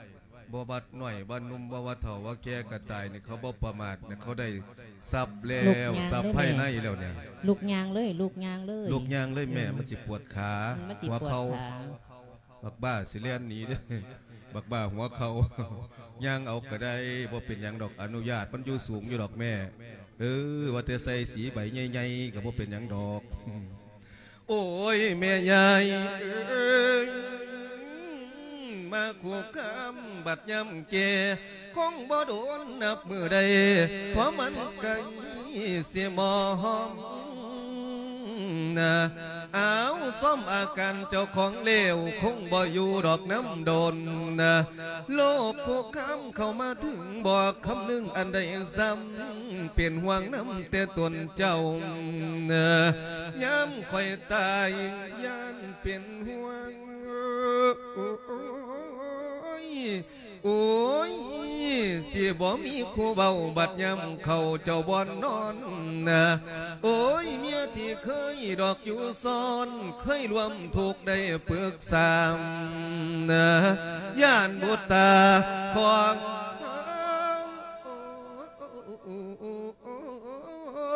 ບໍ່ວ່ານ້ອຍວ່າໜຸ່ມ ບໍ່ວ່າເຖົ້າວ່າແກ່ກໍຕາຍນີ້ ເຂົາບໍ່ປະໝາດນີ້ ເຂົາໄດ້ຊັບແລ້ວ ຊັບພາຍໃນແລ້ວນີ້. ລຸກຍ່າງເລີຍ ລຸກຍ່າງເລີຍ ລຸກຍ່າງເລີຍແມ່ ມັນຊິປວດຂາ ອືມ ມັນຊິປວດຂາ ຫົວເຂົ່າ ບັກບ້າຊິແລ່ນໜີເດີ້ ບັກບ້າຫົວເຂົ່າ ຍ່າງເອົາກໍໄດ້ ບໍ່ເປັນຫຍັງດອກ ອະນຸຍາດ ມັນຢູ່ສູງຢູ່ດອກແມ່. ເອີ ວ່າແຕ່ໃສ່ສີໃບໃຫຍ່ໆ ກໍບໍ່ເປັນຫຍັງດອກ. ໂອ້ຍ ແມ່ຍາຍເອີຍ ມາຄູ່ຄຳບັດຍາມແກ່ ຄົງບໍ່ດົນນັບມື້ໃດ ເພາະມັນໃກ້ຊິມອມນະ. ອ້າວ ຊອມອາການເຈົ້າຂອງແລ້ວ ຄົງບໍ່ຢູ່ດອກນຳດົນນະ. ໂລກຄຸກຄາມເຂົ້າມາເຖິງ ບໍ່ຄຳນຶງອັນໃດຊ້ຳ ເປັນຫ່ວງນຳແຕ່ຕົນເຈົ້ານະ. ຍາມຂ້ອຍຕາຍ ຢ້ານເປັນຫ່ວງ ໂອ້ຍ ໂອ້ຍ ຊິບໍ່ມີຜູ້ເວົ້າ ບັດຍາມເຂົ້າເຈົ້າບ່ອນນອນນະ. ໂອ້ຍ ເມຍທີ່ເຄີຍດອກຢູ່ຊ້ອນ ເຄີຍຮ່ວມທຸກໄດ້ປຶກສານະ ຢ້ານບຸດຕາຂອງ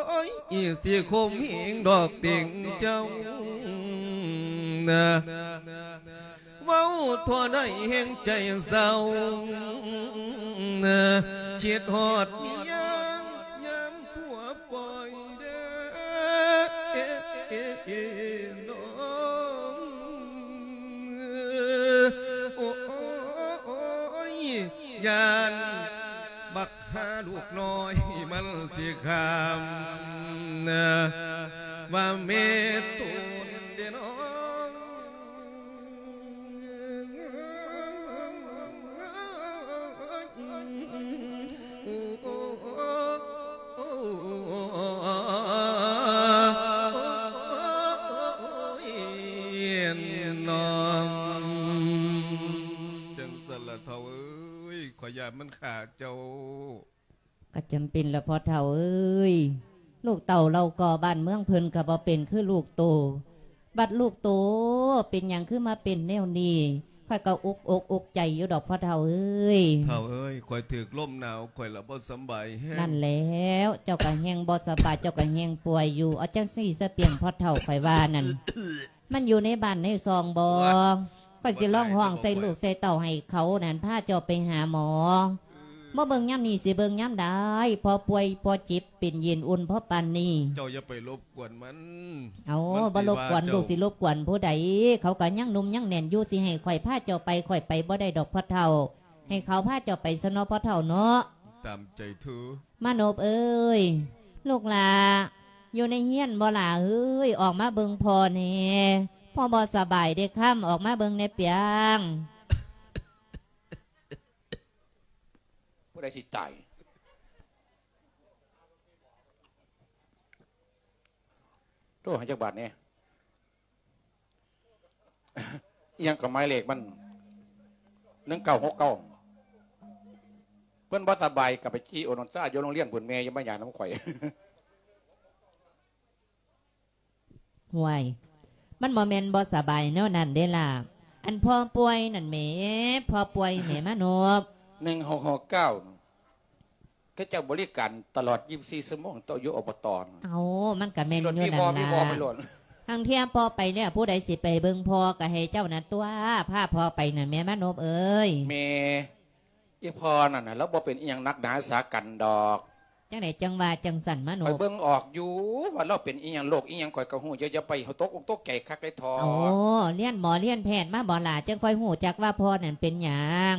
ໂອ້ຍ ຊິຂົ່ມເຫງດອກຕິງເຈົ້ານະ. ເວົ້າທົ່ວໃນແຫ່ງໃຈເສົ້າ ຄິດຮອດເມຍ ຍາມຜົວປ່ອຍເດີ ນ້ອງ ໂອ້ຍ ຢ້ານບັກ ຫາລູກນ້ອຍມັນຊິຂ້າມນະ ວ່າແມ່ຕົນເດ້ນ້ອງ. ຈັ່ງຊັ້ນລະເຖົ້າເອີຍ ຂ້ອຍຢ້ານມັນຂ້າເຈົ້າ. ກໍຈຳເປັນລະພໍ່ເຖົ້າເອີຍ ລູກເຕົ້າເຫຼົ່າກໍບ້ານເມືອງເພິ່ນກໍບໍ່ເປັນຄືລູກໂຕ ບັດລູກໂຕເປັນຫຍັງຄືມາເປັນແນວນີ້ ຂ້ອຍກໍອຸກອົກອຸກໃຈຢູ່ດອກພໍ່ເຖົ້າເອີຍ. ເຖົ້າເອີຍ ຂ້ອຍຖືກລົມໜາວ ຂ້ອຍລະບໍ່ສຳບາຍແຮງ. ນັ້ນແລ້ວ ເຈົ້າກໍແຮ່ງບໍ່ສະບາຍ ເຈົ້າກໍແຮ່ງປ່ວຍຢູ່ ເອົາຈັ່ງຊີ້ສະປຽງພໍ່ເຖົ້າ ຂ້ອຍວ່ານັ້ນ ມັນຢູ່ໃນບ້ານໃນຊ່ອງບໍ່? ຂ້ອຍຊິຮ້ອງຮ້ອງໃສ່ລູກໃສ່ເຕົ້າໃຫ້ເຂົານັ້ນພາເຈົ້າໄປຫາໝໍ. ບໍ່ເບິ່ງຍາມນີ້ຊິເບິ່ງຍາມໃດ? ພໍປ່ວຍພໍເຈັບເປັນເຢັນອຸ່ນພໍປານນີ້. ເຈົ້າຢ່າໄປລົບກວນມັນ. ເອົາ ມັນຊິວ່າເຈົ້າ ບໍ່ລົບກວນ ລູກຊິລົບກວນຜູ້ໃດ? ເຂົາກໍຍັງໜຸ່ມຍັງແໜ້ນຢູ່ ຊິໃຫ້ຂ້ອຍພາເຈົ້າໄປ ຂ້ອຍໄປບໍ່ໄດ້ດອກພໍ່ເຖົ້າ. ໃຫ້ເຂົາພາເຈົ້າໄປຊະເນາະພໍ່ເຖົ້າເນາະ. ຕາມໃຈເທີ. ມານົບເອີຍ ລູກຫຼ້າ ຢູ່ໃນເຮືອນບໍ່ຫຼ້າເອີຍ? ອອກມາເບິ່ງພໍ່ແດ່ ພໍ່ບໍ່ສະບາຍເດ້ ຄຳ ອອກມາເບິ່ງແດ່ປຽງ. ຜູ້ໃດຊິຕາຍ? ໂທຫາຈັກບາດແດ່. ອີ່ຫຍັງກໍໝາຍເລກມັນ ໜຶ່ງເກົ້າຫົກເກົ້າ ເພິ່ນບໍ່ສະບາຍກໍໄປຈີ່ໂອນອນຊາຢູ່ໂຮງຮຽນພຸ້ນ ແມ່ຢ່າມາຫຍັງນຳຂ້ອຍ. ຫ້ວຍ ມັນບໍ່ແມ່ນບໍ່ສະບາຍແນວນັ້ນເດ້ລະ ອັນພໍ່ປ່ວຍນັ້ນແໝ່ ພໍ່ປ່ວຍແໝ່ມານົບ. ໜຶ່ງຫົກຫົກເກົ້າ ເຂົາເຈົ້າບໍລິການຕະຫຼອດ ຊາວສີ່ຊົ່ວໂມງໂຕະ ຢູ່ ອບຕ. ເອົ້າ ມັນກະແມ່ນຢູ່ນັ້ນລະ ລາງເທື່ອພໍ່ໄປແລ້ວ ຜູ້ໃດຊິໄປເບິ່ງພໍ່ ກະໃຫ້ເຈົ້ານັ້ນຕົວະ ພາພໍ່ໄປນັ້ນແມ່ມານົບເອີຍ. ແມ່ ອີ່ພໍ່ນັ້ນນະ ລາວບໍ່ເປັນອີ່ຫຍັງໜັກໜາສາກັນດອກ. ຈັ່ງໃດຈັ່ງວ່າຈັ່ງຊັ້ນມານົບ? ຂ້ອຍເບິ່ງອອກຢູ່ວ່າລາວເປັນອີ່ຫຍັງ ໂລກອີ່ຫຍັງ ຂ້ອຍກະຮູ້ຢູ່ ຢ່າໄປຕົກອົກຕົກໃຈຄັກເລີຍເຖາະ. ໂອ້ ຮຽນໝໍຮຽນແພດມາບໍ່ລະ ຈັ່ງຄ່ອຍຮູ້ຈັກວ່າພໍ່ນັ້ນເປັນຫຍັງ?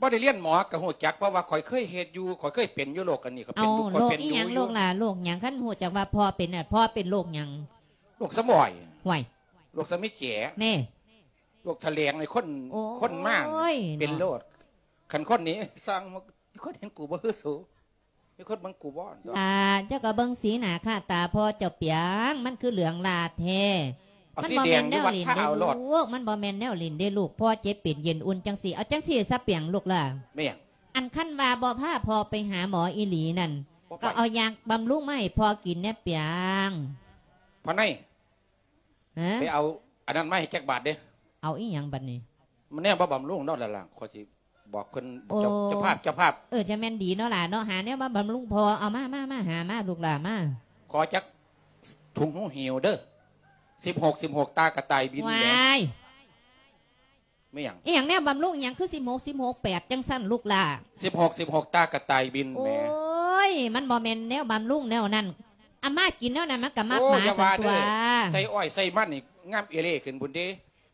ບໍ່ໄດ້ຮຽນໝໍກະຮູ້ຈັກ ເພາະວ່າຂ້ອຍເຄີຍເຮັດຢູ່ ຂ້ອຍເຄີຍເປັນຢູ່ໂລກອັນນີ້ ຂ້ອຍເປັນຢູ່ ຂ້ອຍເປັນຢູ່. ໂລກອີ່ຫຍັງ ໂລກລະ ໂລກຫຍັງ? ຄັນຮູ້ຈັກວ່າພໍ່ເປັນນະ ພໍ່ເປັນໂລກຫຍັງ? ໂລກສະໝອຍ. ຫ້ວຍ ໂລກສະມິແຈ. ແນ່ ໂລ ພວກຖະແຫຼງໃຫ້ຄົນ ໂອ້ຍ ຄົນມາເປັນໂລດ. ເນາະ ຄັນຄົນນີ້ສ້າງ ມີຄົນເຫັນກູບໍ່ຄືສູ ມີຄົນເບິ່ງກູບໍ່? ອ່າ ເຈົ້າກໍເບິ່ງສີໜ້າຄ່າຕາພໍ່ເຈົ້າປຽງ ມັນຄືເຫຼືອງຫຼ້າແທ້. ເອົາ ມັນບໍ່ແມ່ນແນວຫຼິ້ນເດ້ລູກ ມັນບໍ່ແມ່ນແນວຫຼິ້ນເດ້ລູກ. ພໍ່ເຈັບເປັນເຢັນອຸ່ນຈັ່ງຊີ້ ເອົາຈັ່ງຊີ້ຊະປຽງລູກຫຼ້າ. ແມ່ນຫຍັງ? ອັນຄັນວ່າບໍ່ພາພໍ່ໄປຫາໝໍອີ່ຫຼີນັ້ນ ບໍ່ໄປ ກໍເອົາຢາບຳລຸງມາໃຫ້ພໍ່ກິນແດ່ປຽງ. ພໍ່ໃນ ຮະ? ໄປເອົາອັນນັ້ນມາໃຫ້ຈັກບາດເດ້. ເອົາອີ່ຫຍັງບັດນີ້? ມັນແນວມາບຳລຸງເນາະຫຼ້າ ຂ້ອຍຊິບອກເພິ່ນ ບອກເຈົ້າ ໂອ້ ເຈົ້າພາບ ເຈົ້າພາບ. ເອີ ຈະແມ່ນດີເນາະຫຼ້າເນາະ ຫາແນວມາບຳລຸງພໍ່. ເອົາມາ ມາ ມາ ຫາມາລູກຫຼ້າມາ. ຂໍຈັກຖົງຫູຫິວເດີ ສິບຫົກ ສິບຫົກ ຕາກະຕ່າຍບິນແຫຼະ. ວ້າຍ ແມ່ນຫຍັງ? ອີ່ຫຍັງແນວບຳລຸງອີ່ຫຍັງ ຄືສິບຫົກ ສິບຫົກ ແປດ ຈັ່ງຊັ້ນລູກຫຼ້າ? ສິບຫົກ ສິບຫົກ ຕາກະຕ່າຍບິນແໝ. ໂອ້ຍ ມັນບໍ່ແມ່ນແນວບຳລຸງແນວນັ້ນ. ອາ ມາກິນແນວນັ້ນມັນກໍມັກໝາ. ໂອ້ ຢ່າວ່າເດີ ໃສ່ອ້ອຍໃສ່ມັນນີ້ງາມເອເລຂຶ້ນພຸ້ນເດ.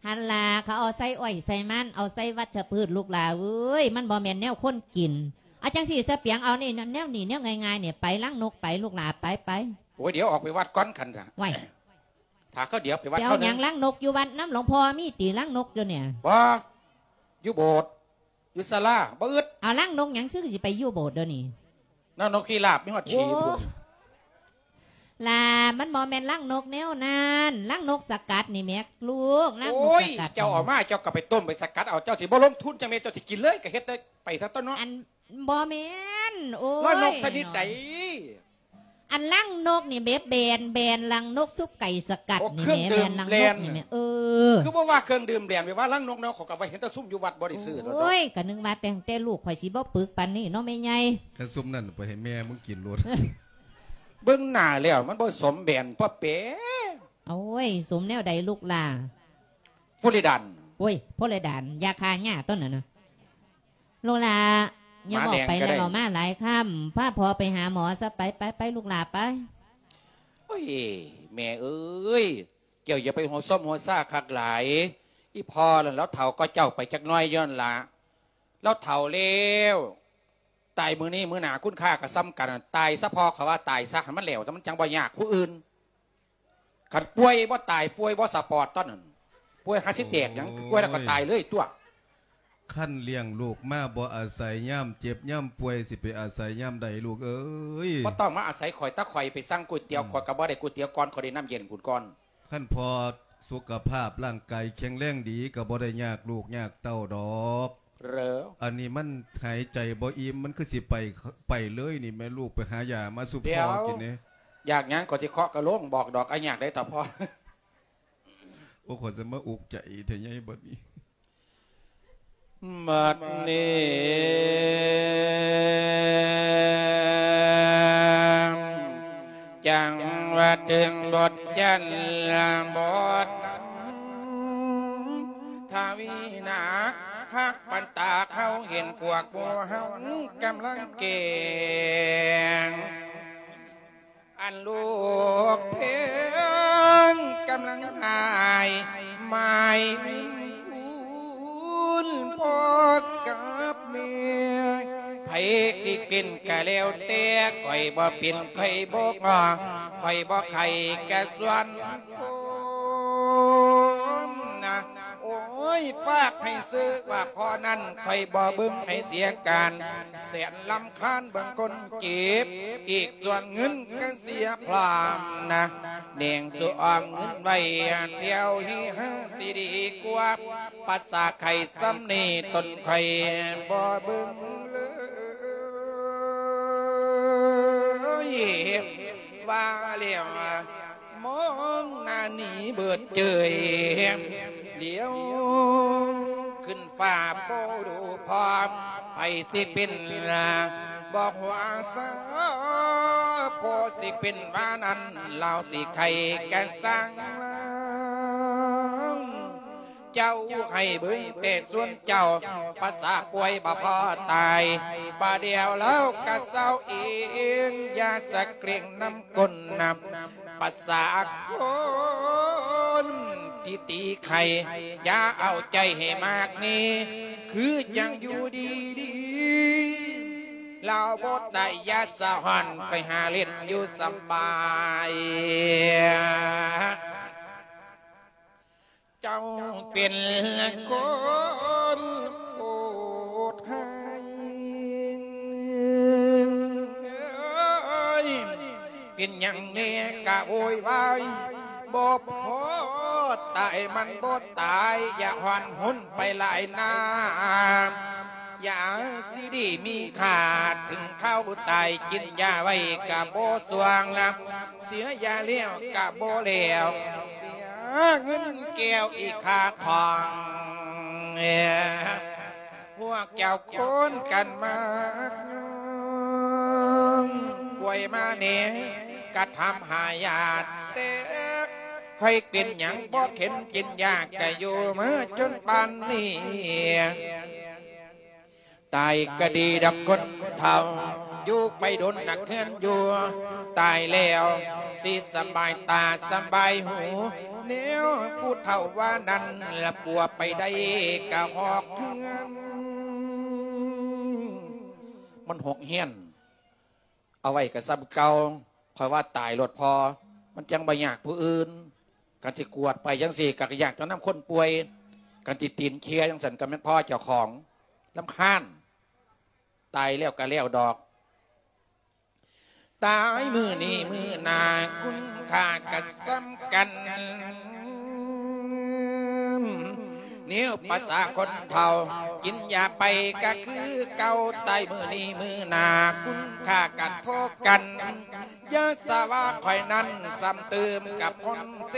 ຫັ້ນລະ ເຂົາເອົາໃສ່ອ້ອຍໃສ່ມັນ ເອົາໃສ່ວັດຊະພືດລູກຫຼ້າເອີຍ ມັນບໍ່ແມ່ນແນວຄົນກິນ. ເອົາຈັ່ງຊີ້ຊະປຽງ ເອົານີ້ ແນວນີ້ແນວງ່າຍໆນີ້ ໄປລັງນົກໄປລູກຫຼ້າ ໄປ ໄປ. ໂອ້ຍ ດຽວອອກໄປວັດກ່ອນຄັນນະ. ໄວ້ ຖ້າເຂົາດຽວໄປວັດ ໄປເອົາຫຍັງ ເຂົານະ ລັງນົກຢູ່ວັດນຳຫຼວງພໍ່ມີຕິ ລັງນົກຢູ່ນີ້? ບໍ່ ຢູ່ໂບດ ຢູ່ສາລາ ບໍ່ອຶດ. ເອົາລັງນົກຫຍັງ ຊຶກຊິໄປຢູ່ໂບດດຽວນີ້? ລັງນົກພິລາບມີຮອດຂີ້ພຸ້ນ. ໂອ້ ຫຼ້າ ມັນບໍ່ແມ່ນລັງນົກແນວນັ້ນ ລັງນົກສະກັດນີ້ແໝ ລູກ ລັງນົກສະກັດ. ໂອ້ຍ ເຈົ້າເອົາມາ ເຈົ້າກໍໄປຕົ້ມໄປສະກັດເອົາ ເຈົ້າຊິບໍ່ລົງທຶນຈັ່ງໃດ ເຈົ້າຊິກິນເລີຍກໍເຮັດໄດ້ໄປຊະຕົວະເນາະ. ອັນ ບໍ່ແມ່ນ ໂອ້ຍ ລັງນົກຊະນິດໃດ? ອັນລັງນົກນີ້ແບບແບນ ແບນລັງນົກຊຸບໄກ່ສະກັດນີ້ແໝ ແບນລັງນົກນີ້ແໝ. ເອີ ຄືບໍ່ວ່າເຄື່ອງດື່ມແບນ ແບບວ່າລັງນົກເນາະ ເຂົາກໍວ່າເຫັນແຕ່ຊຸມຢູ່ວັດບໍ່ໄດ້ຊື້ດອກ. ໂອ້ຍ ກໍນຶກວ່າແຕ່ງແຕ່ລູກ ຂ້ອຍຊິບໍ່ປຶກປານນີ້ເນາະແມ່ໃຫຍ່. ຄັນຊຸມນັ້ນໄປໃຫ້ແມ່ມຶງກິນໂລດ. ເບິ່ງໜ້າແລ້ວມັນບໍ່ສົມແບນພໍ່ແປ. ໂອ້ຍ ສົມແນວໃດລູກຫຼ້າ? ຟລູຣິດານ. ໂອ້ຍ ຟລູຣິດານ ຢາຂ້າຫຍ້າຕົວນັ້ນນະ. ລູກຫຼ້າ ຢ່າເວົ້າໄປແລ້ວ ເວົ້າມາຫຼາຍຄຳ ພາພໍ່ໄປຫາໝໍຊະ ໄປ ໄປ ໄປ ລູກຫຼ້າໄປ. ໂອ້ຍ ແມ່ເອີຍ ເຈົ້າຢ່າໄປຫົວຊອມຫົວຊາຄັກຫຼາຍ. ອີ່ພໍ່ນັ້ນລາວເຖົ້າກວ່າເຈົ້າໄປຈັກໜ້ອຍຢູ່ຫັ້ນລະ ລາວເຖົ້າແລ້ວ. ຕາຍມື້ນີ້ມື້ໜ້າຄຸນຄ່າກໍສ່ຳກັນ. ຕາຍຊະພໍ່ ເຂົາວ່າຕາຍຊະ ໃຫ້ມັນແລ້ວຊະ ມັນຈັ່ງບໍ່ຍາກຜູ້ອື່ນ. ຄັນປ່ວຍບໍ່ຕາຍ ປ່ວຍບໍ່ສະປອດຕອນນັ້ນ ປ່ວຍຫາຊິແຕກຫຍັງ. ໂອ້ຍ ປ່ວຍແລ້ວກໍຕາຍເລີຍຕົວະ. ຄັນລ້ຽງລູກມາບໍ່ອາໄສຍາມເຈັບຍາມປ່ວຍ ຊິໄປອາໄສຍາມໃດລູກເອີຍ? ບໍ່ຕ້ອງມາອາໄສຂ້ອຍ ຕາຂ້ອຍໄປສັ່ງກ໋ວຍຕຽວ ອືມ ຂ້ອຍກໍບໍ່ໄດ້ກ໋ວຍຕຽວກ່ອນ ຂ້ອຍໄດ້ນ້ຳເຢັນພຸ້ນກ່ອນ. ຄັນພໍ່ສຸຂະພາບຮ່າງກາຍແຂງແຮງດີ ກໍບໍ່ໄດ້ຍາກລູກຍາກເຕົ້າດອກ. ເອີ ອັນນີ້ມັນຫາຍໃຈບໍ່ອີ່ມ ມັນຄືຊິໄປ ໄປເລີຍນີ້ແມ່ລູກ. ໄປຫາຢາມາສູ່ພໍ່ກິນແດ່. ຢາກຫຍັງກໍຊິເຄາະກະໂລງບອກດອກ ອາຍາກໄດ້ຕາພໍ່. ໂອ້ ຂ້ອຍຈະມາອຸກໃຈແທ້ໃຫຍ່ບັດນີ້. ບັດນີ້ຈັ່ງວ່າເຖິງບົດຈັນລະບົດ ທະວີນາກ ຄັກປັນຕາເຮົາເຫັນພວກໝູ່ເຮົາກຳລັງແກ່ງ ອັນລູກເພັງກຳລັງຫາຍໝາຍຄູນພໍ່ກັບແມ່ ໃຜທີ່ເປັນກະແລ້ວແຕ່ ຂ້ອຍບໍ່ເປັນ ຂ້ອຍບໍ່ງໍ ຂ້ອຍບໍ່ໄຂ້ກະສ່ວນ ໂອ້ຍ ຝາກໃຫ້ເຊີວ່າພໍ່ນັ້ນ ຂ້ອຍບໍ່ເບິ່ງໃຫ້ເສຍການ ແສນລຳຄານເບິ່ງຄົນເຈັບ ອີກສ່ວນເງິນກະເສຍພ້ອມນະ ແໜງສູ່ອອມເງິນໄວ້ ແຖວຮີຫາຊິດີກວ່າ ພາສາໄຂ້ສ່ຳນີ້ຕົນຂ້ອຍບໍ່ເບິ່ງເລີຍ ວ່າແລ້ວ ມອງໜ້າໜີເບີດເຈີຍ ຫຼຽວຂຶ້ນຟ້າບໍ່ດູພ້ອມ ໃຜຊິເປັນລະບໍ່ຫົວສາ ພໍຊິເປັນວ່ານັ້ນ ລາວຊິໄຂ້ກະຊ່າງລາວ ເຈົ້າໃຫ້ເບິ່ງແຕ່ສ່ວນເຈົ້າ ພາສາປ່ວຍບໍ່ພໍຕາຍ ບາດດຽວລາວກະເຊົາເອງ ຢ່າສະເກຣັງນຳ ຄົນນຳ ພາສາຄົນທີ່ຕີໄຂ່ ຢ່າເອົາໃຈໃຫ້ມາກມີ ຄືຈັ່ງຢູ່ດີໆ ລາວບໍ່ໄດ້ ຢ່າສະຫອນ ໄປຫາຫຼິ້ນຢູ່ສະບາຍ. ເຈົ້າເປັນຄົນໂຫດຮ້າຍ ເອີຍ ເປັນຫຍັງແນ່ກະໂວຍວາຍ ບໍ່ພໍຕາຍມັນບໍ່ຕາຍ ຢ່າຮ້ອນຮຸນໄປຫຼາຍນາ ຢາຊິດີມີຄ່າ ເຖິງຄາວຕາຍກິນຢາໄວ້ກະບໍ່ຊ່ວງລະ ເສຍຢາແລ້ວກະບໍ່ແລ້ວ ເສຍເງິນແກ້ວອີກຄ່າຂອງ ພວກເຈົ້າຄົນກັນມາກຍ້ອມ ປ່ວຍມາແນ່ ກະທຳຫາຍາດແຕກ ໃຜເປັນຫຍັງບໍ່ເຫັນກິນຢາ ກະຢູ່ມາຈົນປານນີ້ ຕາຍກະດີດອກຄົນເຖົ້າ ຢູ່ໄປດົນນັກເຮືອນຢູ່ ຕາຍແລ້ວຊິສະບາຍຕາສະບາຍຫູ ແນວຜູ້ເຖົ້າວ່ານັ້ນລະ ປົວໄປໄດ້ກະຮອກເຮືອນ ມັນຮອກເຮືອນ ເອົາໄວ້ກະສ່ຳເກົ່າ ຂ້ອຍວ່າຕາຍໂລດພໍ ມັນຈັ່ງບໍ່ຍາກຜູ້ອື່ນ ຄັນຊິກວດໄປຈັ່ງຊີ້ກະຍາກແຕ່ນຳຄົນປ່ວຍ ຄັນຊິຕີນເຄຍຈັ່ງຊັ້ນກະແມ່ນພໍເຈົ້າຂອງ ລຳຄານ ຕາຍແລ້ວກະແລ້ວດອກ ຕາຍມື້ນີ້ມື້ໜ້າ ຄຸນຄ່າກະສ່ຳກັນ ແນວພາສາຄົນເຖົ້າ ກິນຢາໄປກະຄືເກົ່າ ຕາຍມື້ນີ້ມື້ໜ້າ ຄຸນຄ່າກະໂທກັນ ຢ່າສະວ່າຂ້ອຍນັ້ນ ຊ້ຳຕື່ມກັບຄົນເສ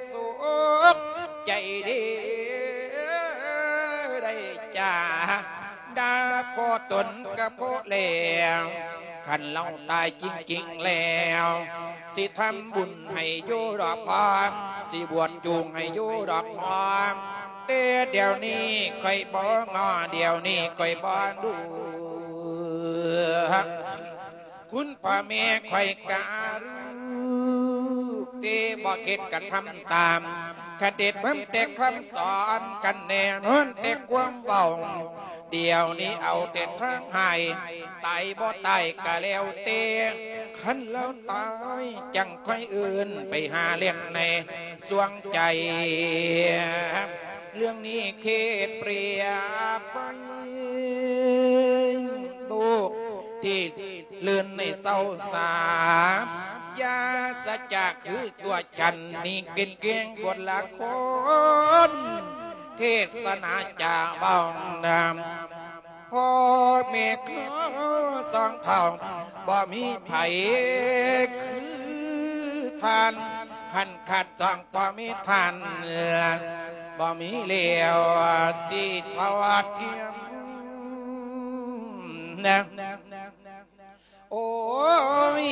ໂສກ ໃຈເດ ໄດ້ຈາດ່າພໍ່ຕົນກະພໍແລ້ວ ຄັນລາວຕາຍຈິງໆແລ້ວ ຊິທຳບຸນໃຫ້ຢູ່ດອກພໍ່ ຊິບວດຈູງໃຫ້ຢູ່ດອກພໍ່ ແຕ່ດຽວນີ້ຂ້ອຍບໍ່ງໍ ດຽວນີ້ຂ້ອຍບໍ່ດູ ຄຸນພໍ່ແມ່ຂ້ອຍກະຮູ້ ແຕ່ບໍ່ເຮັດກະທຳຕາມ ຄັນເຮັດເບິ່ງແຕ່ຄຳສອນ ຄັນແນ່ນອນແຕ່ຄວາມເວົ້າ ດຽວນີ້ເອົາແຕ່ທາງໃຫ້ ຕາຍບໍ່ຕາຍກະແລ້ວແຕ່ ຄັນລາວຕາຍຈັ່ງຄ່ອຍເອີ້ນ ໄປຫາເຫຼັ້ນໃນ ສວງໃຈ ເລື່ອງນີ້ເຂດປຽບໄວ້ ໂຕກທີ່ເລີນໃນເຊົາສາ ຢ່າສະຈາຄືຕົວ ສັນນີ້ເປັນພຽງບົດລະຄອນ ເທດສະໜາຈາເວົ້ານຳ ພໍ່ແມ່ຂໍສອງເຖົ້າ ບໍ່ມີໃຜຄືທ່ານ ຄັນຂາດສອງບໍ່ມີທ່ານ ບໍ່ມີແລ້ວຊິທອດທຽມນະ. ໂອ້ຍ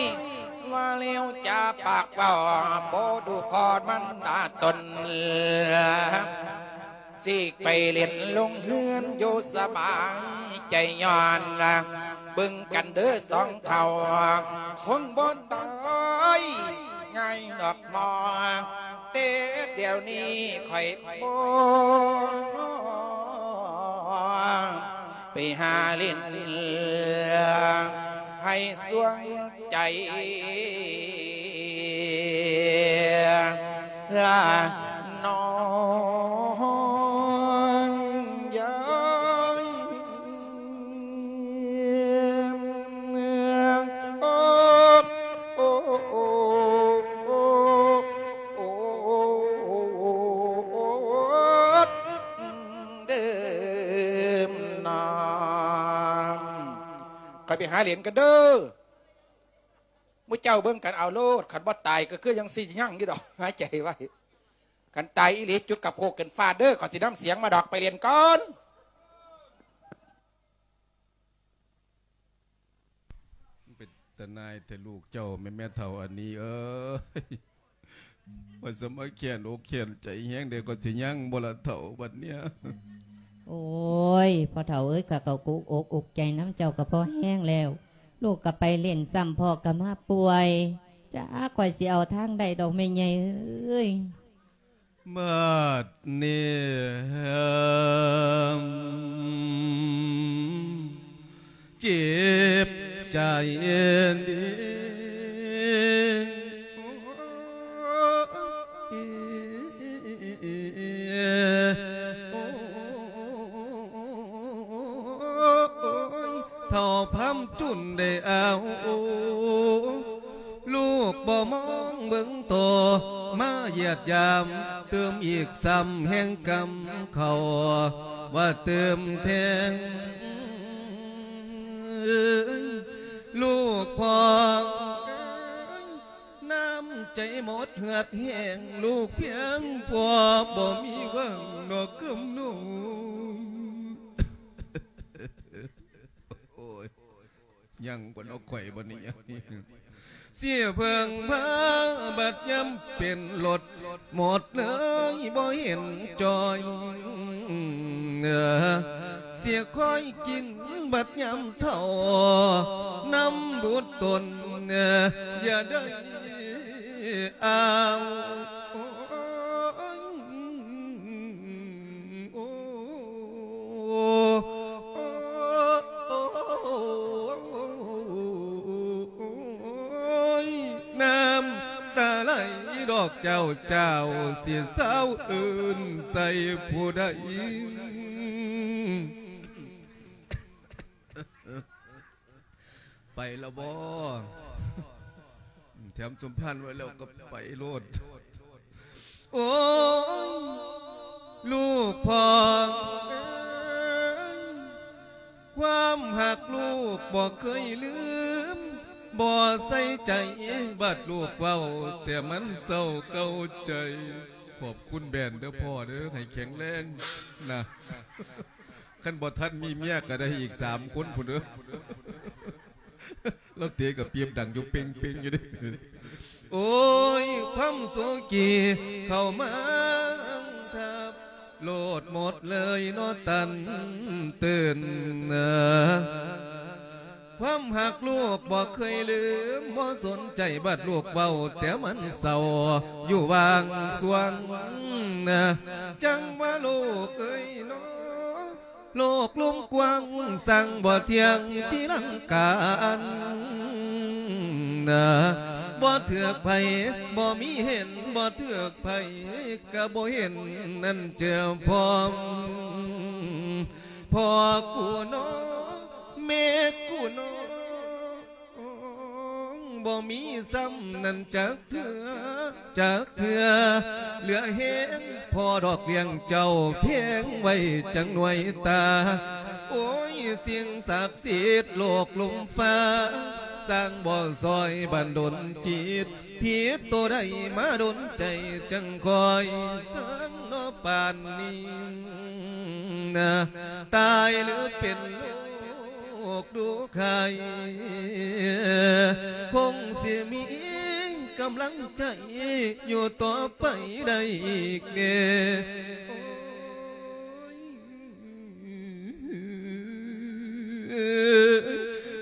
ວ່າແລ້ວຈາປາກເວົ້າ ບໍ່ດູຂໍມັນດາຕົນ ຊິໄປເຫຼັ້ນລົງເຮືອນຢູ່ສະບາຍໃຈ ຍ້ອນລະເບິ່ງກັນເດີສອງເຖົ້າ ຄົງບໍ່ຕາຍງ່າຍດອກໝໍ ແຕ່ດຽວນີ້ຂ້ອຍບໍ່ ໄປຫາຫຼິ້ນໃຫ້ສວງໃຈລະນ້ອງເອີຍ. ຂ້ອຍໄປຫາເຫຼັ້ນກັນເດີ ໝູ່ເຈົ້າເບິ່ງກັນເອົາໂລດ ຄັນບໍ່ຕາຍກະຄືຍັງຊິຍັງຢູ່ດອກ ຫາຍໃຈໄວ້ ຄັນຕາຍອີ່ຫຼີຈຸດກັບໂຄກຂຶ້ນຟ້າເດີ ຂ້ອຍຊິນຳສຽງມາດອກ ໄປເຫຼັ້ນກ່ອນ. ເປັນຕາໜ່າຍແທ້ລູກເຈົ້າ ແມ່ນແມ່ເຖົ້າອັນນີ້ເອີຍ ວ່າສະມາແຄ້ນອົກແຄ້ນໃຈແຮງເດ ກໍຊິຍັງບໍ່ລະເຖົ້າບັດເນີ້ຍ. ໂອ້ຍ ພໍ່ເຖົ້າເອີຍ ຂ້າກໍອຸກອົກອຸກໃຈນຳເຈົ້າກໍພໍແຮງແລ້ວ ລູກກໍໄປຫຼິ້ນຊ້ຳ ພໍ່ກໍມາປ່ວຍ ຈັກຂ້ອຍຊິເອົາທາງໃດດອກແມ່ໃຫຍ່ເອີຍ. ບາດນີ້ເຈັບໃຈເດ. ບຸນໄດ້ເອົາ ລູກບໍ່ມອງເບິ່ງຕໍ່ ມາຢຽດຢາມຕື່ມອີກຊ້ຳ ແຮງກຳເຂົ້າວ່າຕື່ມແທງ ລູກພໍ່ ນ້ຳໃຈໝົດເຫືອດແຮງ ລູກພຽງພໍບໍ່ມີຫວັງນອກຄຳນ້ອງ. ໂອ້ຍ ຍັງບໍ່ນອກ ຂ້ອຍບໍ່ນີ້ ເສຍເພິ່ງພາ ບັດຍາມເປັນລົດ ໝົດເລີຍບໍ່ເຫັນຈ່ອຍ ເສຍຄອຍກິນບັດຍາມເຖົ້າ ນຳບຸດຕົນ ຢ່າໄດ້ອ້າງ ໂອ້ ຍ ນ້ຳຕາໄຫຼດອກເຈົ້າ ເຈົ້າຊິເຊົາເອີ້ນໃສ່ຜູ້ໃດ? ໄປແລ້ວບໍ່? ແຖມສົມພານໄວ້ແລ້ວກໍໄປໂລດ. ໂອ້ຍ ລູກພໍ່ເອີຍ ຄວາມຮັກລູກບໍ່ເຄີຍລືມ ບໍ່ໃສ່ໃຈ ບັດລູກເວົ້າ ແຕ່ມັນເສົ້າເກົ້າໃຈ. ຂອບຄຸນແບນເດີພໍ່ເດີ ໃຫ້ແຂງແຮງນະ. ຄັນບໍ່ທັນມີເມຍກໍໄດ້ອີກສາມຄົນພຸ້ນເດີ. ລາວເຕະກະປີບດັງຢູ່ເປັງໆຢູ່ເດ້. ໂອ້ຍ ຄວາມໂສກີເຂົ້າມາທັບ ໂລດໝົດເລີຍເນາະຕັນຕື່ນ. ຄວາມຮັກລູກບໍ່ເຄີຍລືມ ບໍ່ສົນໃຈບັດລູກເວົ້າ ແຕ່ມັນເສົ້າຢູ່ຫວ່າງຊ່ວງ. ຈັ່ງວ່າລູກເອີຍເນາະ ໂລກລຸ່ມກວ້າງ ຊ່າງບໍ່ທ່ຽງທີ່ລັງການ ບໍ່ຖືກໃຜ ບໍ່ມີເຫັນ ບໍ່ຖືກໃຜກະບໍ່ເຫັນ ນັ້ນເຈີພ້ອມ ພໍ່ກູເນາະ ແມ່ກູເນາະ. ບໍ່ມີຊ້ຳນັ້ນຈັກເທື່ອ ຈັກເທື່ອ ເຫຼືອແຮງພໍດອກລ້ຽງເຈົ້າ ແພງໄວ້ຈັ່ງໜ່ວຍຕາ. ໂອ້ຍ ສິ່ງສັກສິດໂລກລຸ່ມຟ້າ ຊ່າງບໍ່ຊ່ອຍບັນດົນຈິດ ຜິດໂຕໃດມາດົນໃຈ ຈັ່ງຄ່ອຍຊ່າງເນາະປານນີ້ ຕາຍຫຼືເປັນໂລ ກດູໄຄ ຄົງຊິມີກຳລັງໃຈຢູ່ຕໍ່ໄປໄດ້ອີກແດ່. ໂອ້ຍ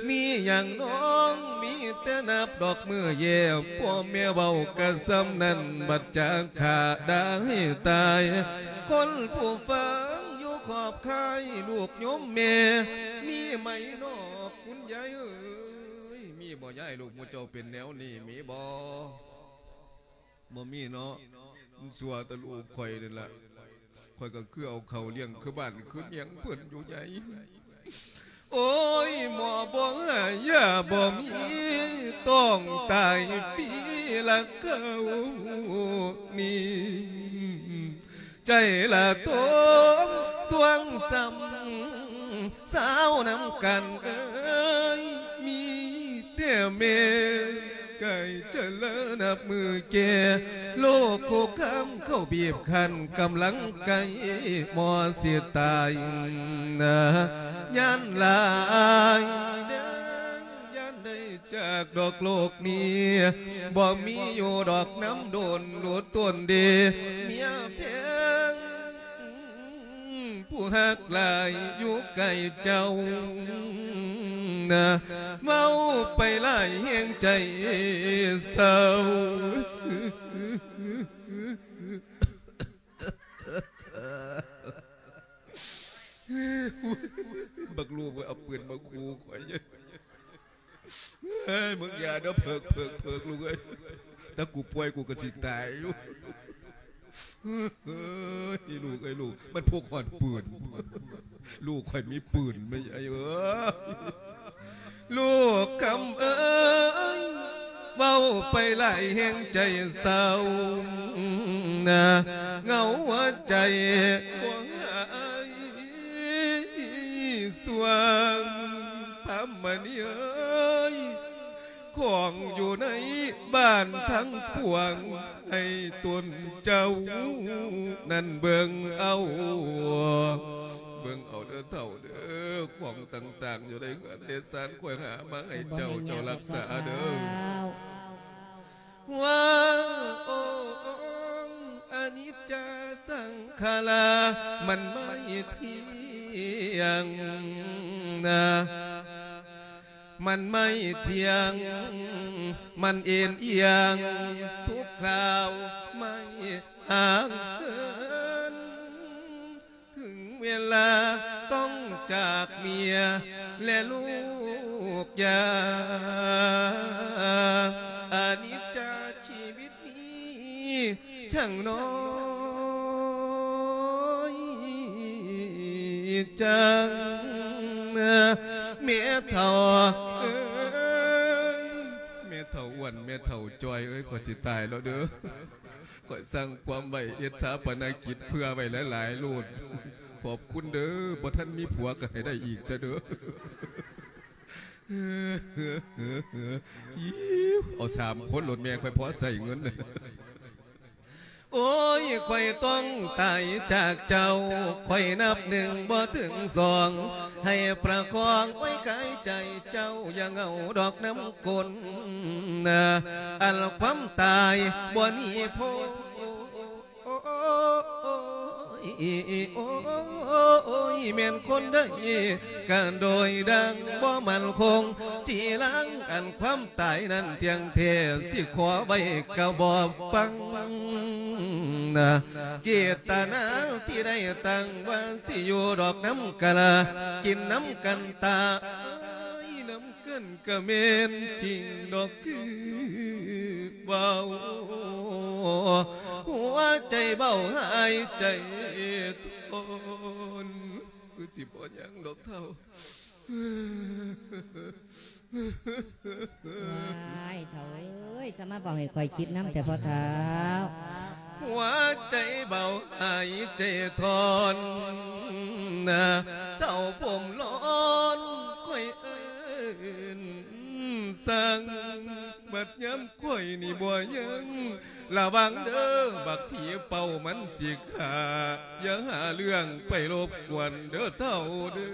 ມີຫຍັງນ້ອງ ມີແຕ່ນັບດອກມື້ແຍ່ ພໍ່ແມ່ເວົ້າກະສ່ຳນັ້ນ ບັດຈາກຂ້າໄດ້ຕາຍ ຄົນຜູ້ຟັງຢູ່ຂອບຄ້າຍ ລູກໂຍມແມ່ ມີໄໝນອກ ຄຸນຍາຍເອີຍ ມີບໍ່ຍາຍ ລູກໝູ່ເຈົ້າເປັນແນວນີ້ ມີບໍ່? ບໍ່ມີເນາະ ມັນຊົ່ວແຕ່ລູກຂ້ອຍນີ້ລະ ຂ້ອຍກໍຄືເອົາເຂົ້າລ້ຽງຄືບ້ານຄືເມືອງເພິ່ນຢູ່ໃຫຍ່. ໂອ້ຍ ໝໍບໍ່ໃຫ້ຢາບໍ່ມີ ຕ້ອງຕາຍຟຣີລະເຂົານີ້. ໃຈລະຕົງຊ່ວງຊ້ຳ ສາວນຳກັນເອີຍ ມີແຕ່ແມ່ໄກ່ຈະເລີນັບມື້ແກ່ ໂລກໂຄຄາມເຂົ້າບີບຄັ້ນ ກຳລັງໃກ້ໝໍຊິຕາຍນາ ຢ້ານຫຼາຍເດີ ຢ້ານໄດ້ ຈາກດອກໂລກນີ້ ບໍ່ມີຢູ່ດອກນຳດົນ ໂລດຕົນເດ ເມຍແພງ ຜູ້ຮັກຫຼາຍຢູ່ໃກ້ເຈົ້ານະ ເວົ້າໄປຫຼາຍແຮງໃຈເສົ້າ. ບັກລູກເອີຍ ເອົາປືນມາຂູ່ຂ້ອຍ. ເຮີ້ຍ ມຶງຢ່າເດີ ເພີກ ເພີກ ເພີກ ລູກເອີຍ ຖ້າກູປ່ວຍກູກໍຊິຕາຍຢູ່. ເຮີ້ຍ ລູກເອີຍ ລູກ ມັນພົກຮອດປືນ ລູກຂ້ອຍມີປືນ ແມ່ໃຫຍ່ເອີຍ. ລູກຄຳເອີຍ ເວົ້າໄປຫຼາຍແຮງໃຈເສົ້ານະ ເຫງົາຫົວໃຈບໍ່ຫາຍສວ່າງ ພາມມະນີເອີຍ ຂອງຢູ່ໃນບ້ານທັງປວງ ໃຫ້ຕົນເຈົ້ານັ້ນເບິ່ງເອົາ ເບິ່ງເອົາເດີເຖົ້າເດີ ຂອງຕ່າງໆ ຢູ່ໃນເຮືອນໃນຊານ ຂ້ອຍຫາມາໃຫ້ເຈົ້າ ເຈົ້າຮັກສາເດີ. ວ່າ ໂອ ອະນິດຈາສັງຂາລາ ມັນໄມ່ທ່ຽງນະ ມັນໄມ່ທ່ຽງ ມັນເອັນອີ່ຍງທຸກຄາວ ໄມ່ຫ່າງເຫີນ ເຖິງເວລາຕ້ອງຈາກເມຍ ແລະລູກຢ່າ ອະນິດຈາຊີວິດນີ້ ຊ່າງນ້ອຍຈັງ ແມ່ເຖົ້າເອີຍ ແມ່ເຖົ້າອ້ວນ ແມ່ເຖົ້າຈ່ອຍເອີຍ ຂ້ອຍຊິຕາຍແລ້ວເດີ ຂ້ອຍສັ່ງຄວາມໄວ້ ເຮັດຊາປະນະກິດເຜື່ອໄວ້ຫຼາຍໆໂລດ ຂອບຄຸນເດີ ບໍ່ທັນມີຜົວກໍໃຫ້ໄດ້ອີກຊະເດີ. ເອົາສາມຄົນໂລດແມ່ ຂ້ອຍພໍໃຊ້ເງິນ. ໂອ້ຍ ຂ້ອຍຕ້ອງຕາຍຈາກເຈົ້າ ຂ້ອຍນັບໜຶ່ງບໍ່ເຖິງສອງ ໃຫ້ປະຄອງໄວ້ກາຍໃຈເຈົ້າ ຢ່າເຫງົາດອກນຳກົ້ນ ອັນຄວາມຕາຍບໍ່ໜີໂພ ໂອ້ຍ ໂອ້ຍ ແມ່ນຄົນໃດກະໂດຍດັ່ງບໍ່ໝັ້ນຄົງ ຈີລັງອັນຄວາມຕາຍນັ້ນທ່ຽງແທ້ ຊິຂໍໄວ້ກະບໍ່ຟັງນະ ເຈດຕະນາທີ່ໄດ້ຕັ້ງວ່າ ຊິຢູ່ດອກນຳກັນ ກິນນຳກັນຕາຍນຳ ກັນກະແມ່ນຈິງດອກຄືເວົ້າ ຫົວໃຈເບົາຫາຍໃຈທອນ ຄືຊິບໍ່ຍັງດອກເຖົ້າ. ວ້າຍ ເຖົ້າເອີຍ ສະມາເວົ້າໃຫ້ຂ້ອຍຄິດນຳແທ້ພໍ່ເຖົ້າ. ຫົວໃຈເບົາຫາຍໃຈທອນນະ ເຖົ້າຜົມລ້ອນຂ້ອຍເອີ້ນສັ່ງ ບັດຍາມຂ້ອຍນີ້ບໍ່ຍັງ ລະວັງເດີ ບັກຜີເປົ່າມັນຊິຂ້າ ຢ່າຫາເລື່ອງໄປລົບກວນເດີເຖົ້າເດີ.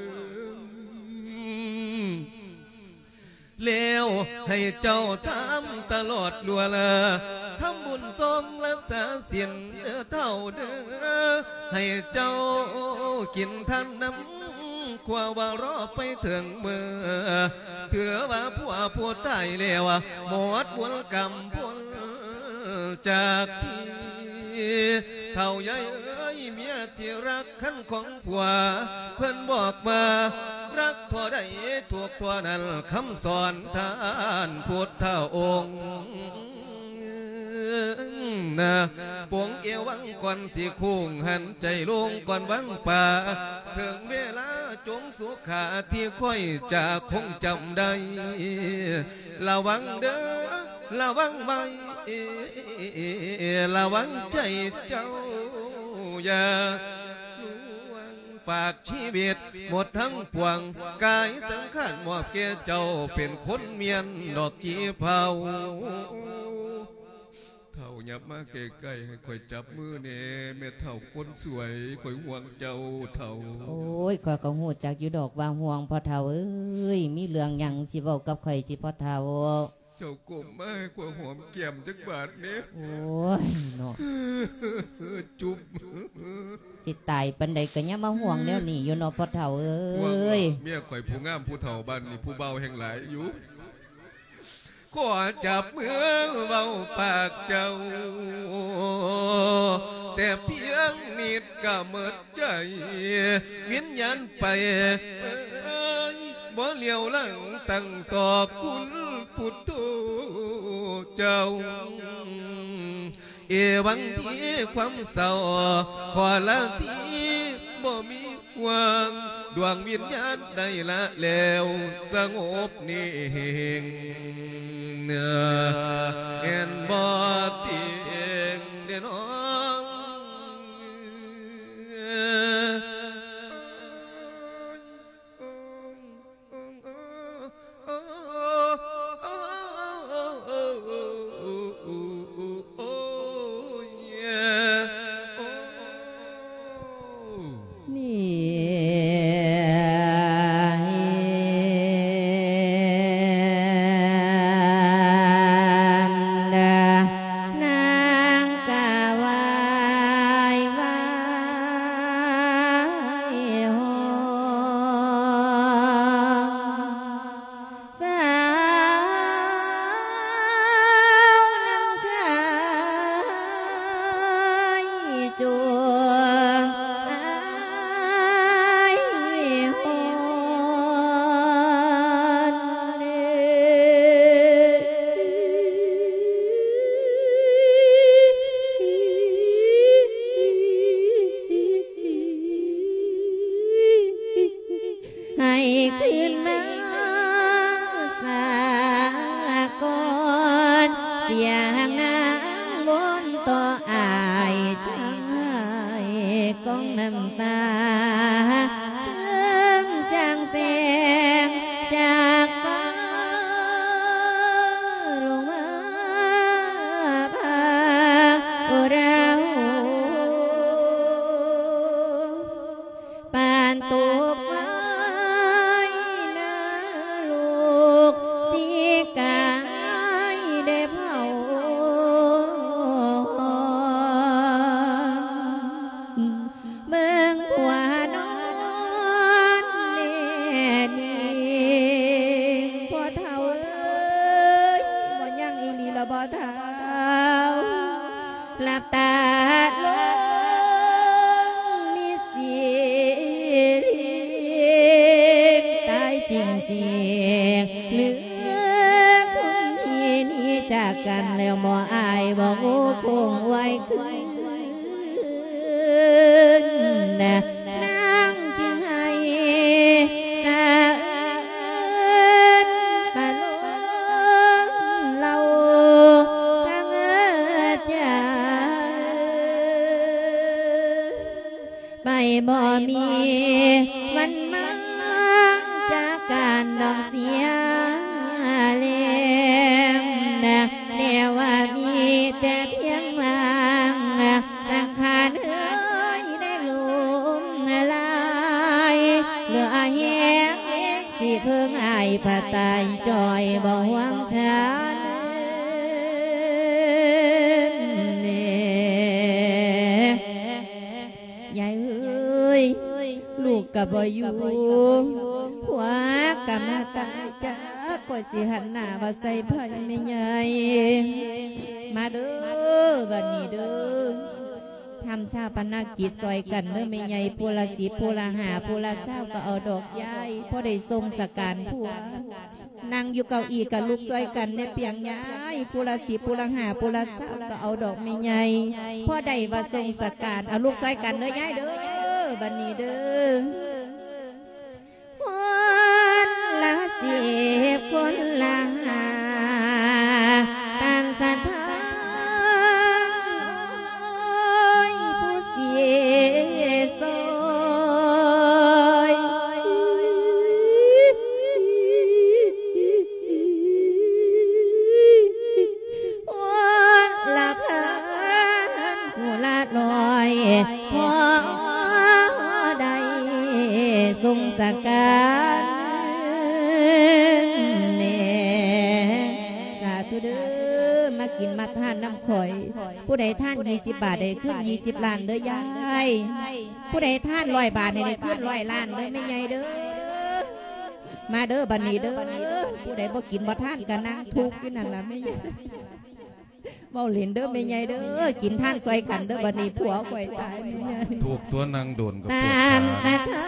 ແລ້ວໃຫ້ເຈົ້າທຳຕະຫຼອດຊົ່ວລາ ທຳບຸນຊອງລັກສາສິນເດີເຖົ້າເດີ ໃຫ້ເຈົ້າກິນທານນຳ ຄວາວ່າລໍໄປເຖິງມື້ ຖືວ່າຜົວຜູ້ຕາຍແລ້ວ ໝົດບຸນກຳພົນຈາກທີ່ ເຖົ້າໃຫຍ່ເອີຍ ເມຍທີ່ຮັກຄັນຂອງ ຜົວເພິ່ນບອກວ່າ ລັກທໍ່ໃດທຸກທໍ່ນັ້ນ ຄຳສອນທ່ານພຸດທະອົງນະ ປົງເອວັງກ່ອນຊິໂຄ້ງ ຫັນໃຈລົງກ່ອນວັງປ່າ ເຖິງເວລາຈົ່ງສຸຂາທີ່ຂ້ອຍຈະຄົງຈຳໄດ້ ລະວັງເດີ ລະວັງໄວ້ ລະວັງໃຈເຈົ້າ ຢ່າລວງ ຝາກຊີວິດໝົດທັງປວງ ກາຍສັງຂານມອບແກ່ເຈົ້າ ເປັນຄົນມ້ຽນດອກກີເພົາ. ເຖົ້າ ຫຍັບມາໃກ້ໆ ໃຫ້ຂ້ອຍຈັບມືແດ່ ແມ່ເຖົ້າຄົນສວຍ ຂ້ອຍຫ່ວງເຈົ້າເຖົ້າ. ໂອ້ຍ ຂ້ອຍກໍຮູ້ຈັກຢູ່ດອກວ່າຫ່ວງ ພໍ່ເຖົ້າເອີຍ ມີເລື່ອງຫຍັງຊິເວົ້າກັບຂ້ອຍຕິພໍ່ເຖົ້າ? ເຈົ້າກົ້ມມາໃຫ້ຂ້ອຍຫອມແກ້ມຈັກບາດແດ່. ໂອ້ຍເນາະ ຈຸບ. ຊິຕາຍປານໃດກໍຍັງມາຫ່ວງແນວນີ້ຢູ່ເນາະ ພໍ່ເຖົ້າເອີຍ. ເມຍຂ້ອຍຜູ້ງາມຜູ້ເຖົ້າ ບ້ານນີ້ຜູ້ບ່າວແຮ່ງຫຼາຍຢູ່. ຂໍຈັບມືເວົ້າປາກເຈົ້າ ແຕ່ພຽງນິດກໍໝົດໃຈ ວິນຍານໄປ ບໍ່ຫຼຽວຫຼັງຕັ້ງຕໍ່ຄຸນພຸດໂທເຈົ້າ. ເອວັງທີຄວາມເສົ້າ ຂໍລາທີບໍ່ມີຫວັງ ດວງວິນຍານໄດ້ລະແລ້ວສະຫງົບນິ່ງ ແມ່ນບໍ່ຕິງເດນ້ອງ? ນີ້ ນາງກະວາຍວາຍຮ້ອງ ສາວນຳໄຄຈົງອາຍຮ້ອນ ໃຫ້ຄືນມາສາກ່ອນ ສຽງນາງວົນຕໍ່ອາຍ ທັງໄຫ້ກອງນ້ຳຕາ ເຖິງຈາງແສງຈາກຟ້າລົງມາພາອຸຣາໂຫ ປານຕົກໄຟນະລົກທີ່ກາຍໄດ້ເຜົາ ເບິ່ງຜົວນອນແນ່ນິ່ງ ພໍ່ເຖົ້າເອີຍ ບໍ່ຍັງອີ່ຫຼີລະບໍ່ເຖົ້າ? ຫຼັບຕາລົງມີສີລິງ ຕາຍຈິງໆ ຫຼືຄົນທີ່ໜີຈາກກັນແລ້ວ ບໍ່ອາຍບໍ່ໂອ້ຄົງໄວ້ຄືນ ນາງຈຶ່ງໄຫ້ສະເອີນປະໂລມເລົ່າທັງເອີດຢາ ໄປບໍ່ມີວັນມາຈາກກັນດອກເສຍແລ້ງ ແນວວ່າມີແຕ່ພຽງລາງ ສັງຂານເອີຍໄດ້ລົ້ມລາຍ ເຫຼືອແຮງ ຊິເພິ່ງອ້າຍພະຕາຍຈ່ອຍ ບໍ່ຫວງຊານແນ່ ຍາຍເອີຍ ລູກກະບໍ່ຢູ່ ຜົວກະມາຕາຍຈາກ ຂ້ອຍຊິຫັນໜ້າວ່າໃສ່ໃຜແມ່ໃຫຍ່ ມາເດີ ບັດນີ້ເດີ ທຳຊາປະນະກິດຊ່ອຍກັນເດີແມ່ໃຫຍ່ ຜູ້ລະສິບ ຜູ້ລະຫ້າ ຜູ້ລະຊາວ ກໍເອົາດອກຍາຍ ພໍໄດ້ສົ່ງສະການຜົວ ນັ່ງຢູ່ເກົ້າອີ່ກໍລຸກຊ່ອຍກັນແດ່ປຽງຍາຍ ຜູ້ລະສິບ ຜູ້ລະຫ້າ ຜູ້ລະຊາວ ກໍເອົາດອກແມ່ໃຫຍ່ ພໍໄດ້ວ່າສົ່ງສະການ ເອົາລຸກຊ່ອຍກັນເດີຍາຍເດີ ບັດນີ້ເດີ. ຄົນລະສິບ ຄົນລະຫ້າ ຕາມສັດທາ ໂອ້ຍ ຜູ້ຊິຊ່ອຍ ຄົນລະພັນ ຜູ້ລະຮ້ອຍ ພໍໄດ້ສົງສະການແດ່ ສາທຸເດີ ມາກິນມາທານນຳຂ້ອຍ ຜູ້ໃດທານຊາວບາດ ໄດ້ຄືນຊາວລ້ານເດີຍາຍ ຜູ້ໃດທານຮ້ອຍບາດ ໃຫ້ໄດ້ຄືນຮ້ອຍລ້ານເດີແມ່ໃຫຍ່ເດີ ມາເດີບັດນີ້ເດີ ຜູ້ໃດບໍ່ກິນບໍ່ທານກໍນັ່ງທຸກຢູ່ນັ້ນລະແມ່ໃຫຍ່. ເວົ້າຫຼິ້ນເດີແມ່ໃຫຍ່ເດີ ກິນທານຊ່ອຍກັນເດີ ບັດນີ້ຜົວຂ້ອຍຕາຍແມ່ໃຫຍ່ ທຸກຕົວນັ່ງໂດນກໍປວດຂາ ຕາມສັດທາ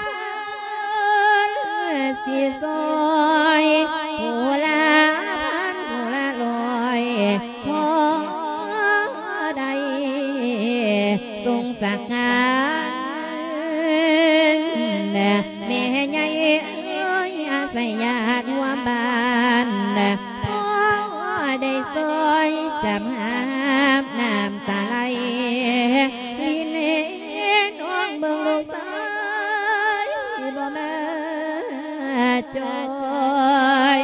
ຄົນຊິຊ່ອຍ ຜູ້ລະພັນ ຜູ້ລະຮ້ອຍ ພໍໄດ້ສົງສະການ ບ້ານ ພໍໄດ້ຊ່ອຍຈຳຫາບນ້ຳຕາໄຫຼ ລິນເຫັນອອກເບິ່ງລູກຊາຍບໍ່ມາຈອຍ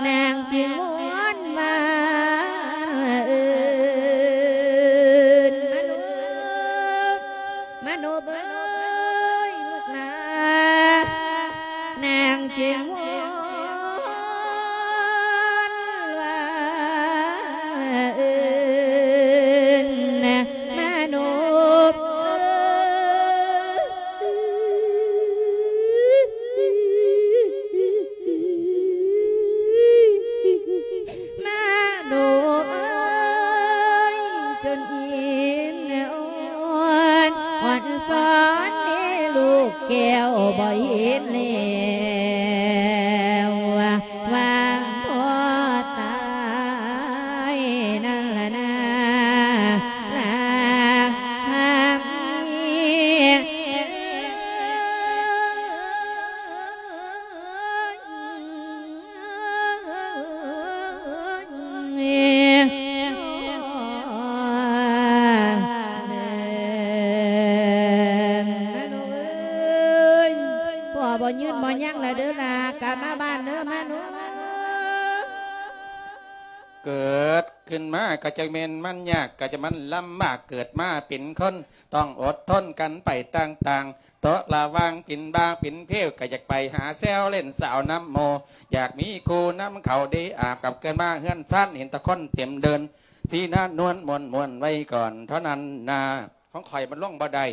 ນາງຈຶ່ງວອນວ່າເອີ້ນ ມະໂນບ ມະໂນບເອີຍລູກຫຼານ ນາງຈຶ່ງວອນວ່າເອີ້ນ ມະໂນບເອີຍ ມະໂນບເອີຍ ຈົນອິນອ່ອນ ອ່ອນສອນໃຫ້ລູກແກ້ວບໍ່ເຫັນແລ້ວ ວ່າພໍ່ຕາຍນັ້ນລະນາ ລາ ພໍ່ບໍ່ຍືນບໍ່ຍັງລະເດີລະ ກັບມາບ້ານເດີມາໜູ. ເກີດຂຶ້ນມາກໍຈະແມ່ນມັນຍາກ ກໍຈະມັນລຳບາກ ເກີດມາເປັນຄົນ ຕ້ອງອົດທົນກັນໄປຕ່າງໆ ຕົກລະຫວ່າງປິ່ນບ້າປິ່ນເພວ ກໍຢາກໄປຫາແຊວຫຼິ້ນສາວນຳໝູ່ ຢາກມີຄູ່ນຳເຂົາເດອາບ ກັບເກີດມາເຮືອນຊານ ເຫັນແຕ່ຄົນເຕັມເດີ່ນ ສີໜ້ານວນມ່ວນໆ ໄວ້ກ່ອນເທົ່ານັ້ນນາ. ຂອງຂ້ອຍມັນລົງບໍ່ໄດ້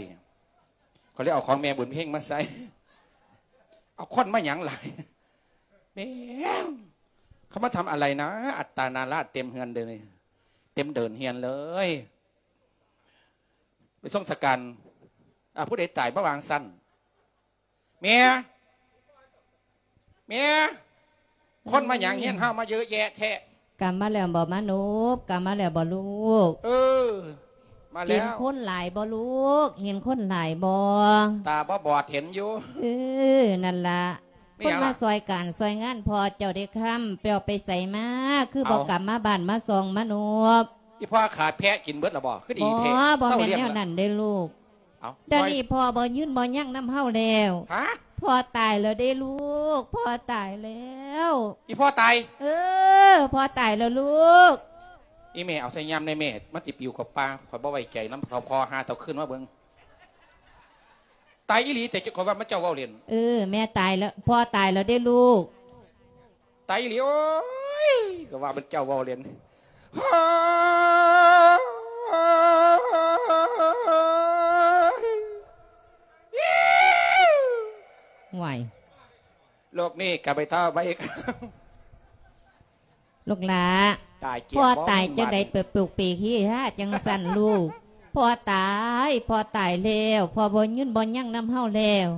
ຂ້ອຍເລີຍເອົາຂອງແມ່ບຸນເພັງມາໃສ່ ເອົາຄົນມາຫຍັງຫຼາຍ ແມ່ງ ເຂົາມາທຳອະໄລນະ ອັດຕານາລາດເຕັມເຮືອນເລີຍ ເຕັມເດີ່ນເຮືອນເລີຍ. ໄປສົ່ງສະການ ອາ ຜູ້ໃດຕາຍມາວາງຊັ້ນ ແມ່ ແມ່ ຄົນມາຫຍັງເຮືອນເຮົາມາເຍອະແຍະແທ້? ກັບມາແລ້ວບໍ່ມາໂນບ? ກັບມາແລ້ວບໍ່ລູກ? ເອີ ມາແລ້ວ. ເຫັນຄົນຫຼາຍບໍ່ລູກ? ເຫັນຄົນຫຼາຍບໍ່? ຕາບໍ່ບອດເຫັນຢູ່. ເອີ ນັ້ນລະ ຄົນມາຊ່ອຍການຊ່ອຍງານພໍ່ເຈົ້າເດ້ຄຳ ເຈົ້າໄປໃສມາ ຄືບໍ່ກັບມາບ້ານມາຊ່ອງມາໂນບ? ອີ່ພໍ່ຂາດແພະກິນເບິດລະບໍ່? ຄືດີແທ້. ບໍ່ ບໍ່ແມ່ນແນວນັ້ນເດ້ລູກ. ດຽວນີ້ພໍ່ບໍ່ຍືນບໍ່ຍັງນຳເຮົາແລ້ວ. ຮະ? ພໍ່ຕາຍແລ້ວເດ້ລູກ ພໍ່ຕາຍແລ້ວ. ອີ່ພໍ່ຕາຍ? ເອີ ພໍ່ຕາຍແລ້ວລູກ. ອີ່ແມ່ເອົາໃສ່ຍາມແດ່ແມ່ ມັນຊິປິວເຂົ້າປ່າ. ຂ້ອຍບໍ່ໄວ້ໃຈນຳເຖົ້າພໍ່ ຫາເຖົ້າຄືນມາເບິ່ງ. ຕາຍອີ່ຫຼີແຕ່ ຂ້ອຍວ່າມັນເຈົ້າເວົ້າຫຼິ້ນ. ເອີ ແມ່ຕາຍແລ້ວ ພໍ່ຕາຍແລ້ວເດ້ລູກ. ຕາຍອີ່ຫຼີ ໂອ້ຍ ກໍວ່າມັນເຈົ້າເວົ້າຫຼິ້ນ. ຫວາຍ ໂລກນີ້ກໍໄປເທົ່າໄປ ລູກຫຼ້າ ຕາຍເກຍ ພໍ່ຕາຍຈັ່ງໃດ ເປີດປຸກເປກຮີຮາຈັ່ງຊັ້ນລູກ. ພໍ່ຕາຍ ພໍ່ຕາຍແລ້ວ ພໍ່ບໍ່ຍືນບໍ່ຍັງນຳເຮົາແລ້ວ.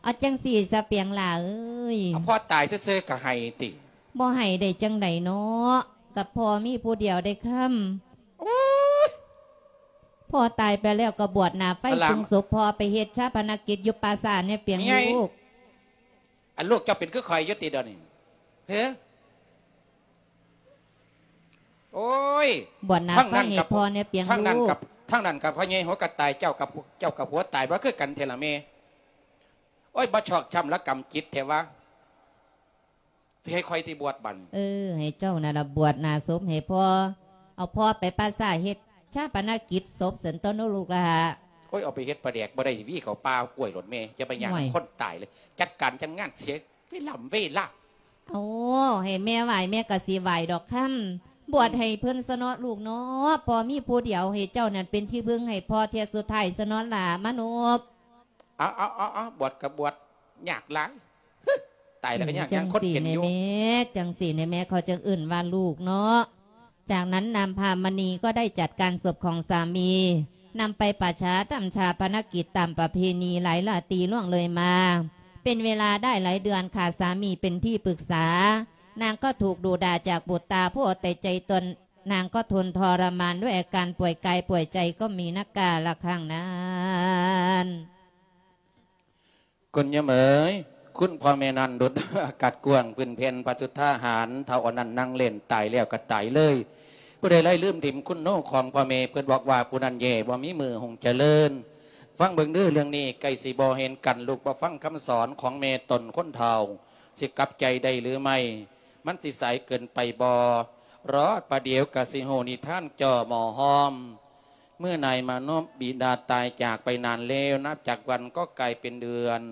ເອົາຈັ່ງຊີ້ຊະປຽງຫຼ້າເອີຍ. ເອົາ ພໍ່ຕາຍຊື່ໆກໍໃຫ້ຕິ. ບໍ່ໃຫ້ໄດ້ຈັ່ງໃດເນາະ ກັບພໍ່ມີຜູ້ດຽວໄດ້ຄຳ. ໂອ້ຍ ພໍ່ຕາຍໄປແລ້ວກໍບວດໜ້າໄຟ ປຸງສົບພໍ່ ໄປເຮັດຊາປະນະກິດຢູ່ປ່າຊ້າແນ່ປຽງລູກ. ອັນລູກເຈົ້າເປັນຄືຂ້ອຍຢູ່ຕິດຽວນີ້ ເຮີ? ໂອ້ຍ ບວດໜ້າໄຟໃຫ້ພໍ່ແນ່ປຽງລູກ. ທາງນັ້ນກັບ ທາງນັ້ນກັບພໍ່ໃຫຍ່ຫົວກະຕ່າຍ ເຈົ້າກັບ ເຈົ້າກັບຫົວຕາຍ ບໍ່ຄືກັນແທ້ລະແມ່. ໂອ້ຍ ບໍ່ຊອກຊ້ຳລະກຳຈິດແທ້ວະ ຊິໃຫ້ຂ້ອຍຕິບວດບັດ. ເອີ ໃຫ້ເຈົ້ານັ້ນລະບວດໜ້າສົບໃຫ້ພໍ່. ເອົາພໍ່ໄປປ່າຊ້າເຮັດຊາປະນະກິດສົບຊັ້ນຕົວະລູກຫຼ້າ. ໂອ້ຍ ເອົາໄປເຮັດປາແດກບໍ່ໄດ້ ຫວີເຂົ້າປ່າກ້ວຍໂລດແມ່. ຢ່າໄປຫຍັງນຳຄົນຕາຍເລີຍ ຈັດການຈັດງານເສຍເວລາເວລາ. ໂອ້ ໃຫ້ແມ່ໄຫວ້ແມ່ກໍຊິໄຫວ້ດອກຄຳ. ບວດໃຫ້ເພິ່ນຊະເນາະລູກເນາະ ພໍ່ມີຜູ້ດຽວ ໃຫ້ເຈົ້ານັ້ນເປັນທີ່ເພິ່ງໃຫ້ພໍ່ເທື່ອສຸດທ້າຍຊະເນາະຫຼ້າມະໂນບ. ເອົາ ເອົາ ເອົາ ເອົາ ບວດກໍບວດ ຍາກຫຼາຍ. ຕາຍແລ້ວກໍຍາກ ຍັງຄົນເປັນຢູ່. ຈັ່ງຊີ້ແນ່ແມ່ ຈັ່ງຊີ້ແນ່ແມ່ ເຂົາຈຶ່ງເອີ້ນວ່າລູກເນາະ. ຈາກນັ້ນນາງພາມະນີກໍໄດ້ຈັດການສົບຂອງສາມີ ນຳໄປປະຊາທຳຊາປະນະກິດຕາມປະເພນີ. ຫຼາຍລາຕີລ່ວງເລີຍມາ ເປັນເວລາໄດ້ຫຼາຍເດືອນ ຂາດສາມີເປັນທີ່ປຶກສາ. ນາງກໍຖືກດຸດ່າຈາກບຸດຕາຜູ້ເອົາແຕ່ໃຈຕົນ. ນາງກໍທົນທໍລະມານດ້ວຍອາການປ່ວຍກາຍປ່ວຍໃຈກໍມີນັກກາລະຄັ້ງນັ້ນ. ຄຸນຍາມເອີຍ ຄຸນພໍ່ແມ່ນັ້ນດຸດອາກາດກວ້າງ ພື້ນແຜ່ນພະສຸດທາຫານ ເຖົ້າອັນນັ້ນນັ່ງເຫຼັ້ນ ຕາຍແລ້ວກໍຕາຍເລີຍ ຜູ້ໃດໄດ້ລືມຖິ້ມຄຸນໂນຂອງພໍ່ແມ່ ເພິ່ນບອກວ່າຜູ້ນັ້ນແຍ່ ບໍ່ມີມື້ຮຸ່ງຈະເລີນ. ຟັງເບິ່ງເດີ ເລື່ອງນີ້ໃກ້ຊິບໍ່ເຫັນກັນ ລູກບໍ່ຟັງຄຳສອນຂອງແມ່ຕົນຄົນເຖົ້າ ຊິກັບໃຈໄດ້ຫຼືໄມ່? ມັນຊິສາຍເກີນໄປບໍ່? ລໍປະດຽວກໍຊິຮູ້ນິທານຈໍ່ໝໍ້ຫອມ. ເມື່ອນາຍມານົບບິດາຕາຍຈາກໄປນານແລ້ວ ນັບຈາກວັນກໍກາຍເປັນເດືອນ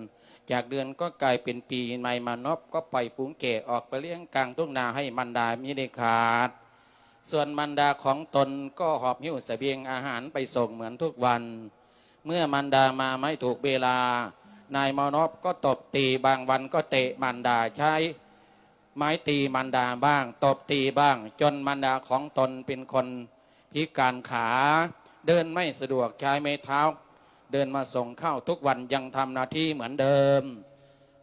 ຈາກເດືອນກໍກາຍເປັນປີ ນາຍມານົບກໍປ່ອຍຝູງແກະອອກໄປລ້ຽງກາງທົ່ງນາໃຫ້ມານດາມິໄດ້ຂາດ. ສ່ວນມານດາຂອງຕົນກໍຫອບຫິ້ວສະບຽງອາຫານໄປສົ່ງເໝືອນທຸກວັນ. ເມື່ອມານດາມາໄມ່ຖືກເວລາ ນາຍມານົບກໍຕົບຕີ ບາງວັນກໍເຕະມານດາ ໃຊ້ໄມ້ຕີມານດາບ້າງ ຕົບຕີບ້າງ ຈົນມານດາຂອງຕົນເປັນຄົນພິການຂາ ເດີນໄມ່ສະດວກ ໃຊ້ໄມ້ເທົ້າເດີນມາສົ່ງເຂົ້າທຸກວັນ ຍັງທຳໜ້າທີ່ເໝືອນເດີມ.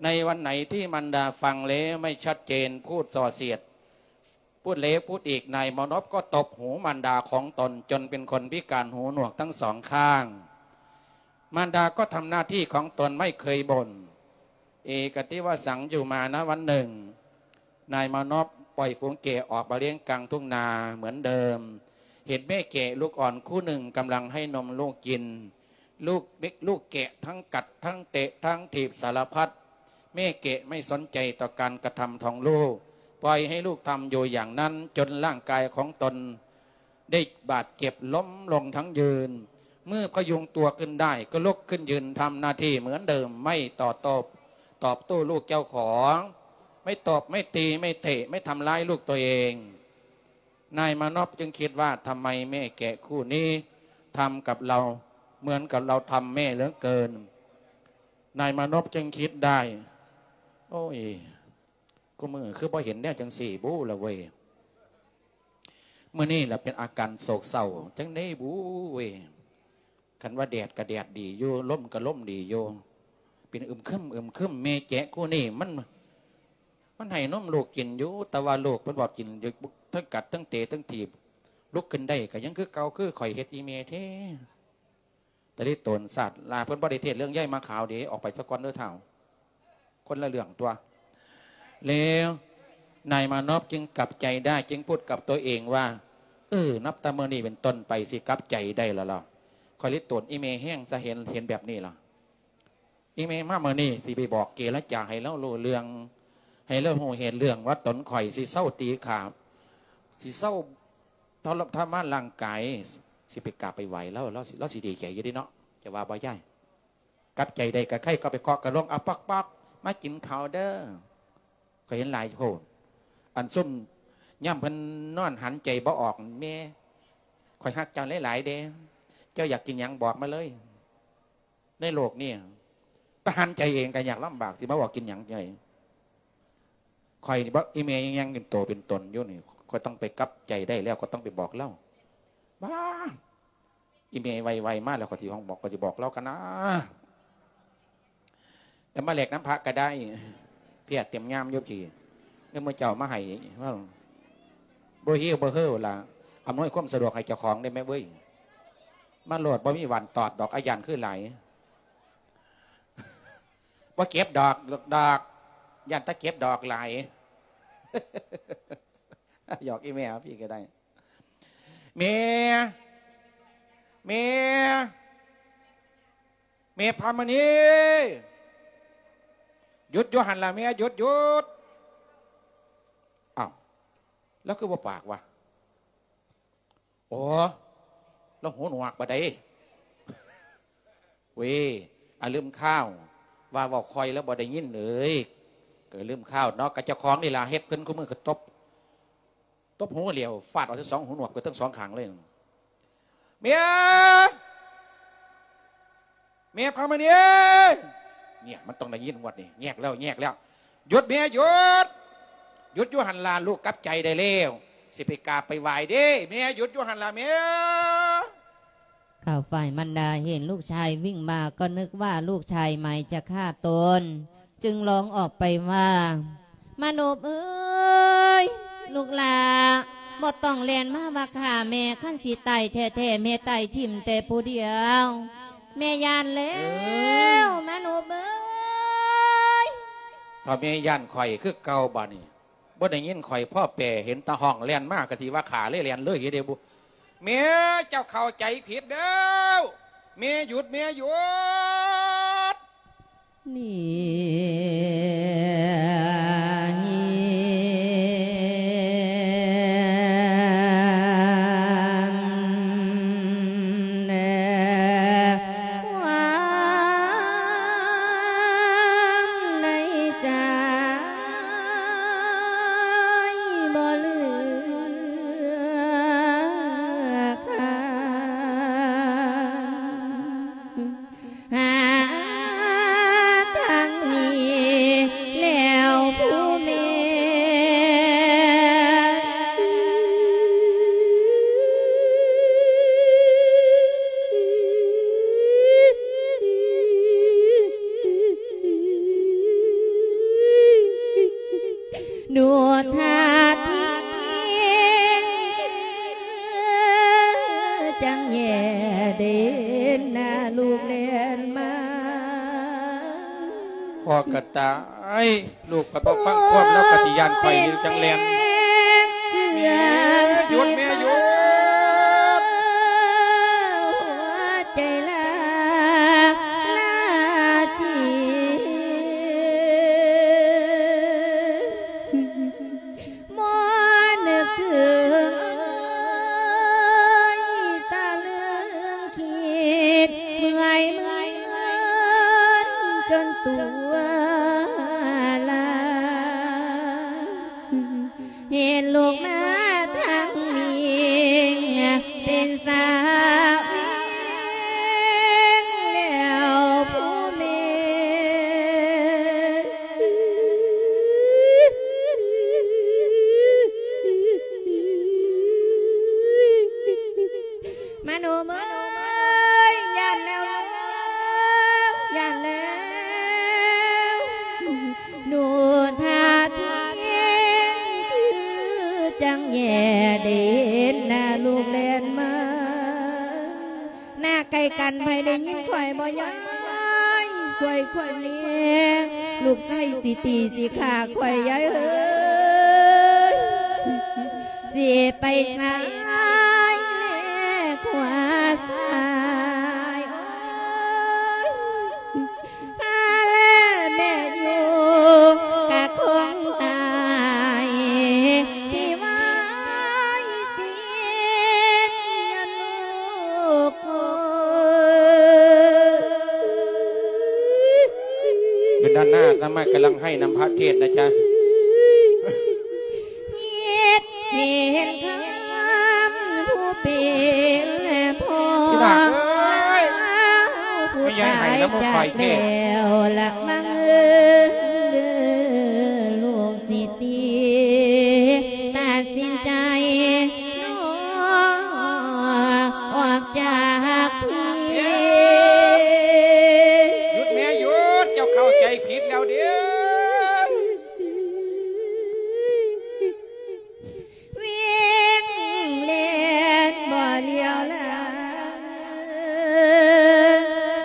ໃນວັນໄຫນທີ່ມານດາຟັງແລ້ວໄມ່ຊັດເຈນ ພູດສ່ອສຽດ ພູດແລ້ວພູດອີກ ນາຍມານົບກໍຕົບຫູມານດາຂອງຕົນຈົນເປັນຄົນພິການຫູໜວກທັງສອງຂ້າງ. ມານດາກໍທຳໜ້າທີ່ຂອງຕົນໄມ່ເຄີຍບົ່ນ ເອກະຕິວະສັງຢູ່ມານະວັນໜຶ່ງ ນາຍມານົບປ່ອຍຝູງແກະອອກມາລ້ຽງກາງທົ່ງນາເໝືອນເດີມ ເຫັນແມ່ແກະລູກອ່ອນຄູ່ໜຶ່ງກຳລັງໃຫ້ນົມລູກກິນ. ລູກເດັກ ລູກແກະທັງກັດທັງເຕະທັງຖີບສາລະພັດ ແມ່ແກະໄມ່ສົນໃຈຕໍ່ການກະທຳຂອງລູກ ປ່ອຍໃຫ້ລູກທຳຢູ່ຢ່າງນັ້ນ ຈົນຮ່າງກາຍຂອງຕົນໄດ້ບາດເຈັບ ລົ້ມລົງທັງຢືນ. ເມື່ອພະຍຸງຕົວຂຶ້ນໄດ້ ກໍລຸກຂຶ້ນຢືນທຳໜ້າທີ່ເໝືອນເດີມ ໄມ່ຕໍ່ໂຕ້ ຕອບໂຕ້ລູກເຈົ້າຂອງ ໄມ່ຕົບ ໄມ່ຕີ ໄມ່ເຕະ ໄມ່ທຳຮ້າຍລູກຕົວເອງ. ນາຍມານົບຈຶ່ງຄິດວ່າ ທຳໄມແມ່ແກະຄູ່ນີ້ທຳກັບເຮົາເໝືອນກັບເຮົາທຳແມ່ເຫຼືອເກີນ? ນາຍມານົບຈຶ່ງຄິດໄດ້ ໂອ້ຍ ຄູ່ມື້ຄືບໍ່ເຫັນແນວຈັ່ງຊີ້ບູລະເວີຍ ມື້ນີ້ລະເປັນອາການໂສກເສົ້າຈັ່ງໃດບູເວີຍ. ຄັນວ່າແດດກໍແດດດີຢູ່ ລົມກໍລົມດີຢູ່ ເປັນອຶມຄຶມ ອຶມຄຶມ ແມ່ແຈະຄູ່ນີ້ມັນ ມັນໃຫ້ນົມລູກກິນຢູ່ ແຕ່ວ່າລູກເພິ່ນບໍ່ກິນຢູ່ ທັງກັດທັງເຕະທັງຖີບ ລຸກຂຶ້ນໄດ້ກໍຍັງຄືເກົ່າ ຄືຂ້ອຍເຮັດອີ່ແມ່ແທ້. ຕະລິໂຕນສາດລາ ເພິ່ນບໍ່ໄດ້ເທດເລື່ອງໃຫຍ່ມາຂາວເດ້ ອອກໄປສາກ່ອນເດີທ້າວ ຄົນລະເລື່ອງຕົວະ. ແລ້ວນາຍມານອບຈຶ່ງກັບໃຈໄດ້ ຈຶ່ງພູດກັບຕົວເອງວ່າ ເອີ ນັບແຕ່ມື້ນີ້ເປັນຕົ້ນໄປ ຊິກັບໃຈໄດ້ແລ້ວລະ ຂ້ອຍລິໂຕນອີ່ແມ່ແຮງຊະ ເຫັນ ເຫັນແບບນີ້ລະ ອີ່ແມ່ມາມື້ນີ້ ຊິໄປບອກເຈລະຈາໃຫ້ລາວຮູ້ເລື່ອງ ໃຫ້ລາວຮູ້ເຫດເລື່ອງວ່າຕົນຂ້ອຍຊິເຊົາຕີຂ້າ ຊິເຊົາ ທໍລະ ທໍລະມານຮ່າງກາຍ ຊິໄປກາບໄປໄຫວ້ລາວ ລາວຊິ ລາວຊິດີໃຈຢູ່ເດເນາະ ຈະວ່າບໍ່ຍາຍ? ກັບໃຈໄດ້ກະໄຄ ກໍໄປເຄາະກະລົງ ອາ ປອກໆ ມາກິນເຂົ້າເດີ. ຂ້ອຍເຫັນຫຼາຍໂພດ ອັນຊຸມຍາມເພິ່ນນອນຫັນໃຈບໍ່ອອກ ແມ່ ຂ້ອຍຮັກເຈົ້າຫຼາຍໆເດ້ ເຈົ້າຢາກກິນຫຍັງບອກມາເລີຍ. ໃນໂລກນີ້ ຕາຫັນໃຈເອງກໍຍາກລຳບາກ ຊິມາບອກກິນຫຍັງໃດ. ຂ້ອຍນີ້ບໍ່ ອີແມ່ຍັງເປັນໂຕເປັນຕົນຢູ່ນີ້ ຂ້ອຍຕ້ອງໄປກັບໃຈໄດ້ແລ້ວ ຂ້ອຍຕ້ອງໄປບອກລາວ. ບ້າ ອີແມ່ໄວໆມາແລ້ວ ຂ້ອຍຊິຫ້ອງບອກ ຂ້ອຍຊິບອກລາວກັນນາ. ແລ້ວມາແລກນຳພະກໍໄດ້ ເພຍເຕັມງາມຢູ່ພີ້ ເອີ ມື້ເຈົ້າມາໃຫ້ ບໍ່ຫິວບໍ່ເຫີລະ ອຳນວຍຄວາມສະດວກໃຫ້ເຈົ້າຂອງໄດ້ແມ່ເວີຍ. ມາໂລດ ບໍ່ມີຫວັນຕອດດອກ ອາຢ້ານຄືຫຼາຍ ບໍ່ເກັບດອກ ດອກ ຢ້ານແຕ່ເກັບດອກຫຼາຍ. ຫຍອກອີແມ່ພີ່ກໍໄດ້. ແມ່ ແມ່ ແມ່ພາມະນີ ຢຸດຢູ່ຫັ້ນລະແມ່ ຢຸດ ຢຸດ. ອ້າວ ລາວຄືບໍ່ປາກວະ? ອໍ ລາວຫູໜວກບໍ່ໄດ້. ເວີຍ ອາ ລືມຂ່າວ ວ່າເວົ້າຄ່ອຍລາວບໍ່ໄດ້ຍິນເອີຍ. ກໍລືມຂ່າວເນາະ ກະເຈົ້າຂອງນີ້ລະເຮັດຂຶ້ນຄູ່ມື້ ກະຕົບ ຕົບຫູຫຼຽວ ຟາດເອົາທັງສອງຫູໜວກ ເບິດທັງສອງຂ້າງເລີຍ. ເມຍ ເມຍພາມະນີ ເອີຍ ເນຍ ມັນຕ້ອງໄດ້ຍິນງວດນີ້ ແຍກແລ້ວ ແຍກແລ້ວ. ຢຸດເມຍ ຢຸດ ຢຸດຢູ່ຫັ້ນລະ ລູກກັບໃຈໄດ້ແລ້ວ ຊິໄປກາບໄປໄຫວ້ເດ້. ເມຍ ຢຸດຢູ່ຫັ້ນລະເມຍ. ຂ້າວຝ່າຍມານດາເຫັນລູກຊາຍວິ່ງມາ ກໍນຶກວ່າລູກຊາຍໝາຍຈະຂ້າຕົນ ຈຶ່ງຮ້ອງອອກໄປວ່າ ມານົບເອີຍ ລູກຫຼ້າ ບໍ່ຕ້ອງແລ່ນມາວ່າຂ້າແມ່ ຄັນຊິຕາຍແທ້ໆ ແມ່ຕາຍຖິ້ມແຕ່ຜູ້ດຽວ ແມ່ຢ້ານແລ້ວ ມານົບເອີຍ. ຖ້າແມ່ຢ້ານຂ້ອຍຄືເກົ່າ ບາດນີ້ບໍ່ໄດ້ຍິນຂ້ອຍພໍແປ ເຫັນແຕ່ຮ້ອງແລ່ນມາ ກະຊິວ່າຂ້າເລີຍແລ່ນເລີຍເດບຸ. ແມ່ເຈົ້າເຂົ້າໃຈຜິດແລ້ວ ແມ່ຢຸດ ແມ່ຢຸດ. ນີ້ພໍ່ກະຕາຍ ລູກຂ້ອຍບໍ່ຟັງຄວາມ ລາວກະຊິຢ້ານຂ້ອຍນີ້ຈັ່ງແລ່ນ. ມະໂນມເອີຍ ຢ້ານແລ້ວ ຢ້ານແລ້ວ ໂນທາທິງ ຄືຈັ່ງແຍ່ເດນນາ ລູກແລ່ນມາ. ໜ້າໃກ້ກັນ ໃຜໄດ້ຍິນຂ້ອຍບໍ່ຍາຍ? ຊ່ວຍຂ້ອຍແດ່ ລູກຊາຍຊິຕີຊິຂ້າຂ້ອຍ ຍາຍເອີຍ ຊິໄປຊ້າຍແລຂວາຊ້າຍ ໂອ້ຍ ຖ້າແລແມ່ຢູ່ກະຄົງຕາຍທີ່ວາຍສິນ ລູກເອີຍ. ຢູ່ດ້ານໜ້າອາດຕະມາກຳລັງໄຫ້ນຳພະເທດນະຈ໊ະ. ເຮັດ ເຫັນຄຳຜູ້ເປັນພໍ່ ທີ່ຮັກເອີຍ ຜູ້ຕາຍຈາກແລ້ວລະມັງເອີຍ ລູກຊິຕິ ຕັດສິນໃຈອອກຈາກພີ້. ຢຸດແມ່ຢຸດ ເຈົ້າເຂົ້າໃຈຜິດແລ້ວເດ້. ວິ່ງແລ່ນບໍ່ຫຼຽວລາ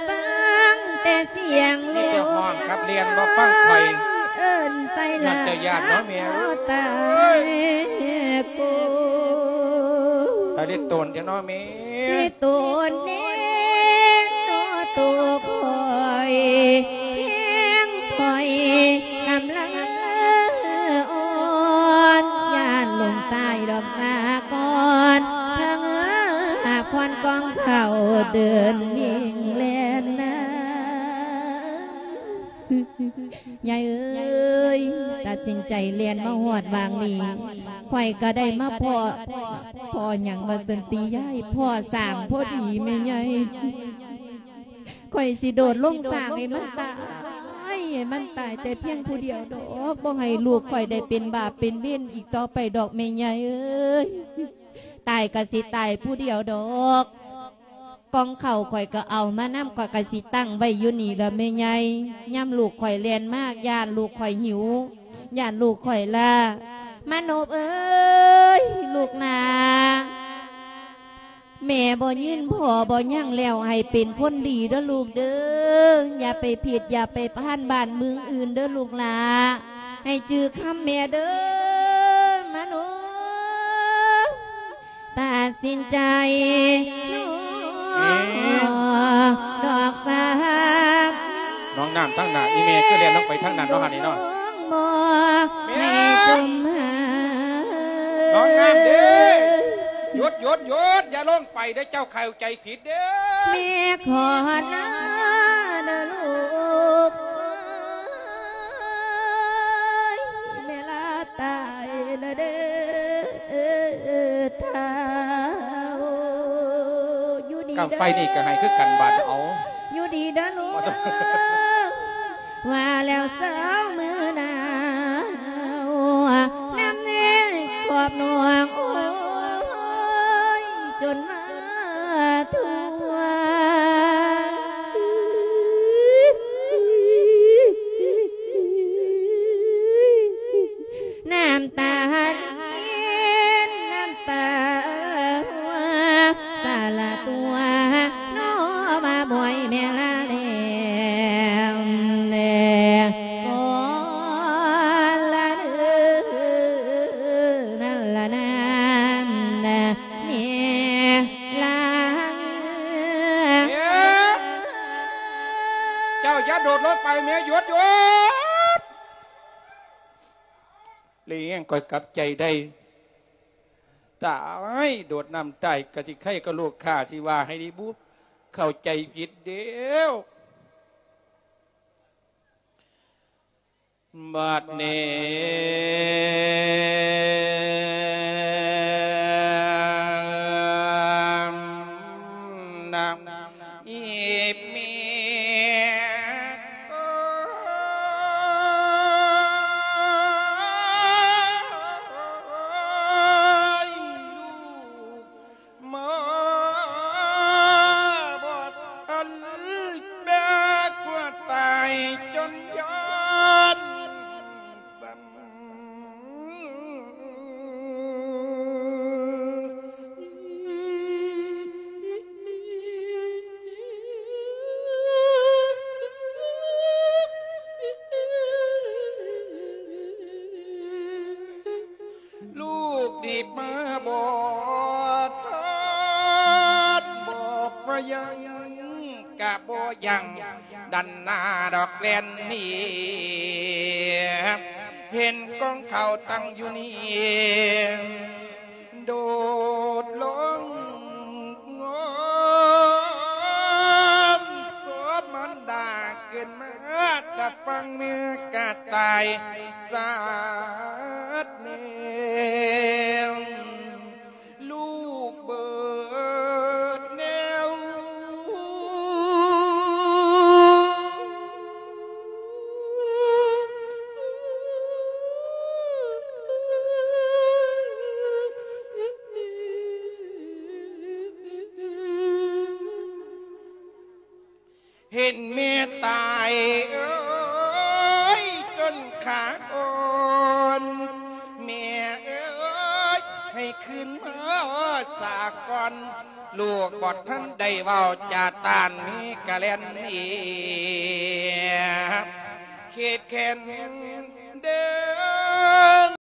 ຟັງແຕ່ສຽງ ມີແຕ່ຮ້ອງກັບແລ່ນ ບໍ່ຟັງຂ້ອຍ ເອີ້ນໃສ່ຫຼານ ເຈົ້າຢ້ານເນາະແມ່ເອີຍ ຕາຍໂກ ຕາຍເລັດໂຕນເຈົ້າເນາະແມ່. ໂຕນເນໂຕໂຕຂ້ອຍ ແຮງຂ້ອຍກຳລັງອ່ອນ ຢ້ານຫຼົງຕາຍດອກສາກ່ອນ ເພິ່ງຫາກຄວັນກອງເຂົ້າເດີນວິ່ງແລ່ນນາ. ຍາຍເອີຍ ຕັດສິນໃຈແລ່ນມາຮອດຫວ່າງນີ້ ຂ້ອຍກະໄດ້ມາພໍ້ ພໍ້ຫຍັງວ່າຊັ້ນຕິຍາຍ ພໍ້ຊ້າງພໍດີແມ່ໃຫຍ່. ຂ້ອຍຊິໂດດລົງຊ້າງໃຫ້ມັນຕາຍ ໃຫ້ມັນຕາຍແຕ່ພຽງຜູ້ດຽວດອກ ບໍ່ໃຫ້ລູກຂ້ອຍໄດ້ເປັນບາບເປັນເວນອີກຕໍ່ໄປດອກແມ່ໃຫຍ່ເອີຍ. ຕາຍກະຊິຕາຍຜູ້ດຽວດອກ ກອງເຂົ້າຂ້ອຍກະເອົາມານຳ ຂ້ອຍກະຊິຕັ້ງໄວ້ຢູ່ນີ້ລະແມ່ໃຫຍ່. ຍາມລູກຂ້ອຍແລ່ນມາ ຢ້ານລູກຂ້ອຍຫິວ ຢ້ານລູກຂ້ອຍລ້າ. ມະໂນບເອີຍ ລູກຫຼ້າ ແມ່ບໍ່ຍິນພໍ່ບໍ່ຍັງແລ້ວ ໃຫ້ເປັນຄົນດີເດີລູກເດີ ຢ່າໄປຜິດຢ່າໄປພານບ້ານເມືອງອື່ນເດີລູກຫຼ້າ ໃຫ້ຈື່ຄຳແມ່ເດີ ມະໂນ ຕັດສິນໃຈນ້ອງດອກສາມ ນ້ອງນ້ຳທາງໜ້າ ອີແມ່ຄືແລ່ນລົງໄປທາງນັ້ນເນາະ ຫັ້ນນີ້ເນາະ ນ້ອງບໍ່ໃຫ້ຈົມຫາ ນ້ອງນ້ຳເດ້ ຢຸດ ຢຸດ ຢຸດ ຢ່າລົງໄປເດ້ ເຈົ້າເຂົ້າໃຈຜິດເດ້ ແມ່ຂໍລາເດີລູກເອີຍ ແມ່ລາຕາຍລະເດີ ທ້າວ ຢູ່ດີເດີ ກຳໄຟນີ້ກໍໃຫ້ຄືກັນບາດເອົາ ຢູ່ດີເດີລູກ ວ່າແລ້ວເຊົ້າມື້ໜາວ ນຳແນ່ຂອບໜວງ ໂອ້ຍ ຈົນມາ ນ້ຳຕາລິນ ນ້ຳຕາຫົວ ສາລະຕົວ ນອມາບອຍແມ່ລາແລ້ວ ແລະ ກໍລະເດີ ນັ້ນລະນາ ແມ່ລາ ເຈົ້າຢ່າໂດດລົງໄປແມ່ ຢຸດ ຢຸດ ລ້ຽງຂ້ອຍກັບໃຈໄດ້ ຕາຍ ໂດດນ້ຳຕາຍກະຊິໄຄກະລູກຂ້າ ຊິວ່າໃຫ້ດີບຸ ເຂົ້າໃຈຜິດເດ້ວ ບາດນີ້ ນະ ອີເມຍ ໂອ້ຍ ມາບອດອັນແບກວ່າຕາຍຈົນຢ້ານສັ່ນ ລູກດີບມາບໍ່ທັນ ບອກວ່າຍັງກະບໍ່ຍັງ ດັນໜ້າດອກແລ່ນໜີ ເຫັນກອງເຂົ້າຕັ້ງຢູ່ນີ້ ໂດດລົງງອມ ສອບມານດາເກີດມາ ແຕ່ຟັງແມ່ກະຕາຍສາດແນວ ລູກເບີດແນວ ເຫັນແມ່ຕາຍເອີຍ ຈົນຂາອ່ອນ ແມ່ເອີຍ ໃຫ້ຄືນມາສາກ່ອນ ລູກບໍ່ທັນໄດ້ເວົ້າຈາຕານ ມີກະແລ່ນໜີ ເຂດແຄ້ນ